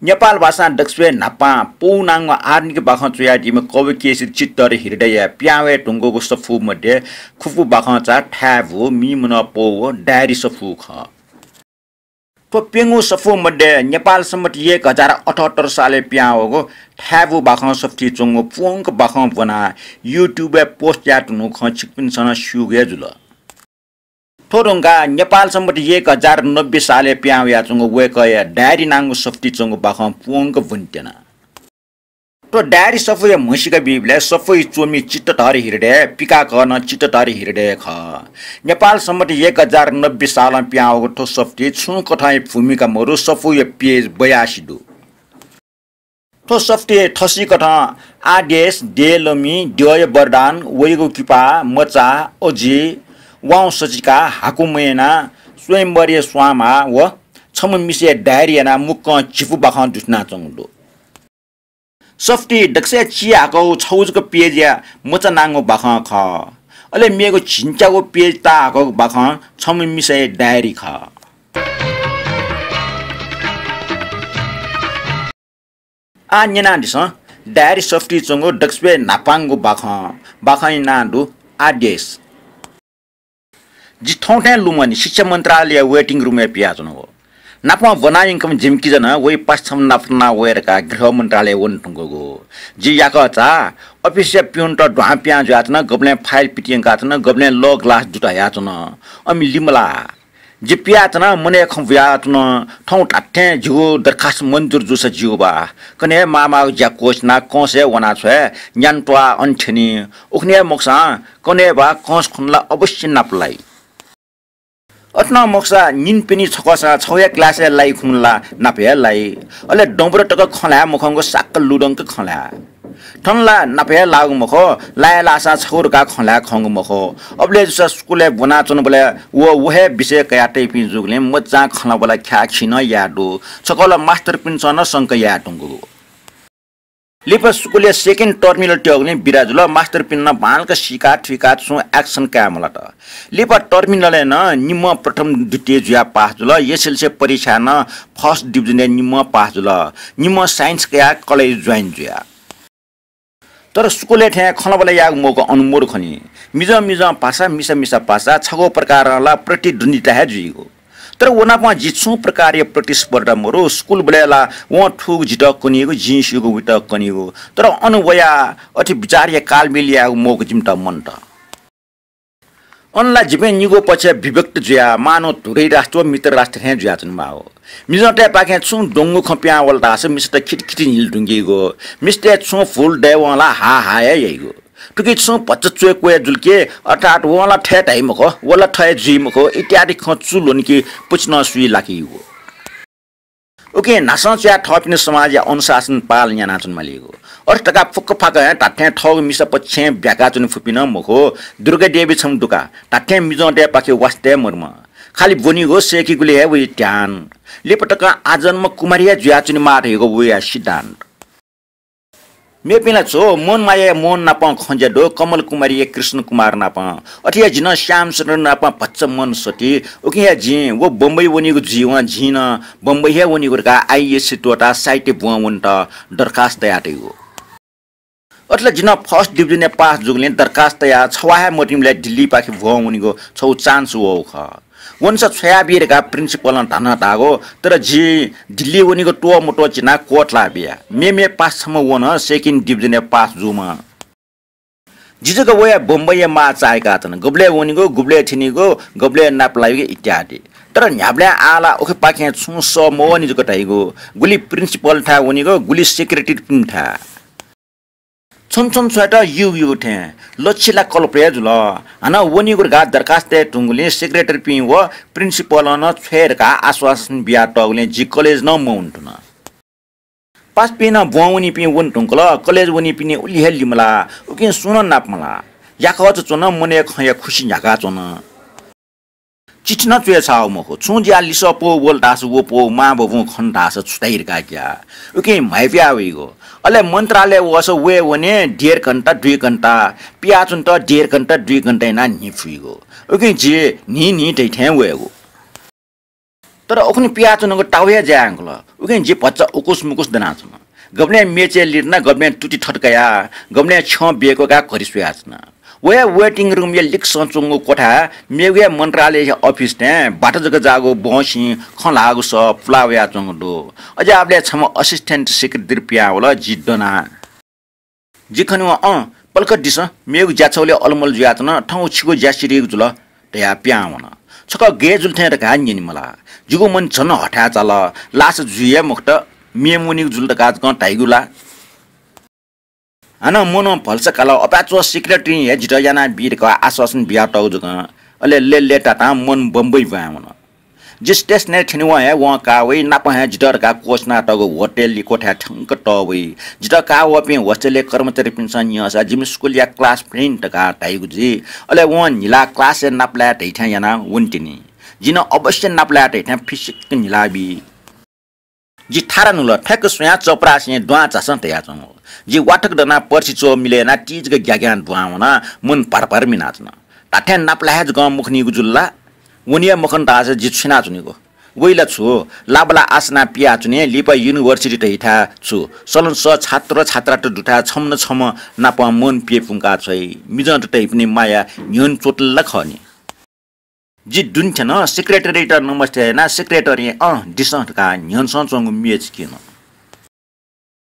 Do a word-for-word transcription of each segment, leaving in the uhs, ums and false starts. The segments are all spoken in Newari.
नेपाल भाषां दकलय् न्हापां पौ नांगु आधुनिक बाखं च्वयादीम्ह कवि केशरी चित्तधर हृदयया पिहां वये धुंकूगु सफू मध्ये खुपु बाखंचा थाय्‌भू, मीमनं पौ व डायरी सफू खः। थ्व प्यंगू सफू मध्ये नेपाल सम्बत एक हजार अठहत्तर सालय् पिहां वःगु थाय्‌भू बाखं सफुतिइ च्वंगु प्वंक बाखं ब्वनाः YouTube-य् post याये धुंकूगु खँ छिकपिन्सं नं स्यूगु हे जुल। थ्व धुंकाः नेपाल सम्बत एक हजार नब्बे सालय् पिहां वयाच्वंगु वय्‌कःया डायरी नांगु सफुतिइ च्वंगु बाखं प्वंक ब्वनेत्यना। थ्व डायरी सफूया म्हसीका बीबलय् सफूइ च्वमि चित्तधर हृदय, पिकाकः नं चित्तधर हृदय खः। नेपाल सम्बत एक हजार नब्बे सालं पिहां वःगु थ्व सफुतिइ छुं कथंया भूमिका मरु, सफूया page बयासी दु। थ्व सफुतिइ थसिकथं आदेश, देय्‌लमि, द्यःया वरदान, वइगु किपा, मचा, अजि, वाउँ सचिका, हाकु मयना, स्वयम्वरया स्वांमा व छम्ह मिसाया डायरी यानाः मुक्कं झिपु बाखं दुथ्यानाच्वंगु दु। सफुतिइ दकलय् चिहाकःगु छगू जक page-या मचा नांगु बाखं खः। अले मेगु झिंच्यागू page ताहाकःगु बाखं छम्ह मिसाया डायरी खः। आः न्यनादिसँ, डायरी सफुतिइ च्वंगु दकलय् न्हापांगु बाखं, बाखंया नां दु आदेश। जि थौं थें लुमनि शिक्षा मन्त्रालयया waiting room-य् पियाच्वनागु। नापं ब्वना यंकम्ह जिमि किजा नं वइ पासा छम्ह नाप नाप वये धकाः गृह मन्त्रालय वने धुंकूगु। जि याकःचा office-या पिउनत दुहां पिहां जुयाच्वन, गबलें file पितियंकाच्वन, गबलें लः ग्लास दुत हयाच्वन। अमि लिमलाः। जि पियाच्वना, मनय् खँ बुयाच्वन, थौं धात्थें जिगु दरखास्त मन्जुर जूसा ज्यू बा। कन्हय् माःमाःगु ज्या क्वःछिनाः कंसय् वनाछ्वये, न्यान्त्वाः अन थ्यनी। उखुन्हु हे मखुसां कन्हय् बा कंस खुन्हु ला अवश्य नाप लाइ। अथे नं मखुसा निन्हु पिने छकःसां छगू हे class-य् लाइ खुन्हु ला नाप हे लाइ। अले दँबुरा तक खँ ल्हाये मखंगु साक्क लुधंक खँ ल्हाये। थन ला नाप हे लाःगु मखु, लाये लाःसां छगू धकाः खँ ल्हाये खंगु मखु। अबलय् जूसा स्कुलय् ब्वनाच्वनाबलय् व, व हे विषय कयातइपिं जूगुलिं मज्जां खँ ल्हाःबलय् ख्याःखी नं याये दु। छकः ला मास्तरपिन्सं नं संका याये धुंकूगु। लिपा स्कुलया second terminal त्यःगुलिं बिदा जुल। मास्तरपिन्सं नं बांलाक सीका थुइकाः छुं action काये मलात। लिपा terminal-य् नं निम्हं प्रथम द्वितीय जुयाः पास जुल। एसएलसी परीक्षाय् नं first division-य् निम्हं पास जुल। निम्हं science कयाः college join जुया। तर स्कुलय् थें खँल्हाबल्हा यायेगु मौका अन मरु खनी। मिजं मिजं पासा, मिसा मिसा पासा, छगू प्रकारं ला प्रतिद्वन्द्विता हे जुइगु। तर व नाप जि छुं प्रकारया प्रतिस्पर्धा मरु। स्कुलबलय् ला वं थूगु जितः कनीगु, जिं स्यूगु वइत कनीगु। तर अन वयाः अथे विचारया कालमेल यायेगु मौका जिमित मन्त। अन ला जिपिं निगू पक्षय् विभक्त जुयाः मानव धुरै राष्ट्र व मित्र राष्ट्र थें जुयाच्वनेमाःगु। मिजंतय्‌पाखें छुं द्वंगु खँ पिहां वल धाःसा मिसात खितिखिति न्हिल धुंकीगु। मिस्तय् छुं भुल दयेवं ला हाः हाः हे याइगु। थुकी छुं भचा च्वय् क्वय् जुल कि, अर्थात् वं ला थथे धाइ मखु, व ला थथे जुइ मखु इत्यादि खँ चुल्वनी कि पुचि नं सुइ लाकीगु। उकिं न्हासं च्वयाः थःपिनि समाजया अनुशासन पालन यानाच्वनेमालीगु। अथे धकाः फुक्क फाक्क हे धात्थें थःगु मिसा पक्षय् ब्याकाच्वने फुपिं नं मखु। दुर्गा देवी छम्ह दुका, धात्थें मिजंतय्‌पाखे वास्ता हे मदुम्ह। खालि ब्वनीगु सय्‌कीगुली हे वइ ध्यान। लिपा तकं आजन्म कुमारी हे जुयाच्वनेमाः धइगु वया सिद्धान्त। मेपिं ला छु, मोहन मायाया मोहन नापं खँ ज्या दु, कमल कुमारीया कृष्ण कुमार नापं। अथे हे जि नं श्यामचन्द्र नापं भचा मन सति। उकिं हे जिं व बम्बई वनीगु जुइवं जिं नं बम्बई हे वनीगु धकाः आइएससी त्वःताः साहित्य ब्वं वनेत दरखास्त तयातइगु। अथे ला जि नं first division-य् पास जूगुलिं दरखास्त तयाः छवाः हे मतिंबलय् दिल्लीपाखे ब्वं वनीगु छगू chance वःगु खः। वनेसा छ्वयाबी धकाः principal-ं धानं धाःगु, तर जि दिल्ली वनीगु त्वः मत्वः चिनाः क्वथला बिया। मेम्ह पासा छम्ह व नं second division-य् पास जूम्ह। जि जक वया बम्बईया माः चाय्‌काच्वन। गबलय् वनीगु, गुबलय् थ्यनीगु, गबलय् नाप लाइगु इत्यादि। तर न्ह्याबलें आः ला उखेपाखें छुं सः मवःनि जक धाइगु। गुलि principal-थाय् वनीगु, गुलि secretary-पिन्थाय्। छुं छुं छुं छुं युगु युगु थें लक्ष्य ला कल्प हे जुल। हानं वनीगु धकाः दरखास्त तये धुंगुलिं secretary-पिं व principal-ं नं छ्वये धकाः आश्वासन बियातःगुलिं जि college नं मवने धुन। पासापिं नं ब्वं वनीपिं वने धुंकल, college वनीपिनि उलि हे लिमलाः, उकिं सुं नं नाप मलाः। याकःचा च्वन, मनय् खँया खुसि न्ह्याकाच्वन। चिठी नं च्वय् छाःगु मखु। छुं ज्या लिसः पौ वल धाःसा व पौ, मां बबुं खन धाःसा छु धाइ धकाः ग्याः। उकिं म्हाइपुया वइगु। अले मन्त्रालय वःसा वये वने डेढ घण्टा, दुई घण्टा, पियाच्वनेत डेढ घण्टा, दुई घण्टा यानाः न्हि फुइगु। उकिं जि न्हि न्हि धइथें वयेगु। तर उखुन्हु पियाच्वनागु ताःगु हे ज्या यानागु ल। उकिं जि भचा उकुस मुकुस दनाच्वना। गबलें मेचय् लितना, गबलें तुति थत कया, गबलें छ्यं बेक्वकाः घरि स्वयाच्वना। व हे waiting room या लिक्सं च्वंगु क्वथाय् मेगु हे मन्त्रालय अफिस थें बात जक जाःगु बहंसिं खँ ल्हाःगु सः पुला वयाच्वंगु दु। अज्याःबलय् छम्ह assistant secretary पिहां वल, जि दना। जि खनेवं, अँ, पलख दिसँ, मेगु ज्या छगलय् अलमल जुयाच्वन, थौं छिगु ज्या सिधइगु जुल धयाः पिहां वन। छकः गय् जुल थें धकाः न्यने मला। जिगु मन झन हथाय् चाल, लास जुइ हे मखुत, म्ये मुनीगु जुल धकाः जकं धाइगु ला। हानं मनं भलसा काल, अपाय्‌च्वः secretary हे जितः यानाबी धकाः आश्वासन बियातःगु जकं। अले लय्‌लय्‌तातां मन बम्बई ब्वाँय् वन। जि stationय् थ्यनेवं हे वं का वइ, नापं हे जितः धकाः क्वःछिनातःगु होटलया क्वथाय् थ्यंक तःवइ। जितः का वःपिं hostelया कर्मचारीपिन्सं न्यंसा जिमि स्कुलया class friend धकाः धाइगु जुइ। अले वं न्हिला classय् नापलाये धइथें यानाः वनेतिनि। जिं नं अवश्य नापलाये धइथें फिसिक्क न्हिला बी। जि थारा नुल, ठ्याक्क स्वयां चपरासिं दुहां झासँ धयाच्वंगु। जि वाथक दनाः पर्सि च्वः मिले यानाः तिजक ग्याग्यां दुहां वनाः मन भरभर मिनाच्वन। धात्थें नापलाये हे जकं मखनीगु जुल ला? वने हे मखन धाःसा जि छु यानाच्वनेगु? वइ ला छु? लाबला आसना पियाच्वने, लिपा university धइथाय् छु? सलन सः छात्र छात्रात दुथाय् छम्ह न छम्ह नाप मन पिये पुंका छ्वइ। मिजंत धइपिनि माया न्ह्यःने च्वतल ला खः नि। जि दुने थ्यन, secretaryयात नमस्ते यानाः secretaryं अँ दिसँ धकाः न्ह्यःनेसं च्वंगु म्ये चिकिन।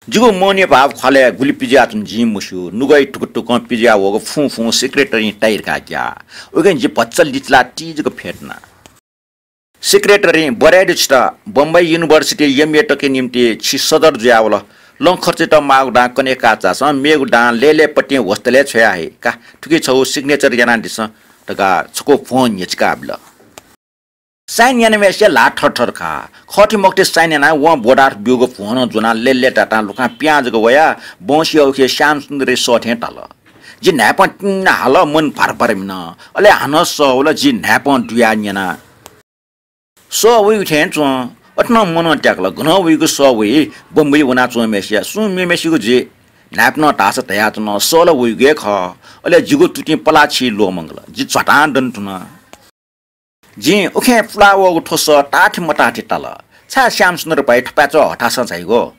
जिगु मनया भाव ख्वालय् गुलि पिज्याच्वन जिं मस्यू, नुगः धुकुधुकुं पिज्या वःगु फुं फुं secretaryं ताइ धकाः ग्याः। उकिं जि भचा लिचिलाः तिजक फ्यतुना। Secretaryं, बधाई दु छितः, बम्बई university MA तके निम्ति छि सदर जुयावल। लँ खर्चयात माःगु दां कने काः झासँ, मेगु दां लय्‌लय्‌पतिं hostelय् छ्वया हइ का। थुकी छगू signature यानादिसँ धकाः छकू भ्वं न्ह्यचिका बिल। Sign यानाम्हेसिया ल्हाः थरथर का। खःति मखुति sign यानाः वं बोर्डार ब्यूगु भ्वं नं ज्वनाः लय्‌लय्‌तातां लुखां पिहां जक वयाः बहंसिया उखे श्यामसुन्दरया सः थें ताल। जि न्हाय्‌पं तिंन्ना हाल, मन भारभार मिन। अले हानं सः वल, जि न्हाय्‌पं दुयाः न्यना। सः वइगु थें च्वं। अथे नं मनं त्याकल, गनं वइगु सः वइ, बम्बई वनाच्वंम्हेसिया, सुं मेम्हेसिगु जुइ। न्हाय्‌पनं धाःसा धयाच्वन, सः ला वइगु हे खः। अले जिगु तुतिं पलाः छि ल्वःमंकल। जि झ्वातां दने धुन। जिं उखें पुला वःगु थ्व सः ताःथि मताःथि ताल। छाय् श्यामसुन्दर भाइ थपाय्‌च्वः हथासं झाइगु?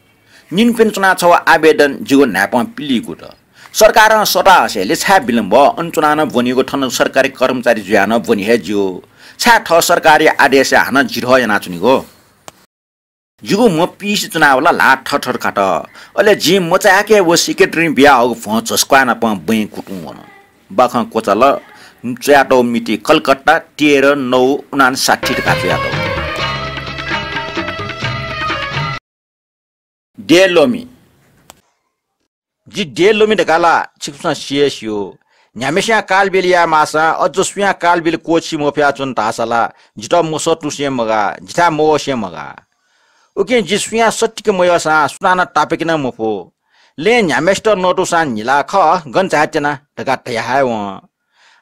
निन्हु पिने च्वनाः छगू आवेदन जिगु न्हाय्‌पं पिलीगु दु। सरकारं सःता हसेंलि छाय् विलम्ब? अन च्वनाः नं ब्वनीगु, थन सरकारी कर्मचारी जुयाः नं ब्वनी हे ज्यू। छाय् थः सरकारी आदेशय् हानं जिधः यानाच्वनीगु? जिगु म्ह पिइसे च्वनावल, ल्हाः थरथर कात। अले जिं मचायाके व secretaryं बियाहःगु भ्वं झसुक्वाः नाप बँय् कुतुं वन। बाखं क्वचाल, च्वयातःगु मिति कलकत्ता तेह्र नौ उनान्साठी धकाः च्वयातःगु। देय् ल्वमि। जि देय् ल्वमि धकाः ला छिकपिन्सं सि हे स्यू। न्ह्याम्हेस्यां कालबिल याये माःसां अझ सुयां कालबिल क्वःछी मफयाच्वन धाःसा ला जितः मसःतुसें मगाः, जिथाय् मवःसें मगाः। उकिं जि सुयां सत्तिके मयःसां सुनानं तापाके नं मफु। लँय् न्ह्याम्हेसित नतूसां न्हिला खः, गन झायेत्यना धकाः धया हे वं।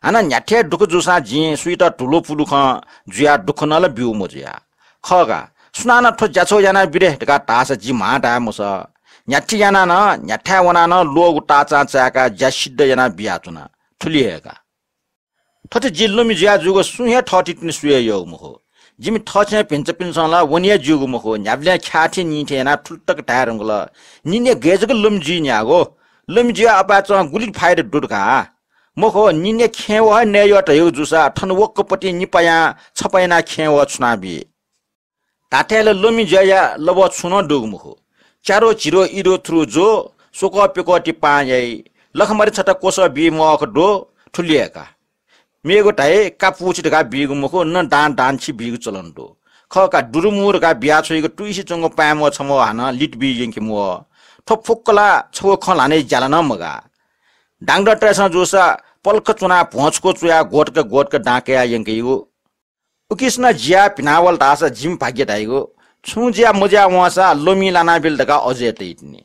हानं न्ह्याथें दुःख जूसां जिं सुइत धुलुपुलु खँ जुयाः दुःख नं ला ब्यू मजुया। खः का, सुनानं थ्व ज्या छगू यानाबी रे धकाः धाःसा जि म्हां धाये मसः। न्ह्याथे यानाः नं, न्ह्याथाय् वनाः नं ल्वःगु ताःचां चाय्‌काः ज्या सिद्ध यानाः बियाच्वना। थुलि हे का। थथे जि ल्वमि जुया जूगु सुं हे थःथितिनि स्वये यःगु मखु। जिमि थःछेँय् भिन्चापिन्सं ला वने हे ज्यूगु मखु। न्ह्याबलें ख्याः थें निं थें यानाः थुलि तक धाये धुंकल, निनय् गय् जक ल्वमि जुइ न्ह्याःगु? ल्वमि जुयाः अपाय्‌च्वं गुलि फाइदा दु धकाः? मखु, निनय् खेँवः हे नये यः धयागु जूसा थन वक्कपतिं निपायां छपा यानाः खेँवः छुनाबी। धात्थें ला ल्वमि जुयाया लबः छुं नं दुगु मखु। च्यारो झिरो इरो थुरु ज्व, स्वकः प्यकः ति पाहां याइ, लखमारी छता क्वसः बी म्वाःक दु, थुलि हे का। मेगु धाइ का पुछि धकाः बीगु मखु, न दां दांछि बीगु चलन दु। खः का, दुरुमु धकाः बियाछ्वइगु तुइसे च्वंगु पाय्‌म्वः छम्वः हानं लित बी यंके म्वः। थ्व फुक्क ला छगू खँ ल्हानाया ज्याला नं मगाः। डाक्टरतय्‌सं जूसा पलख च्वनाः भ्वं छकू च्वयाः ग्वतक ग्वतक दां कयाः यंकेगु। उकिसनं जियाः भिनावल धाःसा जिमि भाग्य धाइगु। छुं जुया मजुया वंसा ल्वमिं लानाबिल धकाः अजू हे तइतिनि।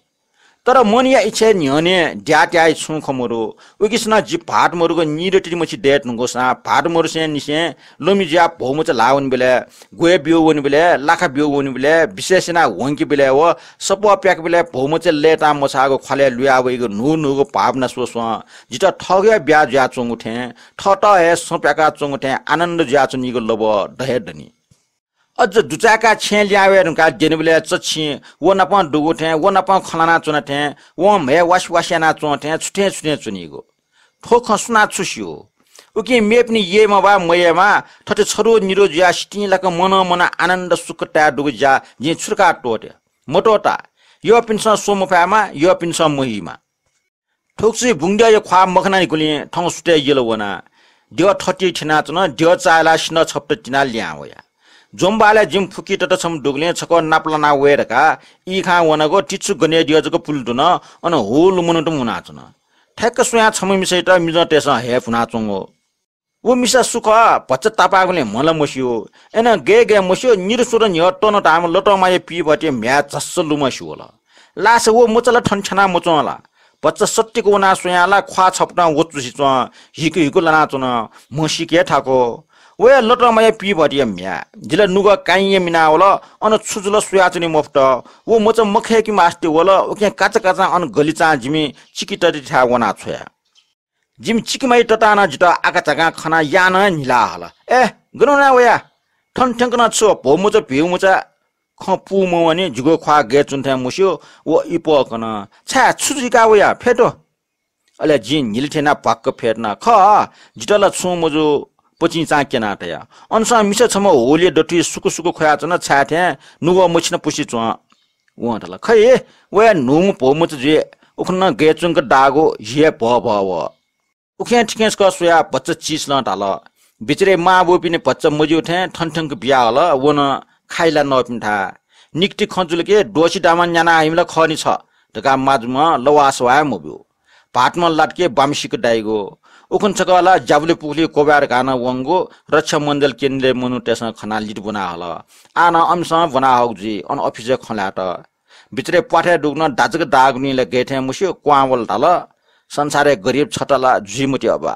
तर मनया इच्छाया न्ह्यःने द्याः त्याःया छुं खँ मदु। उकिसनं जि भाःत मदुगु निदँ तितिमछि दये धुंकूसां भाःत मदुसें निसें ल्वमि जुयाः भौमचा ल्हाः वनेबलय्, ग्वय् ब्यू वनेबलय्, लाखा ब्यू वनेबलय्, विशेष यानाः ह्वंकेबलय् व सपः प्याकेबलय् भौमचा लय्‌तां मछाःगु ख्वालय् लुया वइगु न्हू न्हूगु भावना स्वस्वं जितः थःगु हे ब्याहा जुयाच्वंगु थें, थःत हे सँ प्याकाच्वंगु थें आनन्द जुयाच्वनीगु लबः द हे दनि। अझ दुचाय्‌काः छेँय् लिहां वये धुंकाः द्यनीबलय् चच्छिं व नापं दुगु थें, व नापं खँ ल्हानाच्वन थें, वं म्हय् वासि वासि यानाच्वं थें छु थें छु थें च्वनीगु। थ्व खँ सुनां छु स्यू? उकिं मेपिनि यय्‌मा वा मयय्‌मा थथे छदु निदु जुयाः सितिंलाक मनं मनं आनन्द सुख ताये दुगु ज्या जिं छु धकाः त्वःते? मत्वःता। यःपिन्सं स्वः मफयामा, यःपिन्सं महिमा। थुगुसी बुंगद्यःया ख्वाः मखनानिगुलिं थौं सुथय् यल वना। द्यः थति थ्यनाच्वन, द्यः चाःहिलाः सिन्धः छपत तिनाः लिहां वया। ज्वंबहालय् जिमि फुक्की तता छम्ह दुगुलिं छकः नापलाना वये धकाः ई खां वनागु तिच्छु गनेद्यः जक पुले धुन, अन हू लुमन्हुत मुनाच्वन। ठ्याक्क स्वयां छम्ह मिसायात मिजंतय्‌सं हये भुनाच्वंगु। व मिसा सु खः, भचा तापाःगुलिं म्ह ला मस्यू। अय्‌नं गय् गय् मस्यू, निदँ स्वदँ न्ह्यः तन धाःम्ह लतमाया पीभतिया म्ह्याय् झस्स लुमंसि वल। लासा व मचा ला थन थ्याना मच्वं ला? भचा सत्तिक वनाः स्वयां ला ख्वाः छपतं वचुसि च्वं, हिकु हिकु लानाच्वन, म्हसीके थाकु। व हे लतमाया पीभतिया म्ह्याय्। जि ला नुगः काइँया मिनावल, अन छु जुल स्वयाच्वने मफुत। व मचा मखय्‌के मास्ति वल, उकिं काचाकाचां अन गलिचां जिमि चिकिततिथाय् वनाछ्वया। जिमि चिकिमाया ततां नं जितः आकाझाकां खनाः यानं हे न्हिला हल। ए, गन वना वया? थन थ्यंक नं छु भौमचा भिउमचा? खँ पूमवंनि, जिगु ख्वाः गय् च्वन थें मस्यू, व इपः कन। छाय्, छु जुइका वया? फ्यतु। अले जिं न्हिले थें यानाः भ्वाक्क फ्यतुना। खः, जितः ला छुं मजू, पचिंचां क्यनाः तया। अनसं मिसा छम्ह होलिया दथुइ सुकु सुकु ख्वयाच्वन, छाय् थें नुगः मछिना पुसे च्वं। वं धाल, खइ, व हे न्हूम्ह भौमचा जुइ, उखुन्हु नं गय् च्वंक दाःगु हि हे भःभः वः। उखें थिखें छकः स्वयाः भचा चिसलं धाल, बिचारय् मांबौपिनि भचा मज्यू थें थन थ्यंक बियाहल, व नं खाइला नःपिन्थाय्। निकति खँ जुल कि द्वःछि दामा न्याना हइम्ह ला खः नि छ धकाः माजुम्ह लवासवाय् मब्यू। भाःतम्ह लात कि बाम्ह सिक दाइगु। उखुन्हु छकः ला ज्याबुलि पुखुलि क्वब्वाये धकाः नं वंगु रक्षा मण्डल केन्द्रया मनूतय्‌सं खनाः लित ब्वना हल। आः नं अमिसं ब्वना हःगु जुइ, अन अफिसय् खँ ल्हायेत। बिचारय् प्वाथय् दुगु नं दाजक दाःगुलिं ला गय् थें मस्यू, क्वहां वल धाल, संसारय् गरिब छता ला जुइ मते अबा।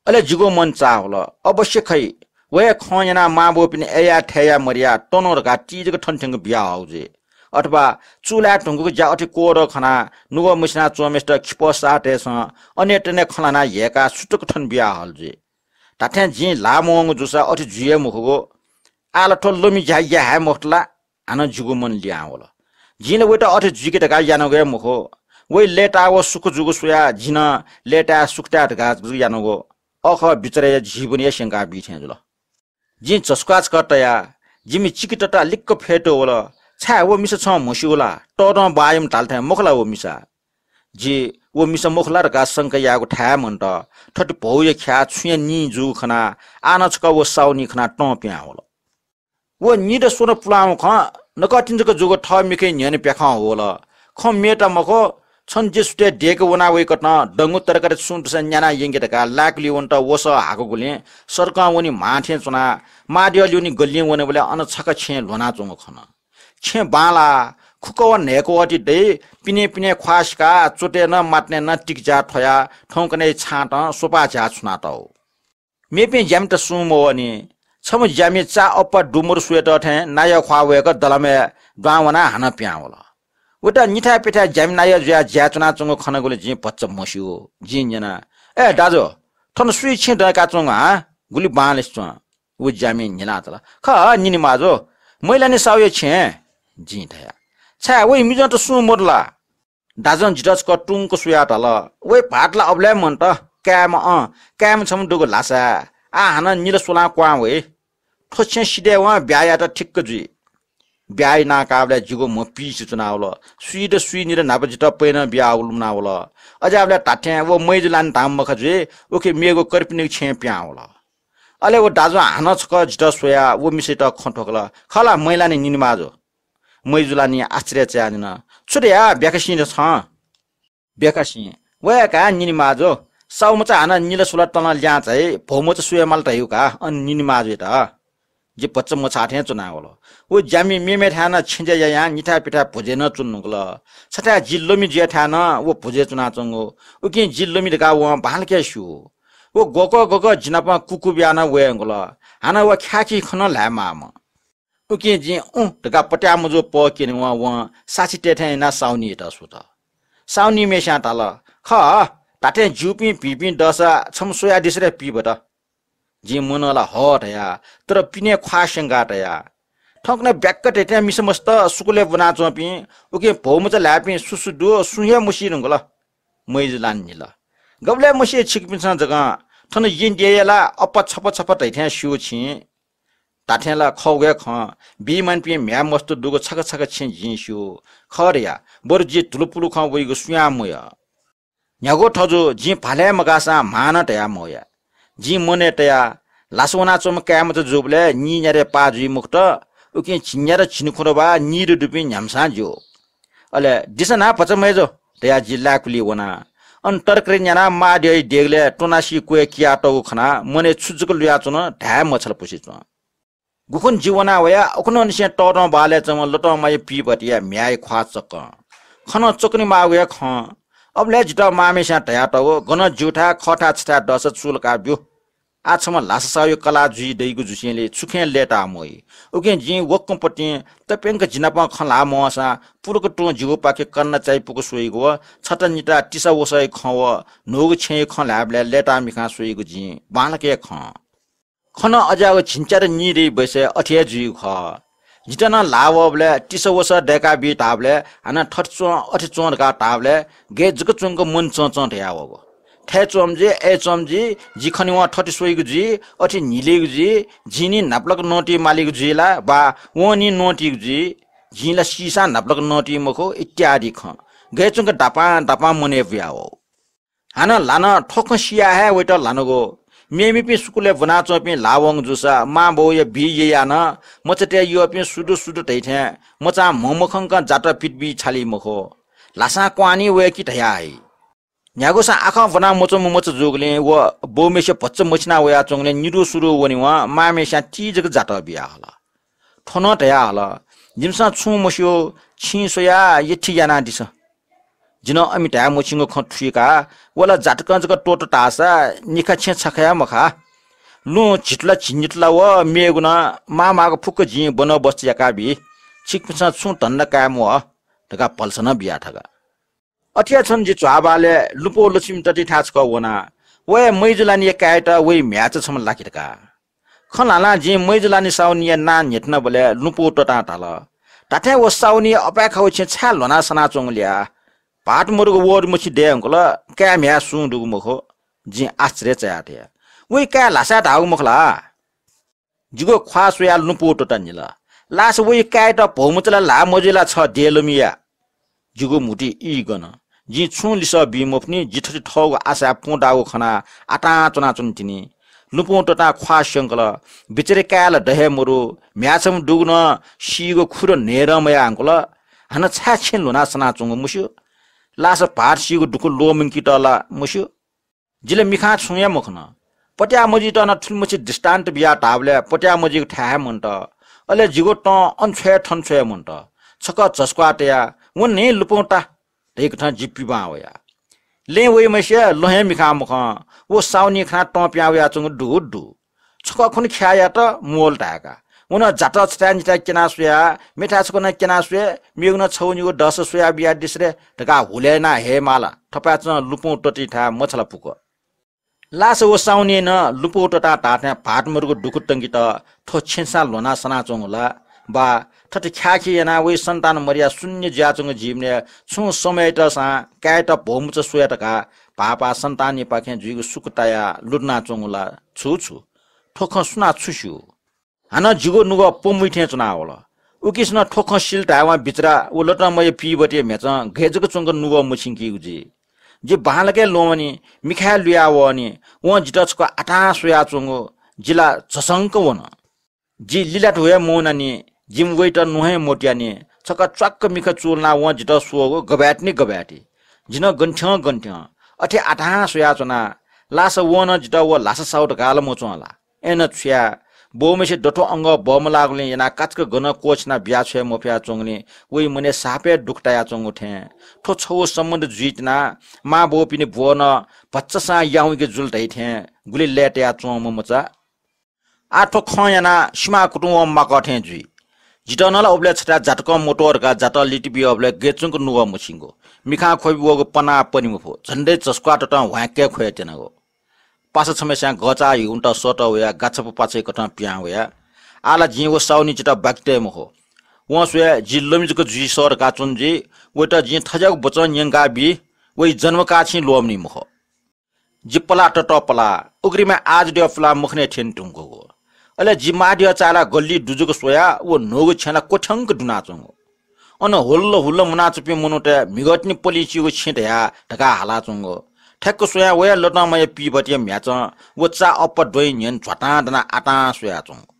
अले जिगु मन चाःवल, अवश्य खइ, व हे खँ न्यनाः मांबौपिनि अय्‌या थय्‌या मदयाः तन धकाः ति जक थन थ्यंक बियाहःगु जुइ। अथवा चूलाय् धुंकूगु ज्या अथे क्वदँ खनाः नुगः मछिना च्वंम्हय्‌सित खिपः साःतय्‌सं अनेतने खँ ल्हानाः ह्यय्‌काः सुतक थन बियाहल जुइ। धात्थें जिं ल्हाः मवंगु जूसा अथे जुइ हे मखुगु। आः ला थ्व लमि ज्या याये हे मखुत ला? हानं जिगु मन लिहां वल। जिं ला वयात अथे जुइके धकाः यानागु हे मखु। वइ लय्‌ताः व सुख जूगु स्वयाः जिं नं लय्‌ताय् सुख ताये धकाः जक यानागु। अखः बिचारया जीवन हे स्यंका बी थें जुल। जिं झसुकाः छकः तया, जिमि चिकितता लिक्क फ्यतुवल। छाय्, व मिसा छं म्हस्यू ला? तःधं बाःयाम्ह धाल थें मखु ला व मिसा? जि व मिसा मखु ला धकाः शंका यायेगु थाय् मन्त। थथे भौया ख्याः छुँया निं जूगु खनाः आः नं छकः व साउनी खनाः तं पिहां वल। व निदँ स्वदँ पुलांम्ह खँ नकतिनि जक जूगु थः मिखाया न्ह्यःने प्याखं ह्वल। खँ मेत मखु, छन्हु जि सुथय् दय्‌के वना वइकथं दंगु तरकारी सुं दुसा न्याना यंके धकाः लाय्‌कुलिइ वनेत वसः हाकूगुलिं सडकं वने म्हां थें च्वनाः माःद्यः ल्यूने गल्लिं वनेबलय् अन छखा छेँ ल्ह्वनाच्वंगु खन। छेँ बांलाः, खुकः व न्हय्‌कः ति दइ, पिने पिने ख्वाः सिकाः च्वतय् नं मातनय् नं तिकिझ्याः थ्वयाः थौंकन्हय् छाँतं स्वपाः झ्याः छुनातःगु। मेपिं ज्यामित सुं मवःनि। छम्ह ज्यामि चा अप्पा दु मदु स्वयेत थें नायः ख्वाः वय्‌क दलामय् दुहां वनाः हानं पिहां वल। वयात निथाय् प्यथाय् ज्यामि नायः जुयाः ज्याय् च्वनाच्वंगु खनागुलिं जिं भचा म्हस्यू। जिं न्यना, ए दाजु, थन सुया छेँ दय्‌काच्वंगु हँ? गुलि बांलासे च्वं। व ज्यामिं न्हिलाः धाल, खः निनिमाजु, मैलानि साहुया छेँ। जिं धया, छाय्, वइ मिजंत सुं मदु ला? दाजुं जितः छकः तुंक स्वयाः धाल, वइ भाःत ला अबलय् मन्त, काय्‌म्ह, अँ, काय्‌म्ह छम्ह दुगु ल्हासाय्। आः हानं निदँ स्वलां क्वहां वइ। थ्व छेँ सिधयेवं ब्याहा यायेत ठिक्क जुइ। ब्याहा यानाः काःबलय् जिगु म्ह पिइसे च्वनावल। सुइत सुइ निदँ न्हापा जितः पैनं बियाः लुमनावल। अज्याःबलय् धात्थें व मैजुलानि धाःम्ह मखा जुइ, उखे मेगु कर्पिनिगु छेँय् पिहां वल। अले व दाजुं हानं छकः जितः स्वयाः व मिसायात खँ थ्वकल, खः ला मैलानि निनिमाजु? मैजुलानिं आश्चर्य चायाः न्यन, छु धया ब्याखासिं छं? ब्याखासिं, वया का निनिमाजु, साहुमचा हानं निदँ स्वला तलं लिहां झाइ, भौमचा स्वये माल धयागु का, अन निनिमाजुयात। जि भचा मछाः थें च्वनावल। व ज्यामि मेमेथाय् नं छेँज्या यायां निथाय् प्यथाय् भुजय् नं च्वने धुंकल। छथाय् जि लमि जुयाथाय् नं व भुजय् च्वनाच्वंगु। उकिं जि लमि धकाः वं बांलाक हे स्यू। व गकः गकः जि नाप कुकु बियाः नं वये धुंकल। हानं व ख्याखी खँ नं ल्हाये माःम्ह। उकिं जिं उँ धकाः पत्याः मजू पः क्यनेवं वं साक्षी तये थें यानाः साहुनीयात स्वत। साहुनीम्हय्‌स्यां धाल, खः, धात्थें ज्यूपिं भिंपिं दःसा छम्ह स्वयादिसँ रे पीभत। जिं मनं ला हः धया, तर पिने ख्वाः स्यंका तया। थौंकन्हय् ब्याक्क धइथें मिसा मस्त सुकुलय् ब्वनाच्वंपिं, उकिं भौमचा ल्हाय्‌पिं सु सु दु, सुं हे मसी धुंकल। मय्‌जुलानि न्हिल, गबलय् मसी छिकपिन्सं जकं? थन येँ देय्‌या ला अप्पा छपा छपा धइथें स्यू छिं। धाथें ला खःगु हे खँ, बीमानिपिं म्ह्याय् मस्त दुगु छखा छखा छेँ जिं स्यू। खः धया, बरु जि धुलुपुलु खँ वइगु सुयां मयः। न्ह्यागु थजु, जिं भालय् मगाःसां म्हां नं धया मवया। जिं मनय् तया, लासा वनाच्वंम्ह काय्‌मचा जूबलय् नीन्यादँय् पाः जुइ मखुत, उकिं झिंन्यादँ झिंखुदँ वा नीदँ दुपिं न्ह्याम्हसां ज्यू। अले दिसँ न्हां भचा मय्‌जु धयाः जि लाय्‌कुलिइ वना। अन तरकारी न्यानाः मां द्यःया देगलय् त्वनासी क्वय् कियातःगु खनाः मनय् छु जक लुयाच्वन धाये मछालापुसे च्वं। गुखुन्हु जि वना वया, उखुन्हुंनिसें तःदँ बहालय् च्वंम्ह लतंमाया पीबतया म्ह्याय् ख्वाः चक्कं। खँ नं चक्कने माःगु हे खँ। अबलय् जितः मांम्हेस्यां धयातःगु, गनं ज्यूथाय् खःथाय् छथाय् दःसा चूलाका ब्यु। आः छम्ह लासा साहुया कलाः जुइ दइगु जुसेंलि छुखें लय्‌ताः मवइ। उकिं जिं वक्कंपतिं तप्यंक जिनापं खँ ल्हाः मवंसां पुलुक तुं जिगुपाखे कन्ना चायापुक स्वइगु व छता निता तिसा वसःया खँ व न्हूगु छेँया खँ ल्हायेबलय् लय्‌ताः मिखां स्वइगु जिं बांलाक हे खं। खँ नं अज्याःगु झिंच्यादँ नीदँया बैसय् अथे हे जुइगु खः। जितः नं ल्हाः वःबलय् तिसा वसः दय्‌का बी धाःबलय् हानं थथे च्वं, अथे च्वं धकाः धाःबलय् गय् जक च्वंक मन चंचं धयावःगु। थय् च्वंम्ह जुइ, अय् च्वंम्ह जुइ, जि खनेवं थथे स्वइगु जुइ, अथे न्हिलेगु जुइ, जिं नि न्हापालाक नवानातये मालीगु जुइ ला, वा वं नि नवानातःगु जुइ, जिं ला सीसां न्हापालाक नवानातःगु मखु इत्यादि खँ गय् च्वंक दापां दापां मनय् बुयावः। हानं ल्हानं थ्व खँ सियाः हे वइत ल्हानागु। मेमेपिं सुकुलय् ब्वनाच्वंपिं ल्हाः वंगु जूसा मां बौया बी ययाः नं मचातय् यःपिं सु दु सु दु धइथें मचां म्ह मखंकं जातः पित बी छाली मखु। ल्हासां क्वहां नि वय्‌कि धयाः हइ। न्ह्यागुसां आखं ब्वना मच्वंम्ह मचा जूगुलिं व बौम्हेसे भचा मछिना वयाच्वंगुलिं निदु सुदु वनेवं मांम्हेस्यां ति जक जातः बियाहल। थ्व नं धयाहल, जिमिसं छुं मस्यू, छिं स्वयाः यथि यानादिसँ। जि नं अमि धाये मछिंगु खँ थुइकाः व ला जातकं जक त्वःता धाःसा निखा छेँ छखा हे मखा। लुँ झितुला झिंनितुला व मेगु नं माःमाःगु फुक्क जिं बन्दोबस्त याकाबी। छिकपिन्सं छुं धन्दा काये म्वाः धकाः भलसा नं बिया थका। अथे हे छन्हु जि झ्वाःबहालय् लुँपौ लक्ष्मी ततिथाय् छकः वना। व हे मय्‌जुलानिया काय्‌यात वइ म्ह्याय्‌चा छम्ह लाकि धकाः। खँ ल्हानाः जिं मय्‌जुलानि साहुनिया नां न्ह्यथनाबलय् लुँपौ ततां धाल, धात्थें व साहुनिया अपाय्‌खागु छेँ छाय् ल्ह्वनाः सनाच्वंगु ल्या? भाःत मदुगु वःत मछि दये धुंकल, काय् म्ह्याय् सुं दुगु मखु। जिं आश्चर्य चायाः धया, वइ काय् ल्हासाय् धाःगु मखु ला? जिगु ख्वाः स्वयाः लुँपौ ततां न्हिल, लासा वइ काय्‌यात भौमचा ला ल्हाः मजुइ ला छ देलमिया? जिगु म्हुतुइ ई गन। जिं छुं लिसः बी मफुनि, जि थथे थःगु आशाय् पुं दाःगु खनाः आतां च्वनाच्वने तिनि। लुँपौ ततां ख्वाः स्यंकल, बिचारी काय् ला द हे मदु, म्ह्याय् छम्ह दुगु नं सीगु खुदँ न्हय्‌दँ मयाः धुंकल। हानं छाय् छेँ ल्ह्वनाः सनाच्वंगु मस्यू। लासा भाःत सीगु दुःख ल्वःमंकेत ला मस्यू। जि ला मिखां छुं हे मखन। पत्याः मजुइत नं थुलिमछि दृष्टान्त बियाः धाःबलय् पत्याः मजुइगु थाय् हे मन्त। अले जिगु तं अन छ्वये थन छ्वये मन्त। छकः झसुक्वाः तयाः व न्हय् लुँपौ ता धइकथं जि पिबां वया। लँय् वइम्हय्‌सिया लँ हे मिखां मखं, व साहुनि खनाः तं पिहां वयाच्वंगु दु दु। छकः खुन्हु ख्याः यात, म्वःल् धाय्‌का। व नं जातः छथाय् निथाय् क्यनाः स्वया, मेथाय् छकः नं क्यनाः स्वये, मेगु नं छगू निगू दःसा स्वया बियादिसँ रे धकाः हुलय् यानाः हये माल। थपाय्‌चं लुँपौ ततिथाय् मछालापुक। लासा व साहुनिं नं लुँपौ ततां धाःथें भाःत मदुगु दुःख तंकेत थ्व छेँसां ल्ह्वनाः सनाच्वंगु ला, वा थथे ख्याःखे यानाः वइ सन्तान मदयाः शून्य जुयाच्वंगु जीवनय् छुं समयतसां काय्‌यात भौमचा स्वये धकाः भाःपाः सन्तानयापाखें जुइगु सुख तायाः लुधनाच्वंगु ला, छु छु? थ्व खँ सुनां छु स्यू? हानं जिगु नुगः प्वम्वइ थें च्वनावल। उकिसनं थ्व खँ सिल धायेवं बिचरा व लतंमाया पीबतया म्ह्याय् गय् जक च्वंक नुगः मछिंकीगु जुइ। जि बांलाक हे ल्वःमनि, मिखाय् लुया वःनि, वं जितः छकः आतां स्वयाच्वंगु जि ला झसंक वन। जि लिलातुं हे मवनानि, जिमि वइत न्वँ हे मत्यानि, छकः च्वाक्क मिखा चूलनाः वं जितः स्वःगु गबय् तिनि गबय् ति। जि नं गन थ्यं गन थ्यं अथे आतां स्वयाच्वना। लासा वं नं जितः व लासा साहु धकाः ला मच्वं ला? अय्‌नं छु याये, बौम्हेसे दथुइ अंगः बमलाःगुलिं यानाः काचाक्क गनं क्वःछिना बियाछ्वये मफयाच्वंगुलिं वइ मनय् साप हे दुःख तायाच्वंगु थें। थ्व छगू सम्बन्ध जुइ तिनाः मां बौपिनि ब्वः नं भचासां याउँइके जुल धइ थें गुलि लय्‌ताया च्वंम्ह मचा। आः थ्व खँ यानाः सिमाः कुतुं वं माकः थें जुइ। जितः नं ला उबलय् छथाय् जातकं मत्वः धकाः जातः लित बियाबलय् गय् च्वंक नुगः मछिंगु, मिखां ख्वबि वःगु पनाः पने मफु, झन्डै झसुक्वाः ततं ह्वाँय्‌के ख्वये त्यनागु। पासा छम्हस्यां गःचाः ह्यून्त सःतः वयाः गाछापु पाछ्य् कथं पिहां वया। आः ला जिं व साहुनी जितः बाकि तये मखु। वं स्वया जि लमि जक जुइ सः धकाः च्वन जुइ। वइत जिं थज्याःगु वचन न्यंका बी, वइ जन्मकाः छिं ल्वःमनी मखु। जि पलाः ततः पलाः, उघ्रिमय् आजद्यः पुलाः मखनय् थ्यने धुंकूगु। अले जि मांद्यः चाःहिलाः गल्लिइ दु जक स्वयाः व न्हूगु छेँय् ला क्वथ्यंक दुनाच्वंगु। अन हुल्ल हुल्ल मुनाच्वंपिं मनूतय् म्हिगःतिनि पलिं चीगु छेँ धयाः धकाः हालाच्वंगु। ठ्याक्क स्वयाः वया लतंमाया पीभतिया म्ह्याचं व चा अप्पा द्वँइ न्ह्यःने झ्वातां दनाः आतां स्वयाच्वंगु।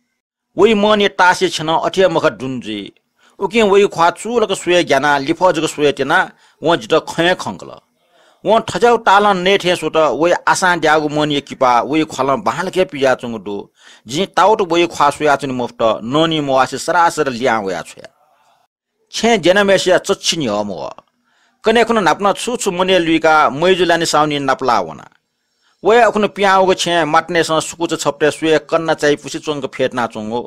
वइ मनं तासया छेँ नं अथे हे मखा दुने जुइ। उकिं वइ ख्वाः चूलाक स्वये ग्यानाः लिफः जक स्वये त्यनाः वं जितः खँ हे खंकल। वं थज्याःगु तालं नये थें स्वत, वइ आशां द्याःगु मनया किपा वइ ख्वालं बांलाक हे पिज्याच्वंगु दु। जिं ताउत वइ ख्वाः स्वयाच्वने मफुत, ननी मवासे सरासर लिहां वया छ्वया। छेँय् द्यनाम्हय्सिया चच्छि न्ह्यः मवः। कन्हय् खुन्हु न्हापा नं छु छु मनय् लुइकाः मय्जु लानि साहुनी नापलाः वना। वया उखुन्हु पिहां वःगु छेँय् मातातय्सं सुकुचा छपतय् स्वये कन्ना चाइ पुसे च्वंक फ्यतुनाच्वंगु।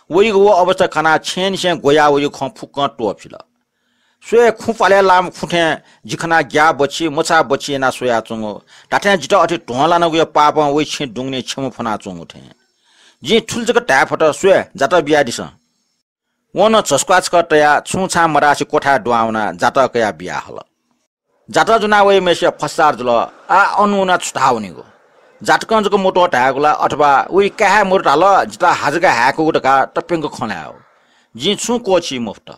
वइगु व अवस्था खनाः छेँनिसें ग्वयाः वइगु खँ फुक्कं त्वःफिल। स्वये खुँ प्वालय् लाःम्ह खुँ थें जि खनाः ग्याः बच्छि, मछाः बच्छि यानाः स्वयाच्वंगु। धात्थें जितः अथे ध्वं लानागुया पापं वइ छेँ दुंगुलिं क्षमा फ्वनाच्वंगु थें। जिं थुलि जक धाये फत, स्वये, जातः बियादिसँ। वं नं झसुक्वाः छकः तयाः छुं छां मधासे क्वथाय् दुहां वनाः जातः कयाः बियाहल। जातः ज्वनाः वइम्हय्सिया फस्सार जुल। आः अन वनाः छु धाः वनीगु? जातकं जक मत्वः धायेगु ला, अथवा वइ काय् हे मदु धाल, जितः हाजगा हाय्कूगु धकाः तप्यंक खँ ल्हायेगु? जिं छुं क्वःछी मफुत।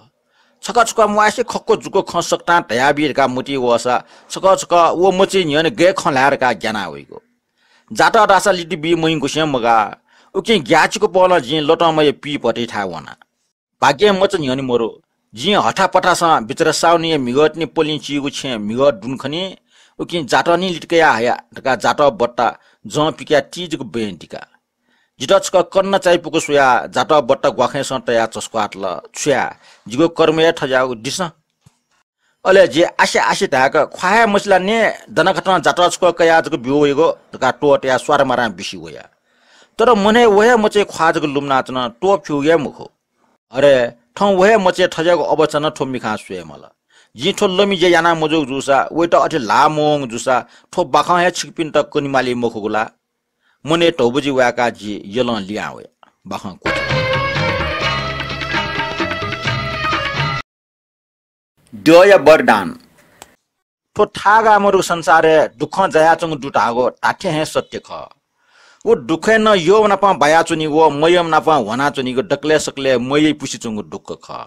छकः छकः म्वासे खक्व जुक्व खँ सकतां धयाबी धकाः मतिइ वःसा छकः छकः व मचाया न्ह्यःने गय् खँ ल्हाये धकाः ग्याना वइगु। जातः धाःसा लित बी मयंकुसें मगाः। उकिं ग्याःचिकु पहलं जिं लतंमाया पीभतिथाय् वना। भाग्यं मचा न्ह्यःने मरु। जिं हथापथासं बिचरा साहुनीया म्हिगःतिनि पलिं चीगु छेँय् म्हिगः दुने खनी। उकिं जातः निं लित कयाः हया धकाः जातः बट्टा जं पिकयाः ति जक बँय् दिका। जितः छकः कन्ना चाइ पुकु स्वयाः जातः बट्टा ग्वाखंय्सं तयाः झसुक्वाः तल, छु याये, जिगु कर्म हे थज्याःगु, दिसँ। अले जि आसे आसे धाय्क ख्वाः हे मसिल नि, दनाखतं जातः छकः कयाः जक ब्यू वइगु धकाः त्वःतयाः स्वारमारां बिसि वया। तर मनय् व हे मचाया ख्वाः जक लुमनाच्वन, त्वःफ्यूगु हे मखु। अरे, थौं व हे मचाया थज्याःगु अवस्था नं थ्व मिखां स्वये माल। जिं थ्व लमि ज्या याना मजूगु जूसा, वइत अथे ल्हाः मवंगु जूसा, थ्व बाखं हे छिकपिन्त कनेमाली मखुगु ला? मनय् धौबजि वाय्काः जि यलं लिहां वया। बाखं क्वथि। द्यःया वरदान। थ्व थाय्गाः मदुगु संसारय् दुःखं जायाच्वंगु दु धाःगु धात्थें हे सत्य खः। व दुःखय् नं यःम्ह नाप बायाच्वनीगु व मयःम्ह नाप ह्वानाच्वनीगु दकलय् सकलय् मयःपुसे च्वंगु दुःख खः।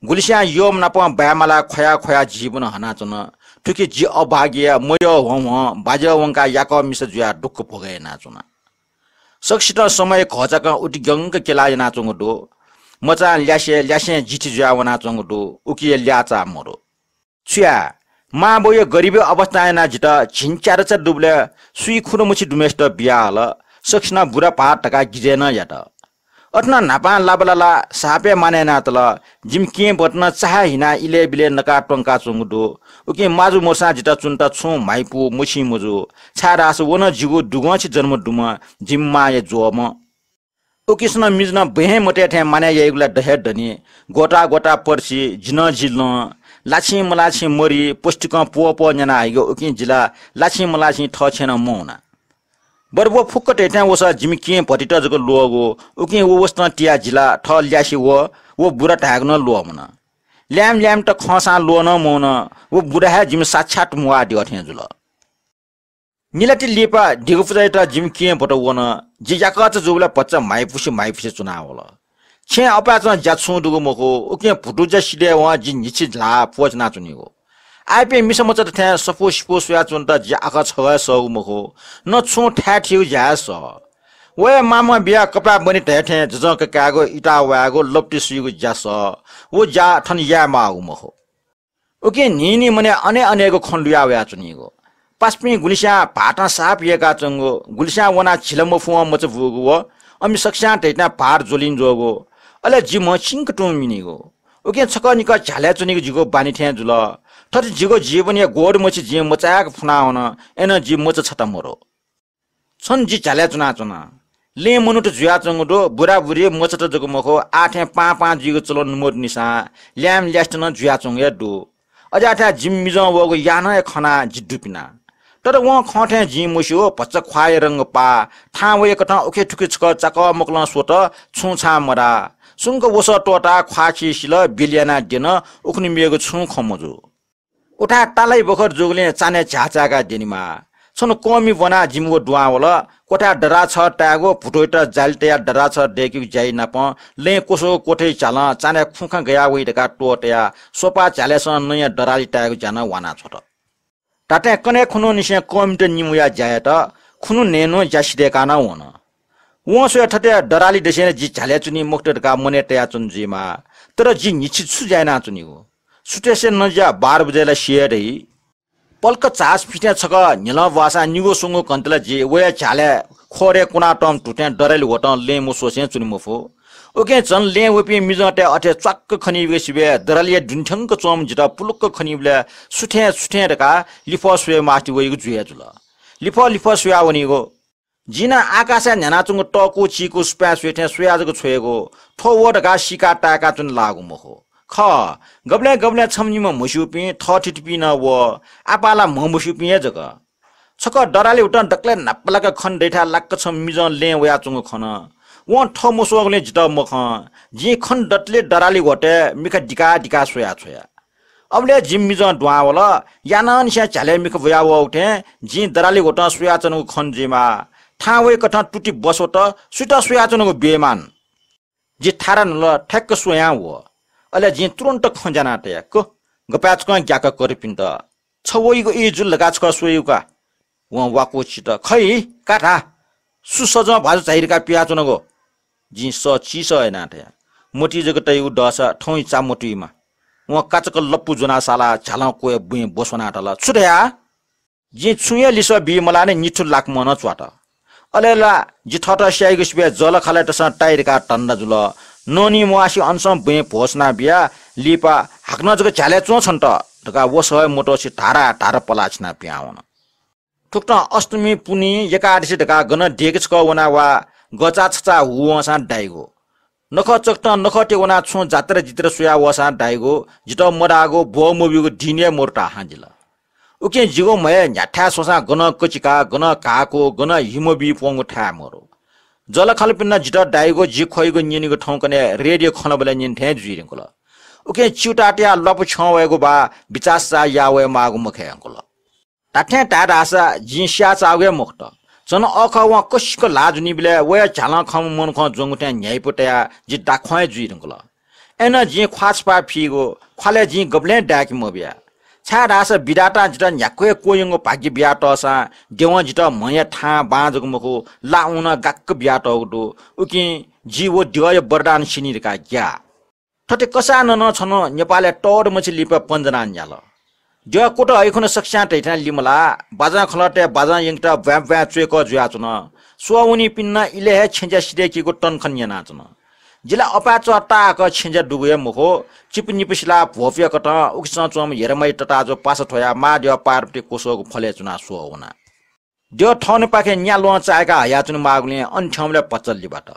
गुलिस्यां यःम्ह नाप बाय्मालाः ख्वया ख्वया जीवन हनाच्वन। थुकी जि अभागिया मयः ह्वं ह्वं बाज्याः वंकाः याकः मिसा जुयाः दुःख भोग यानाच्वना। सकसितं समय घःचाकं उतिग्यंक क्यला यानाच्वंगु दु। मचां ल्यासे, ल्यासें जिथि जुयाः वनाच्वंगु दु। उकिया ल्याःचाः मदु। छु याये, मांबौया गरिबया अवस्थां यानाः जितः झिंच्यादँचा दुबलय् सुइ खुदँ मछि दुम्हय्सित बियाहल। सकसिनं बुरा भाःत धकाः गिजय् नं यात। अथे नं न्हापां लाबालालाः साप हे मानय् यानातल। जिमि केहेँ भति नं चाःहाय् हिनाः इलय् बिलय् नकाः त्वंकाच्वंगु दु। उकिं माजु मदुसां जितः च्वनेत छुं म्हाइपु मछिं मजू, छाय्धाःसा व नं जिगु दुगंछि जन्म दुम्ह जिमि मांया ज्वःम्ह। उकिसनं मिजं नं बँय् हे मतये थें मानय् याइगु ला द हे दनि। ग्वता ग्वता पर्सि, जि नं जि लं। लाछिं मलाछिं मरि, पौष्टिकं प्वःप्वः न्याना हइगु। उकिं जि ला लाछिं मलाछिं थः छेँय् नं मवना। बरु व फुक्क धइथें वसः जिमि केहेँ भतित जक ल्वःगु। उकिं व वसतं तियाः जि ला थः ल्यासे वः, व बुरा धायेगु नं ल्वःमन। ल्याय्म्ह ल्याय्म्हत खंसां ल्वः नं मवन। व बुरा हे जिमि साक्षात म्वाः द्यः थें जुल। निलाति लिपा दिगु पुजायात जिमि केहेँ भति वन। जि याकःचा जूबलय् भचा म्हाइपुसे म्हाइपुसे च्वनावल। छेँय् अपाय्चं ज्या छुं दुगु मखु। उकिं भुतुज्या सिधय्वं जि न्हिच्छि ल्हाः प्वःछिनाच्वनीगु। आःयापिं मिसामचात थें सफू सिफू स्वयाच्वनेत जि आखः छगः हे सःगु मखु, न छुं थाय् थीगु ज्या हे सः। व हे मामं बियाः कपाय् बनि धयाथें जजं ककायेगु, इताः वायेगु, लप्ति सुइगु ज्या सः। व ज्या थन याये माःगु मखु। उकिं न्हिं न्हिं मनय् अनेक अनेक खँ लुया वयाच्वनीगु। पासापिं गुलिस्यां भाःतं साप यय्काच्वंगु, गुलिस्यां वनाः झिला मफुवं मचा बूगु व अमि सकस्यां धइथें भाःत ज्वलिं ज्वःगु, अले जि म्ह सिंक तुं मिनीगु। उकिं छकः निकः झ्यालय् च्वनीगु जिगु बानी थें जुल। थथे जिगु जीवनया ग्वदुमछि जिं मचाय्क फुनावन, अय्नं जि मचा छता मदु। छन्हु जि झ्यालय् च्वनाच्वना। लँय् मनूत जुयाच्वंगु दु, बुराबुरी मचात जक मखु, आः थें पां पां जुइगु चलन मदुनिसां ल्याय्म्ह ल्यासेत नं जुयाच्वंगु हे दु। अज्याःथाय् जिमि मिजं वःगु याहानं हे खनाः जि दुपिना। तर वं खं थें जिं मस्यू, भचा ख्वाःया रंग पाः। थाहां वय्कथं उखे थुखे छकः चाकः मकलं स्वत, छुं छां मधाः। सुंक वसः त्वःताः ख्वाः खी सिल, बिल यानाः द्यन, उखुन्हु मेगु छुं खँ मजू। उथाय् तालाइ बखर जूगुलिं चान्हय् झ्याः चाय्काः द्यनेमाः। छन्हु कःमि ब्वनाः जिमि व दुहां वल। क्वथाय् दराः छः तायेगु, भुतुइत जालि तयाः दराः छः दय्केगु ज्याइ नापं लँय् क्वसःगु क्वथय् झ्यालं चान्हय् खुंखा गया वइ धकाः त्वःतयाः स्वपाः झ्यालय्सं नँया दरालि तायेगु ज्या नं वाना छ्वत। धात्थें कन्हय् खुन्हुनिसें कःमित निम्ह वयाः ज्या यात, खुन्हु न्हय्न्हु ज्या सिधय्काः नं वन। वं स्वये थथे दरालि दसें जि झ्यालय् च्वनी मखुत धकाः मनय् तयाच्वना जुइमाः, तर जि न्हिच्छि छु ज्या यानाच्वनीगु? सुथय्सं नज्या बाह्र बजे ला सिये दइ। पलख झास फिथें छकः न्हिलं ब्वाःसां निगू स्वंगू घण्टा ला जि वया झ्यालय् ख्वरय् कुनातःम्ह धुथें दरालि ह्वतं लँय् मस्वसें च्वने मफु। उकिं झन लँय् वःपिं मिजंतय् अथे च्वाक्क खनीबलय् सिबय् दरालिया दुने थ्यंक च्वंम्ह जितः पुलुक्क खनीबलय् सुथय् सुथय् धकाः लिफः स्वये मास्ति वइगु जुया जुल। लिफः लिफः स्वया वनीगु। जिं नं आकाशय् न्ह्यानाच्वंगु तःकू चीकू सुपाँय् स्वये थें स्वया जक छ्वयेगु, थ्व व धकाः सीकाः ताय्काः च्वने लाःगु मखु। खः, गबलें गबलें छम्ह निम्ह म्हस्यूपिं, थःथितिपिं नं व, आपाः ला म्हमस्यूपिं हे जक। छकः दरालि हुतं दकलय् न्हापालाक खने दइथाय् लाक्क छम्ह मिजं लँय् वयाच्वंगु खन। वं थः मस्वःगुलिं जितः मखं। जिं खने दतले दरालि ह्वतय् मिखा दिकाः दिकाः स्वया छ्वया। अबलय् जिमि मिजं दुहां वल। यानानिसें झ्यालय् मिखा ब्वया वःगु थें जिं दरालि ह्वतं स्वयाच्वनागु खन जुइमाः। थाहां वय्कथं तुति बस्वत, सुइत स्वयाच्वनागु बेमान। जि थारा न्हुल, ठ्याक्क स्वयां वः। अले जिं तुरुन्त खँ ज्यानाः तया, क, गपाय् छकं ग्याक कर्पिन्त। छ वइगु ई जुल धकाः छकः स्वइगु का? वं वाकु चित। खइ, का धा। सु सजं भाजु झाइ धकाः पियाच्वनागु? जिं सः चिसः यानाः धया, मतिइ जक तइगु दःसा थौंइ चा मतुइमा। वं काचक लप्पु ज्वनाः सालाः झ्यालं क्वय् बुँइ ब्वस्वनाः धाल, छु धया? जिं छुं हे लिसः बी मलानि निथु लाकमं नं च्वात। अले ला जि थःत स्याइगु सिबय् जःलाखःलातय्सं ताइ धकाः धन्दा जुल। ननी म्वाःसे अनसं बुँइ भ्वसुना बियाः लिपा हाकनं जक झ्यालय् च्वँ छन्त धकाः वसः हे मतसे धारा धारा पलाः छिनाः पिहां वन। थुकथं अष्टमी, पुन्हि, एकादशी धकाः गनं देगः छकः वना वा गचा छचा हु वंसां दाइगु। नखः चकथं नखःतय् वनाः छुं जात्रा जित्रा स्वया वःसां दाइगु, जितः मधाःगु, ब्वः मब्यूगु दिं हे मदु धाःसां जिल। उकिं जिगु म्हय् न्ह्याथाय् स्वसां गनं कचिकाः, गनं घाःकू, गनं हिमबी प्वंगु थाय् मदु। जःलाखःलापिन्त जितः दाइगु, जि ख्वइगु न्यनीगु थौंकन्हय् रेडियो खँल्हाबल्हा न्यने थें जुइ धुंकल। उकिं च्यूताः तयाः ल्वापु छ्यं वयेगु वा बिचाः साचाः याः वये माःगु मखय् धुंकल। धात्थें धाये धाःसा जिं स्याःचाःगु हे मखुत। झन अःखः वं कसिक ल्हाः ज्वनीबलय् वया झ्यालं खंम्ह मनुखं ज्वंगु थें न्ह्याइपु तयाः जि दाख्वं हे जुइ धुंकल। अय्नं जिं ख्वाः छपाः फीगु, ख्वालय् जिं गबलें दाय्के मबिया। छाय्धाःसा विधातां जितः न्ह्याक्व हे क्वह्यंगु भाग्य बियातःसां द्यवं जितः म्हया थां बां जक मखु, ला ऊँ नं गाक्क बियातःगु दु। उकिं जि व द्यःया वरदान सिनि धकाः ग्याः। थथे कसाः नं नं छन्हु नेपालय् तःधंम्ह छि लिपा पञ्जनाः न्याल। द्यः कुतः अय्खुन्हु सकस्यां धइथें लिमलाः, बाजं खलःतय् बाजं यंकेत ब्वाँय् ब्वाँय् च्वय्कः जुयाच्वन। स्वः वनीपिन्नं इलय् हे छेँज्या सिधय्कीगु तनखन यानाच्वन। जि ला अपाय् च्वः ताःहाकः छेँज्या दुगु हे मखु, चिपु निपु सिलाः भ्वपुया कथं उखेसं च्वंम्ह हेरमाइ तताजु पासा थ्वयाः मां द्यः पार्वती क्वसःगु फलय् च्वनाः स्वः वना। द्यः थःन्हुपाखें न्या ल्वहं चाय्काः हयाच्वने माःगुलिं अन थ्यंबलय् भचा लिबात।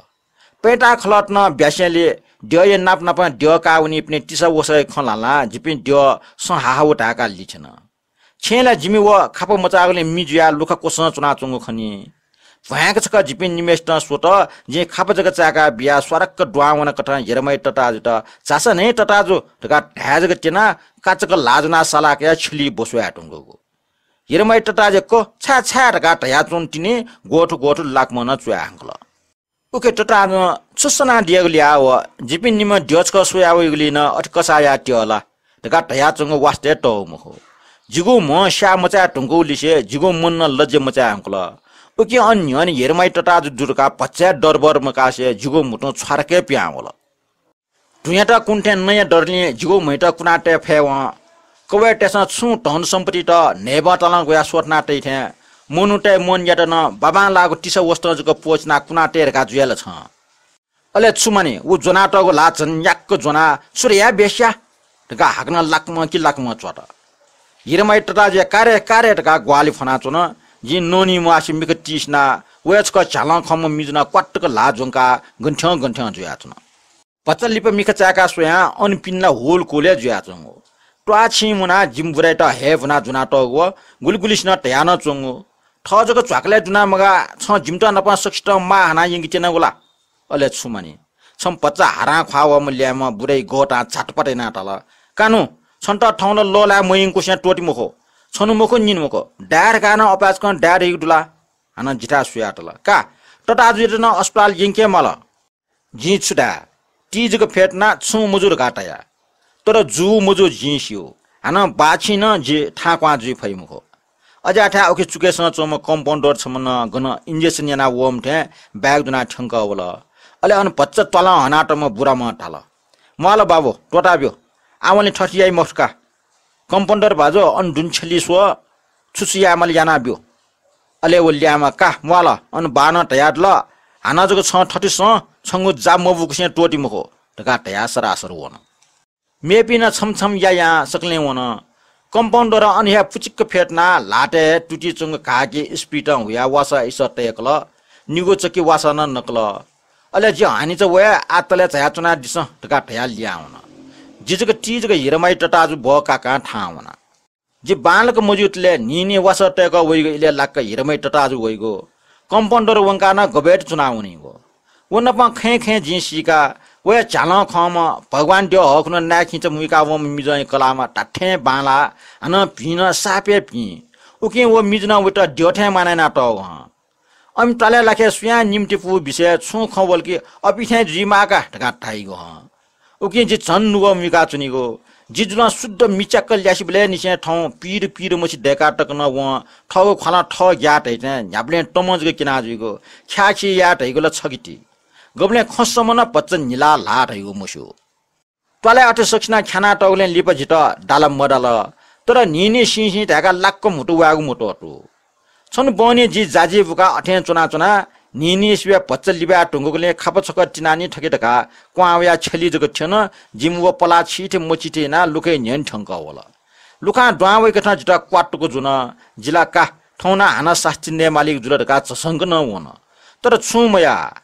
पय्ताः खलःत नं ब्यासेंलि द्यःया नाप नापं द्यः काः वनीपिनि तिसा वसःया खँ ल्हालां जिपिं द्यः सँ हाहाउ धाय्काः लिथ्यन। छेँय् ला जिमि व खापा मचाःगुलिं मि जुयाः लुखा क्वसं च्वनाच्वंगु खनी। भ्वाँय्क छकः जिपिं निम्हय्सितं स्वत, जिं खापा जक चाय्काः बियाः स्वारक्क दुहां वनाकथं हेरमाइ तताजुयात झासँ न्हय् तताजु धकाः धाये जक त्यनाः काचक ल्हाः ज्वनाः सालाः कयाः छ्यलिइ ब्वस्वाये धुंकूगु। हेरमाइ तताजुया क छाय् छाय् धकाः धयाच्वंतिनि ग्वथु ग्वथु लाकमं नं च्वया हंकल। उखे तताजुं छु सनादियागु ल्याः व जिपिं निम्ह द्यः छकः स्वया वइगुलिं नं अथे कसाः याः त्यः ला धकाः धयाच्वंगु वास्ता हे तःगु मखु। जिगु म्ह स्याः मचाये धुंकूगु लिसे जिगु मन नं लज्या मचाये हंकल। उकिं अन न्ह्यःने हेरमाइ तताजु दु धकाः भचा हे डरबर मकासे जिगु म्हुतुं छ्वारक हे पिहां वल। धुँयात कुने थें नँया दरलिं जिगु म्हयात कुना तये फयेवं कवय्तय्सं छुं धन सम्पत्तित न्हय्बं तालं ग्वयाः स्वथना तइ थें मनूतय् मनयात नं बाबांलाःगु तिसा वसतं जक प्वःचिनाः कुना तये धकाः जुया ला छं? अले छु मानि, व ज्वनातःगु ल्हाः झन न्याक्क ज्वनाः छु धया बेस्या धकाः हाकनं लाकमं कि लाकमं च्वत। हेरमाइ तताजुया का रे का रे धकाः ग्वाहालि फ्वनाच्वन। जिं ननी म्वाःसे मिखा तिसिनाः वया छकः झ्यालं खंम्ह मिजु नं क्वातुक ल्हाः ज्वंकाः गन थ्यं गन थ्यं जुयाच्वन। भचा लिपा मिखा चाय्काः स्वयां अन पिने ला हुलकुल हे जुयाच्वंगु। त्वाःछिं मुनाः जिमि बुराइत हये भुना ज्वनातःगु व गुलिगुलिसिनं धया नं च्वंगु। थः जक झ्वाकलय् दुना मगाः, छं जिमित नापं सकसितं माः हानाः यंके त्यनागु ला? अले छु मानि? छम्ह भचा हारां ख्वाः वःम्ह ल्याय्म्ह बुराइ गःतां झातपात यानाः धाल, "कानु, छन्त थौं ला लःल्हाये मयंकुसें त्वःति मखु। छन्हु मखु, निन्हु मखु, दाये धकाः नं अपाय्सकं दाये धइगु दु ला?" हानं जिथाय् स्वयाः धाल, "का, तताजुयात नं अस्पताल यंके माल।" जिं छु धाये? ति जक फ्यतुनाः छुं मजू धकाः धया। तर जू मजू जिं स्यू। हानं बाःछिं नं जि थाहां क्वहां जुइ फइ मखु। अज्याःथाय् उखे चुकेसं च्वंम्ह कम्पाउन्डर छम्ह नं गन injection यानाः वःम्ह थें bag ज्वनाः थ्यंकः वल। अले अन भचा त्वालं हनातःम्ह बुराम्हं धाल, "म्वाःल बाबु, त्वःताब्यु। आवंलि थथे याइ मखु का। कम्पाउन्डर भाजु, अन दुने छ्यलि स्व, छु छु यायेमाल यानाब्यु।" अले व ल्याय्म्ह, "का, म्वाःल, अन बाःनं धयादिल, हानं जक छं थथे सँ, छंगु जा मबूकुसें त्वःति मखु" धकाः धयाः सरासर वन। मेपिं नं छम्ह छम्ह यायां सकलें वन। कम्पाउन्डरं अन हे पुचिक्क फ्यतुनाः ल्हातय् तुतिच्वंगु घाःके इस्पितं हुयाः वासः इसः तय्कल, निगू चकि वासः नं नकल। अले "जि हानिचा वये, आः तलय् झायाच्वनादिसँ" धकाः धयाः लिहां वन। जि जक ति जक हिरमाइ तताजु ब्वः काकां थाहां वना। जि बांलाक मज्यूतले न्हिं न्हिं वासः तय्कः वइगु इलय् लाक्क हिरमाइ तताजु वइगु। कम्पाउन्डर वंकाः नं गबय्त च्वनावनीगु। व नाप खँय् खँय् जिं सीका, वया झ्यालं खंम्ह भगवान द्यः हःखुन्हु नाय् खिंचा मुइका वंम्ह मिजंया कलाःम्ह धात्थें बांलाः, हानं भिं नं सापय् भिं। उकिं व मिजनं वइत द्यः थें मानय् यानातःगु हं। अमि त्वालय् लाखे सुयां निम्ति पू बिषयय् छुं खँ वल कि अपिं थें जुइमाः का धकाः धाइगु हं। उकिं जि झन नुगः मुइकाच्वनीगु। जि जुलं शुद्ध मिच्याक्क ल्यासिबलय् निसें थौं पीर पीर मछि दय्काः तक नं वं थःगु ख्वालं थः ग्याः धइथें न्ह्याबलें तमं जक क्यना जुइगु। ख्याःखी याये धइगु ला छगि ति। गबलें खँ सम्म नं भचा न्हिलाः ल्हाः धइगु मस्यू। त्वालय् अथे सकसिनं ख्यानातःगुलिं लिपा जितः दाल मदाल, तर न्हिं न्हिं सिं सिं धाय्काः लाक्क म्हुतु वायेगु मत्वःतू। छन्हु बहनी जि जाजि बुकाः अथें च्वनाच्वना। न्हिं न्हिं सिबय् भचा लिबाय् धुंकूगुलिं खापा छकः तिनानि थके धकाः क्वहां वयाः छ्यलि जक थ्यन। जिमि व पलाः छिथि मछिथि यानाः लुखय् न्ह्यःने थ्यंकः वल। लुखां दुहां वइकथं जितः क्वातुक जुन। जि ला का, थौं नं हानं सास्ती नयेमालीगु जुल धकाः झसंक नं वन। तर छुं मयाः।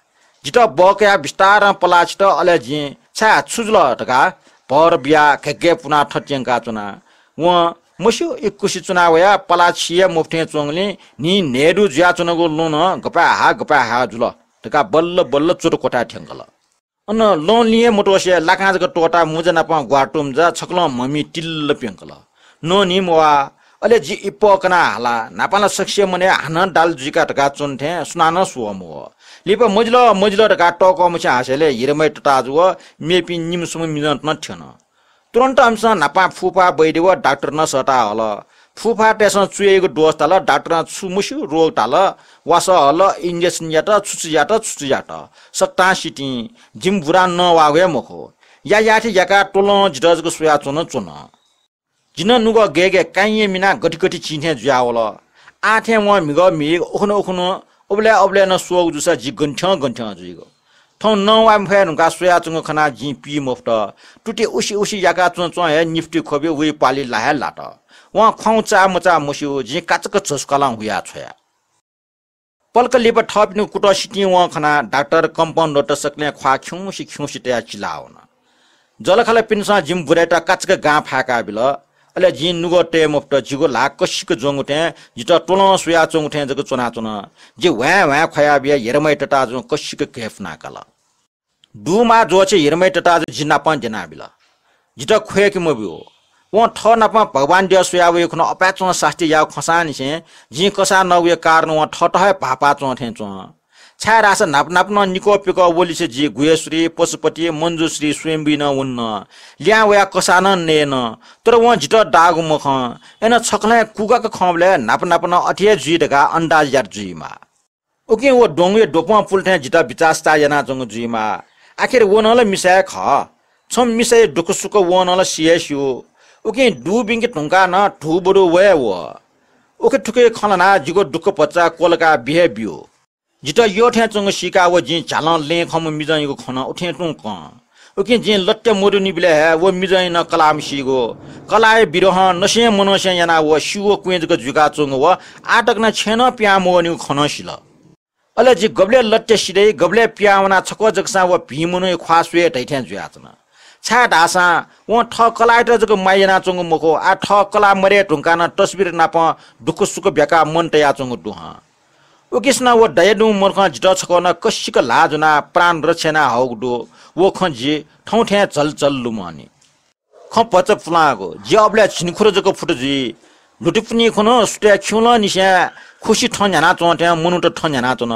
जितः बहकयाः बिस्तारं पलाः छित, अले जिं "छाय्, छु जुल?" धकाः भर बियाः घय्घय् पुनाः थथे यंकाच्वना। वं मस्यू इकुसि च्वना वयाः पलाः छि हे मफुथें च्वंगुलिं न्हिं न्हय्दु जुयाच्वनागु लँ नं गपाय् हा गपाय् हा जुल धकाः बल्ल बल्ल च्वत क्वथाय् थ्यंकल। अन लँ लिं हे मत्वःसे लाकां जक त्वःताः मुजा नाप ग्वातुमुजा छकलं म्हमि तिल्ल प्यंकल। नःन्हि म्वाः। अले जि इप्पः कनाः हाला, न्हापां ला सकसिया मनय् हानं दाल जुइका धकाः च्वन थें सुनानं स्वः मवः। लिपा मजिल मजिल धकाः तःकः मछि हासेलय् हिरमय् तताजु व मेपिं निम्ह स्वम्ह मिजंत नं थ्यन। तुरन्त अमिसं न्हापां फुफा, वैद्य व डाक्टर नं सःता हल। फुफातय्सं छु याइगु दोष धाल, डाक्टरं छु मस्यू रोग धाल, वासः हल, injection यात, छु छु यात, छु छु यात। सकतां सितिं। जिमि बुरां नवाःगु हे मखु। या याथे याकाः त्वलं जितः जक स्वयाच्वन च्वन। जि नं नुगः गय् गय् काइँया मिनाः गथि गथि चिं थें जुयावल। आः थें वं म्हिगः म्हिगः उखुन्हु उखुन्हु उबलय् उबलय् नं स्वःगु जूसा जि गन थ्यं गन थ्यं जुइगु। थौं नवाये मफये धुंकाः स्वयाच्वंगु खनाः जिं पी मफुत। तुति उसि उसि याकाच्वं च्वं हे निफुति ख्वबि वइ पालि ला हे लात। वं ख्वाउँ चाः मचाः मस्यू, जिं काचाक्क झसुकालं हुया छ्वया। पलख लिपा थःपिनिगु कुतः सितिं वं खनाः डाक्टर, कम्पाउन्डरत सकलें ख्वाः खिउँसे खिउँसे तयाः चिलावन। जःलाखःलापिन्सं जिमि बुराइत काचाक्क गां फाय्का बिल। अले जिं नुगः तये मफुत, जिगु ल्हाः कसिक ज्वंगु थें, जितः त्वलं स्वयाच्वंगु थें जक च्वनाच्वन। जि ह्वाँय् ह्वाँय् ख्वया बियाः हिरमय् तताजुं कसिक घय्पुना काल। दुमाः ज्वःछि हिरमय् तताजु जि नापं द्यनाबिल। जितः ख्वय्के मब्यू। वं थः नापं भगवान द्यः स्वया वइखुन्हु अपाय्च्वं सास्ती याःगु खंसांनिसें जिं कसाः नःगुया कारण वं थःत हे भाःपाः च्वं थें च्वं। छाय्धाःसा न्हापा न्हापा नं निकः पिकः वलिसे जि गुह्येश्वरी, पशुपति, मञ्जुश्री, स्वयम्भुइ नं वन्न। लिहां वयाः कसाः नं नयेन। तर वं जितः दाःगु मखं। अय्नं छकलं हे कुगाक खंबलय् न्हापा न्हापा नं अथे हे जुइ धकाः अन्दाज यात जुइमाः। उकिं व द्वंगुया द्वपं पुल थें जितः बिचाः सिचाः यानाच्वंगु जुइमाः। आखिर व नं ला मिसा हे खः। छम्ह मिसाया दुःखसुख वं नं ला सि हे स्यू। उकिं दुबिंके धुंकाः नं धुबदु वये वः। उखेथुखे खँ ल्हानाः जिगु दुःख भचा क्वलकाः बि हे ब्यू। जितः यःथें च्वंगु सीकाः व जिं झ्यालं लँय् खंम्ह मिजंयागु खँ नं उथें तुं कं। उकिं जिं लत्या मदुनिबलय् हे व मिजंया नं कलाः मसीगु। कलाःया विरहं नसें मनसें यानाः व स्यू व क्वँय् जक जुइकाच्वंगु व आः तक नं छेँय् नं पिहां मवःनिगु खँ नं सिल। अले जि गबलय् लत्या सिधइ, गबलय् पिहां वनाः छकः जकसां व भिं मनूया ख्वाः स्वये धइथें जुयाच्वन। छाय्धाःसा वं थः कलाःयात जक माया यानाच्वंगु मखु, आः थः कलाः मदये धुंकाः नं तस्बिर नाप दुःख सुख ब्याकाः मन तयाच्वंगु दु हं। उकिसनं व दयादुम्ह मनुखं जितः छकः नं कसिक ल्हाः ज्वनाः प्राण रक्षा याना हःगु दु। व खँ जि थौं थें झलझल लुमंनि। खँ भचा पुलांगु, जि अबलय् झिंखुदँ जक फुत जुइ। ल्हुतिपुन्हि खुन्हु सुथय् खिउँलंनिसें खुसि थँ न्ह्यानाच्वं थें मनूत थँ न्ह्यानाच्वन।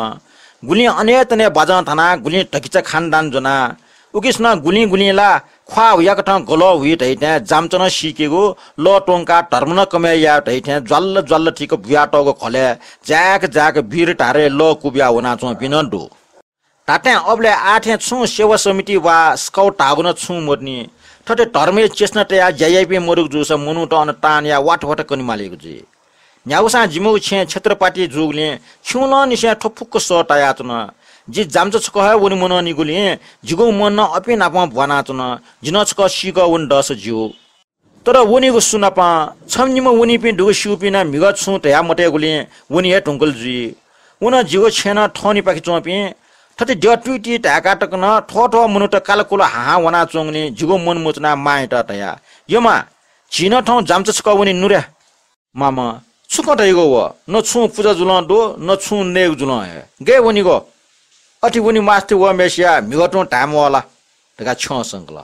गुलिं अनेतने बाजं थानाः गुलिं धकिचा खानदान ज्वनाः उकिसनं गुलिं गुलिं ला ख्वाः हुयाकथं गलः हुइ धइथें जामचनं सीकेगु, लः त्वंकाः धर्म नं कमय् याये धइथें ज्वाल्ल ज्वाल्ल थीक बुयातःगु घलय् जाय्क जाय्क वीर धारे लः कुबिया वनाच्वंपिं नं दु। धात्थें अबलय् आः थें छुं सेवा समिति वा स्काउट धाःगु नं छुं मदुनि। थथे धर्मया चेष्टा तयाः ज्या याइपिं मदुगु जूसा मनूत अन तानया वात वात कनेमालीगु जुइ। न्ह्यागुसां जिमिगु छेँ क्षेत्रपाटी जूगुलिं खिउँलंनिसें थ्व फुक्क सः तायाच्वन। जि जामचा छकः हे वने मनंनिगुलिं जिगु मन नं अपिं नाप ब्वानाच्वन। जि नं छकः सीकः वने दःसा ज्यू। तर वनीगु सु नाप? छम्ह निम्ह वनीपिं दुगु स्यूपिं नं म्हिगः छुं धया मतयेगुलिं वने हे धुंकल जुइ। व नं जिगु छेँ नं थःनिपाखे च्वंपिं। थथे द्यः तुइति धाय्का तक नं थ्वः थ्वः मनूत कालकुल हाहां वनाच्वंगुलिं जिगु मन मचुनाः मांयात धया, "यमा, झी नं थौं जामचा छकः वने नु रे।" मामं, "छु खँ धइगु व? न छुं पुजा जुलं दु, न छुं नयेगु जुलं हे। गय् वनीगु? अथे वने मास्ति वःम्हय्सिया म्हिगः तुं धाये म्वाः ला?" धकाः छ्यं संकल।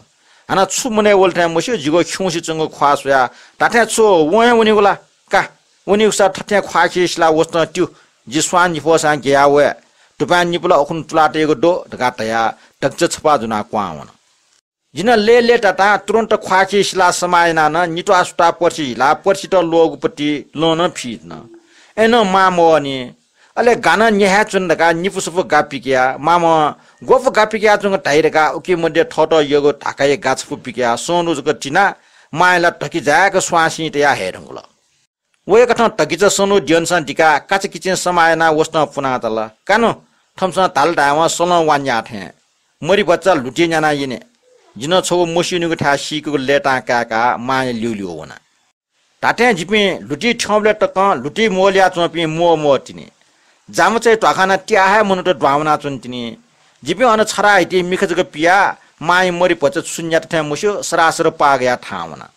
हानं छु मनय् वल थें मस्यू, जिगु खिउँसे च्वंगु ख्वाः स्वयाः, "धात्थें छु वं हे वनीगु ला? का, वनीगुसा थथें ख्वाःखि सिलाः वसतं त्यु। जि स्वां निफःसां ग्यया वये। दुपां निपु ला उखुन्हु तुलातयागु दु," धकाः धयाः धकिचा छपाः ज्वनाः क्वहां वन। जि नं लय्‌लय्‌तातां तुरुन्त ख्वाःखि सिलाः समाः यानाः नं नित्वाः सुताः पर्सि हिलाः पर्सित ल्वःगु पति लं नं फीधुन। अय्‌नं मां मवःनि। अले गा नं न्याहाय् च्वन धकाः निपु सफू गा पिकयाः मामं, "ग्वपु गा पिकयाच्वंगु धाइ?" धकाः उकी मध्ये थःत यःगु धाकाया गा छपु पिकयाः सनु जक तिनाः मांया ला धकिजाय्‌क स्वांसिं तयाः हये धुंकल। वय्‌कथं धकिचा सनु द्यःसां दिकाः काचाकिचिं समाः यानाः वसतं पुनातल। "का नु, थःम्हसं धाल धायेवं सलं वा न्याः थें। मरि भचा ल्हुतिइ न्यानाः यने।" जि नं छगू मस्यूनिगु थाय् सीकेगु लय्‌तां काय्‌काः मांया ल्यूल्यू वना। धात्थें जिपिं ल्हुतिइ थ्यंबलय् तकं ल्हुतिइ म्वःल्हुयाच्वंपिं म्वः म्वः तिनि। जामचाया ध्वाखानां त्याः हे मनूत दुहां वनाच्वन तिनि। जिपिं अन छराः हितिइ मिखा जक पियाः मांया मरि भचा छु न्यात थें मस्यू, सरासर पाः गयाः थाहां वना।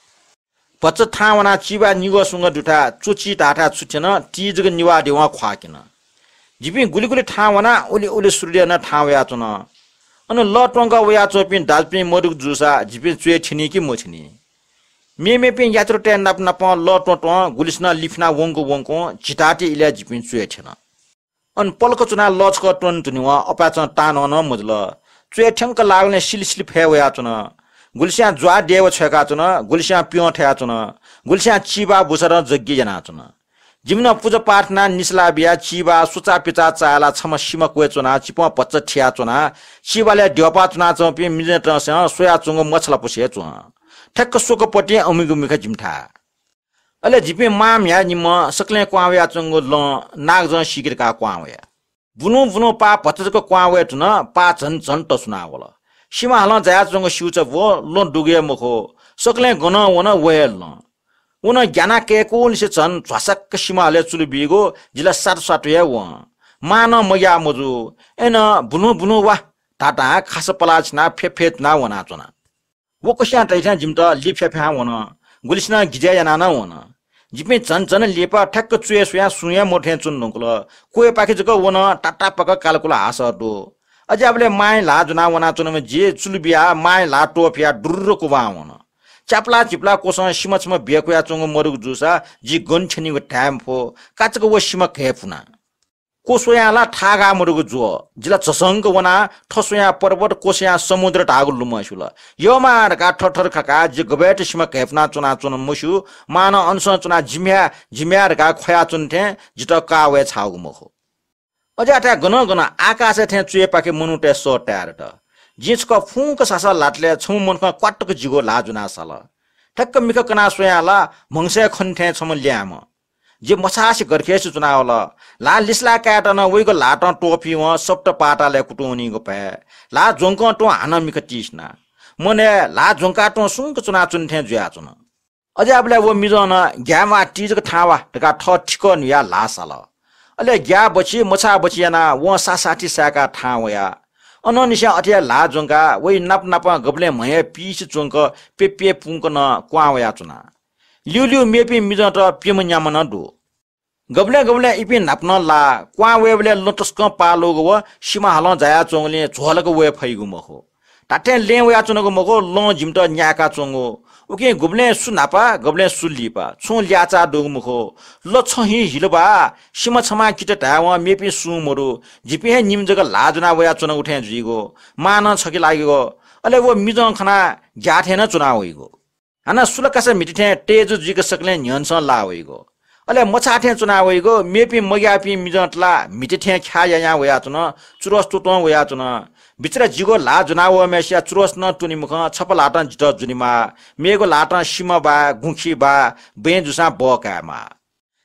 भचा थाहां वनाः चिबाय् निगः स्वंगः दुथाय् च्वचि धाःथाय् छु थ्यन, ति जक निवाः देवं ख्वाःक्यन। जिपिं गुलि गुलि थाहां वनाः उलि उलि सूर्योदय नं थाहां वयाच्वन। अन लः त्वंकः वयाच्वंपिं दाजुपिं मदुगु जूसा जिपिं च्वय् थ्यनी कि मथ्यनी? मेमेपिं यात्रुतय् नाप नापं लः त्वँ त्वं गुलिसिनं लिफिनाः वंक वंक झिताःति इलय् जिपिं च्वय् थ्यन। अन पलख च्वनाः लः छकः त्वने धुनेवं अपाय्‌चं तानं नं मजुल। च्वय् थ्यंक लाःगुलिं सिलि सिलि फय् वयाच्वन। गुलिस्यां ज्वाः देवा छ्वय्‌काच्वन, गुलिस्यां प्यं थयाच्वन, गुलिस्यां चिबाः बुसारं जग्गी यानाच्वन। जिमिसं पुजा पाठ यानाः निसलाः बियाः चिबाः सुचा पिचा चाय्‌लाः छम्ह सिमा क्वय् च्वनाः चिपं भचा थियाच्वनाः चिबालय् द्यःपाः च्वनाच्वंपिं मिजंतय्‌सं स्वयाच्वंगु मछालापुसे च्वं। ठ्याक्क स्वकपतिं अमिगु मिखा जिमिथाय्। अले जिपिं मां म्ह्याय् निम्हं सकलें क्वहां वयाच्वंगु लँ नागजं सीके धकाः क्वहां वया। बुलुं बुलुं पाः भचा जक क्वहां वये धुन, पाः झन झन तसुना वल। सिमा हालं जायाच्वंगु स्यूचा ब्व लँ दुगु हे मखु, सकलें गनं वन व हे लँ। व नं ग्यानाः कय्‌कुंनिसें झन झ्वासाक्क सिमा हालय् चुलु बीगु जिला सातु सातु हे वं। मां नं मग्याः मजू। अय्‌नं बुलुं बुलुं वा धाधां खासा पलाः छिनाः फ्यफे धुनाः वनाच्वना। व कुस्यां तइथें जिमित लिफ्याफ्यां वन। गुलिसिनं गिजय् यानाः नं वन। जिपिं झन झन लिपा ठ्याक्क च्वय् स्वयां सुं हे मदु थें च्वने धुंकल। क्वय्‌पाखे जक वन तातापाक कालकुल हासः दु। अज्याःबलय् मांया ल्हाः ज्वनाः वनाच्वनाम्ह जि चुलु बियाः मांया ल्हाः त्वःफियाः दुर्र कुबां वन। च्यापला झिपला क्वसं सिमा छम्ह ब्यकुयाच्वंगु मदुगु जूसा जि गन थ्यनीगु धाये मफु। काचाक्क व सिमा घय्‌पुना। क्वस्वयां ला थाःगाः मदुगु ज्वः। जि ला झसंक वनाः थस्वयां पर्वत, क्वस्वयां समुद्र धाःगु लुमं स्युल। यःमां धकाः थरथर खकाः जि गबय्‌त सिमा घय्‌पुना च्वनाच्वन मस्यू, मां नं अनसं च्वनाः जिम्ह्याय्, जिम्ह्याय् धकाः ख्वयाच्वन थें जितः काः वये छाःगु मखु। अज्याःथाय् गनं गनं आकाशय् थें च्वय्‌पाखे मनूतय् सः ताये दत। जिं छकः फुंक सासः ल्हातले छम्ह मनुखं क्वातुक जिगु ल्हाः ज्वनाः साल। ठ्याक्क मिखा कनाः स्वयां ला म्हगसय् खनी थें छम्ह ल्याय्म्ह। जि मछासे गरखेसे च्वनावल। ल्हाः लिसलाः कायेत नं वइगु ल्हातं त्वःफिवं सप्त पातालय् कुतुं वनीगु भय। ल्हाः ज्वंकं तुं हानं मिखा तिसिना। मनय् ल्हाः ज्वंकाः तुं सुंक च्वनाच्वने थें जुयाच्वन। अज्याःबलय् व मिजं नं ग्याय्म्वाः ति जक थाहां वा धकाः थः थिकः न्हुयाः ल्हाः साल। अले ग्याः बछि मछाः बछि यानाः वं सासाथि साय्‌काः थाहां वया। अनंनिसें अथे हे ल्हाः ज्वंकाः वइ नाप नापं गबलें म्हय् पिइसे च्वंक प्यप्यपुंक नं क्वहां वयाच्वना। ल्यूल्यू मेपिं मिजंत प्यम्ह न्याम्ह नं दु। गबलें गबलें इपिं न्हापा नं लाः। क्वहां वयेबलय् लँ तसकं पाः ल्वःगु व सिमा हालं जायाच्वंगुलिं झ्वलक वये फइगु मखु। धात्थें लँय् वयाच्वनागु मखु, लँ जिमित न्याय्काच्वंगु। उकिं गुबलें सु न्हापा, गबलें सु लिपा, छुं ल्याःचाः दुगु मखु। लँ छहिं हिल बा, सिमा छमां कित धायेवं मेपिं सुं मदु। जिपिं हे निम्ह जक ल्हाः ज्वना वयाच्वनागु थें जुइगु। मां नं छखे लाइगु। अले व मिजं खनाः ग्याः थें नं च्वना वइगु। हानं सुलाकासा म्हिति थें तेजु जुइक सकलें न्ह्यःनेसं लाः वइगु। अले मछाः थें च्वना वइगु। मेपिं मग्याःपिं मिजंत ला म्हिति थें ख्याः यायां वयाच्वन, चुरस त्वत्वं वयाच्वन। बिचरा जिगु ल्हाः ज्वना वःम्हेसिया चुरस नं त्वने मखं, छपा ल्हातं जितः ज्वनेमाः, मेगु ल्हातं सिमा बाय्, गुँखि बाय्, बँय् जूसां बः कायेमाः।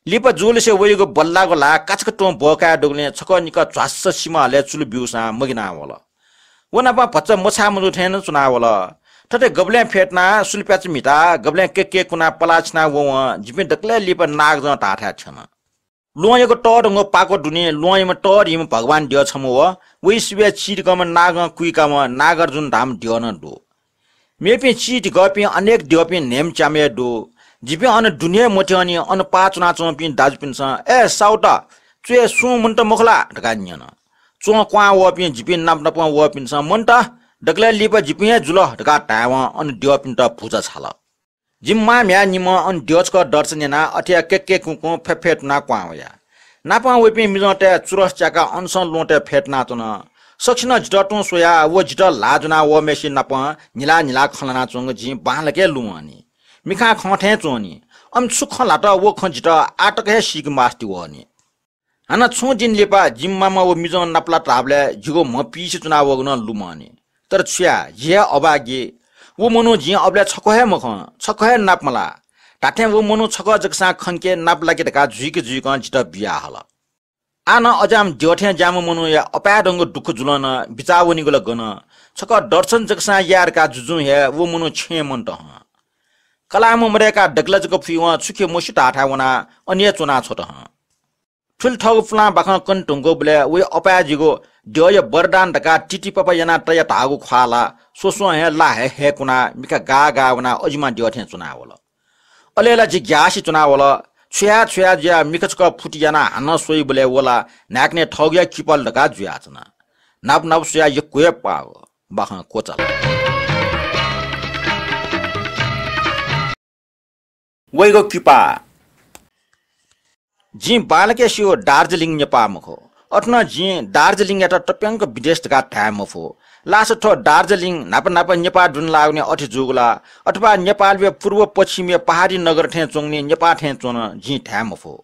लिपा जूलिसे वइगु बल्लाःगु ल्हाः काचाक्क तुं बः काये दुगुलिं छकः निकः झ्वास्स सिमा हलय् चुलु ब्यूसां मगिना वल। व नाप भचा मछाः मजू थें नं च्वना वल। थथे गबलें फ्यतुनाः सुलुप्याचा म्हिताः गबलें केकेकुनाः पलाः छिना ववं जिपिं दकलय् लिपा नागजं धाःथाय् थ्यन। ल्वहंयागु तःधंगु पाको दुने ल्वहंयाम्ह तःधिम्ह भगवान द्यः छम्ह व वइ सिबय् चिधिकःम्ह नागं कुइकाम्ह नागार्जुन धाःम्ह द्यः नं दु। मेपिं चिधिकःपिं अनेक द्यःपिं न्हय्म्ह च्याम्ह हे दु। जिपिं अन दुने हे मथ्यंनि, अन पाः च्वनाच्वंपिं दाजुपिन्सं, "ए साउत, च्वय् सुं मन्त मखु ला?" धकाः न्यन। च्वं क्वहां वःपिं जिपिं नाप नापं वःपिन्सं, "मन्त, दकलय् लिपा जिपिं हे जुल" धकाः धायेवं अन द्यःपिन्त भुजा छाल। जिमि मां म्ह्याय् निम्हं अन द्यः छकः दर्शन यानाः अथे हे केकेकुकुं फ्यफ्यतुनाः क्वहां वया। नापं वइपिं मिजंतय् चुरस च्याकाः अनसं ल्वहंतय् फ्यतुनाच्वन। सकसिनं जितः तुं स्वयाः व जितः ल्हाः ज्वना वःम्हेसित नापं न्हिला न्हिला खँ ल्हानाच्वंगु जिं बांलाक हे लुमंनि। मिखां खं थें च्वंनि। अन छु खँ ल्हात व खँ जितः आः तक हे सीके मास्ति वःनि। हानं छुं दिं लिपा जिमि मामा व मिजं नापलात धाःबलय् जिगु म्ह पिइसे च्वना वःगु नं लुमंनि। तर छु याये, जि हे अभागी। व मनू जिं अबलय् छकः हे मखं, छकः हे नाप मलाः। धात्थें व मनू छकः जकसां खंके नाप लाके धकाः जुइक जुइकं जितः बियाहल। आः नं अज्याःम्ह द्यः थें ज्याःम्ह मनूया अपाय्‌धंगु दुःख जुलं नं बिचाः वनीगु ला गन? छकः दर्शन जकसां याये धकाः जुजुं हे व मनू छेँय् मन्त हं। कलाःम्ह मदय्‌काः दकलय् जक फुइवं छु खँ मस्यू धाःथाय् वनाः अन हे च्वना छ्वत हं। थुलि थःगु पुलां बाखं कने धुंकूबलय् वइ अपाय् जिगु द्यःया वरदान धकाः तितिपापा यानाः तया धाःगु ख्वाः ला स्वस्वं हे ला हये हये कुनाः मिखा गाः गाः वनाः अजिमा द्यः थें च्वना वल। अले ला जि ग्यासे च्वना वल। छु याये छु याये जुयाः मिखा छकः फुति यानाः हानं स्वइबलय् व ला न्हाय्‌कनय् थःगुया किपालु धकाः जुयाच्वन। न्हापा न्हापा स्वयाः यक्व हे पाः बाखं क्वचाल। वइगु किपा। जिं बांलाक स्यू, दार्जिलिङ नेपाः मखु। अथे नं जिं दार्जिलिङयात तप्यंक विदेश धकाः धाये मफु। लास थ्व दार्जिलिङ न्हापा न्हापा नेपाः दुने लाःगुलिं अथे जूगु ला, अथवा नेपालया पूर्व पश्चिमया पहाडी नगर थें च्वंगुलिं नेपाः थें च्वन, जिं धाये मफु।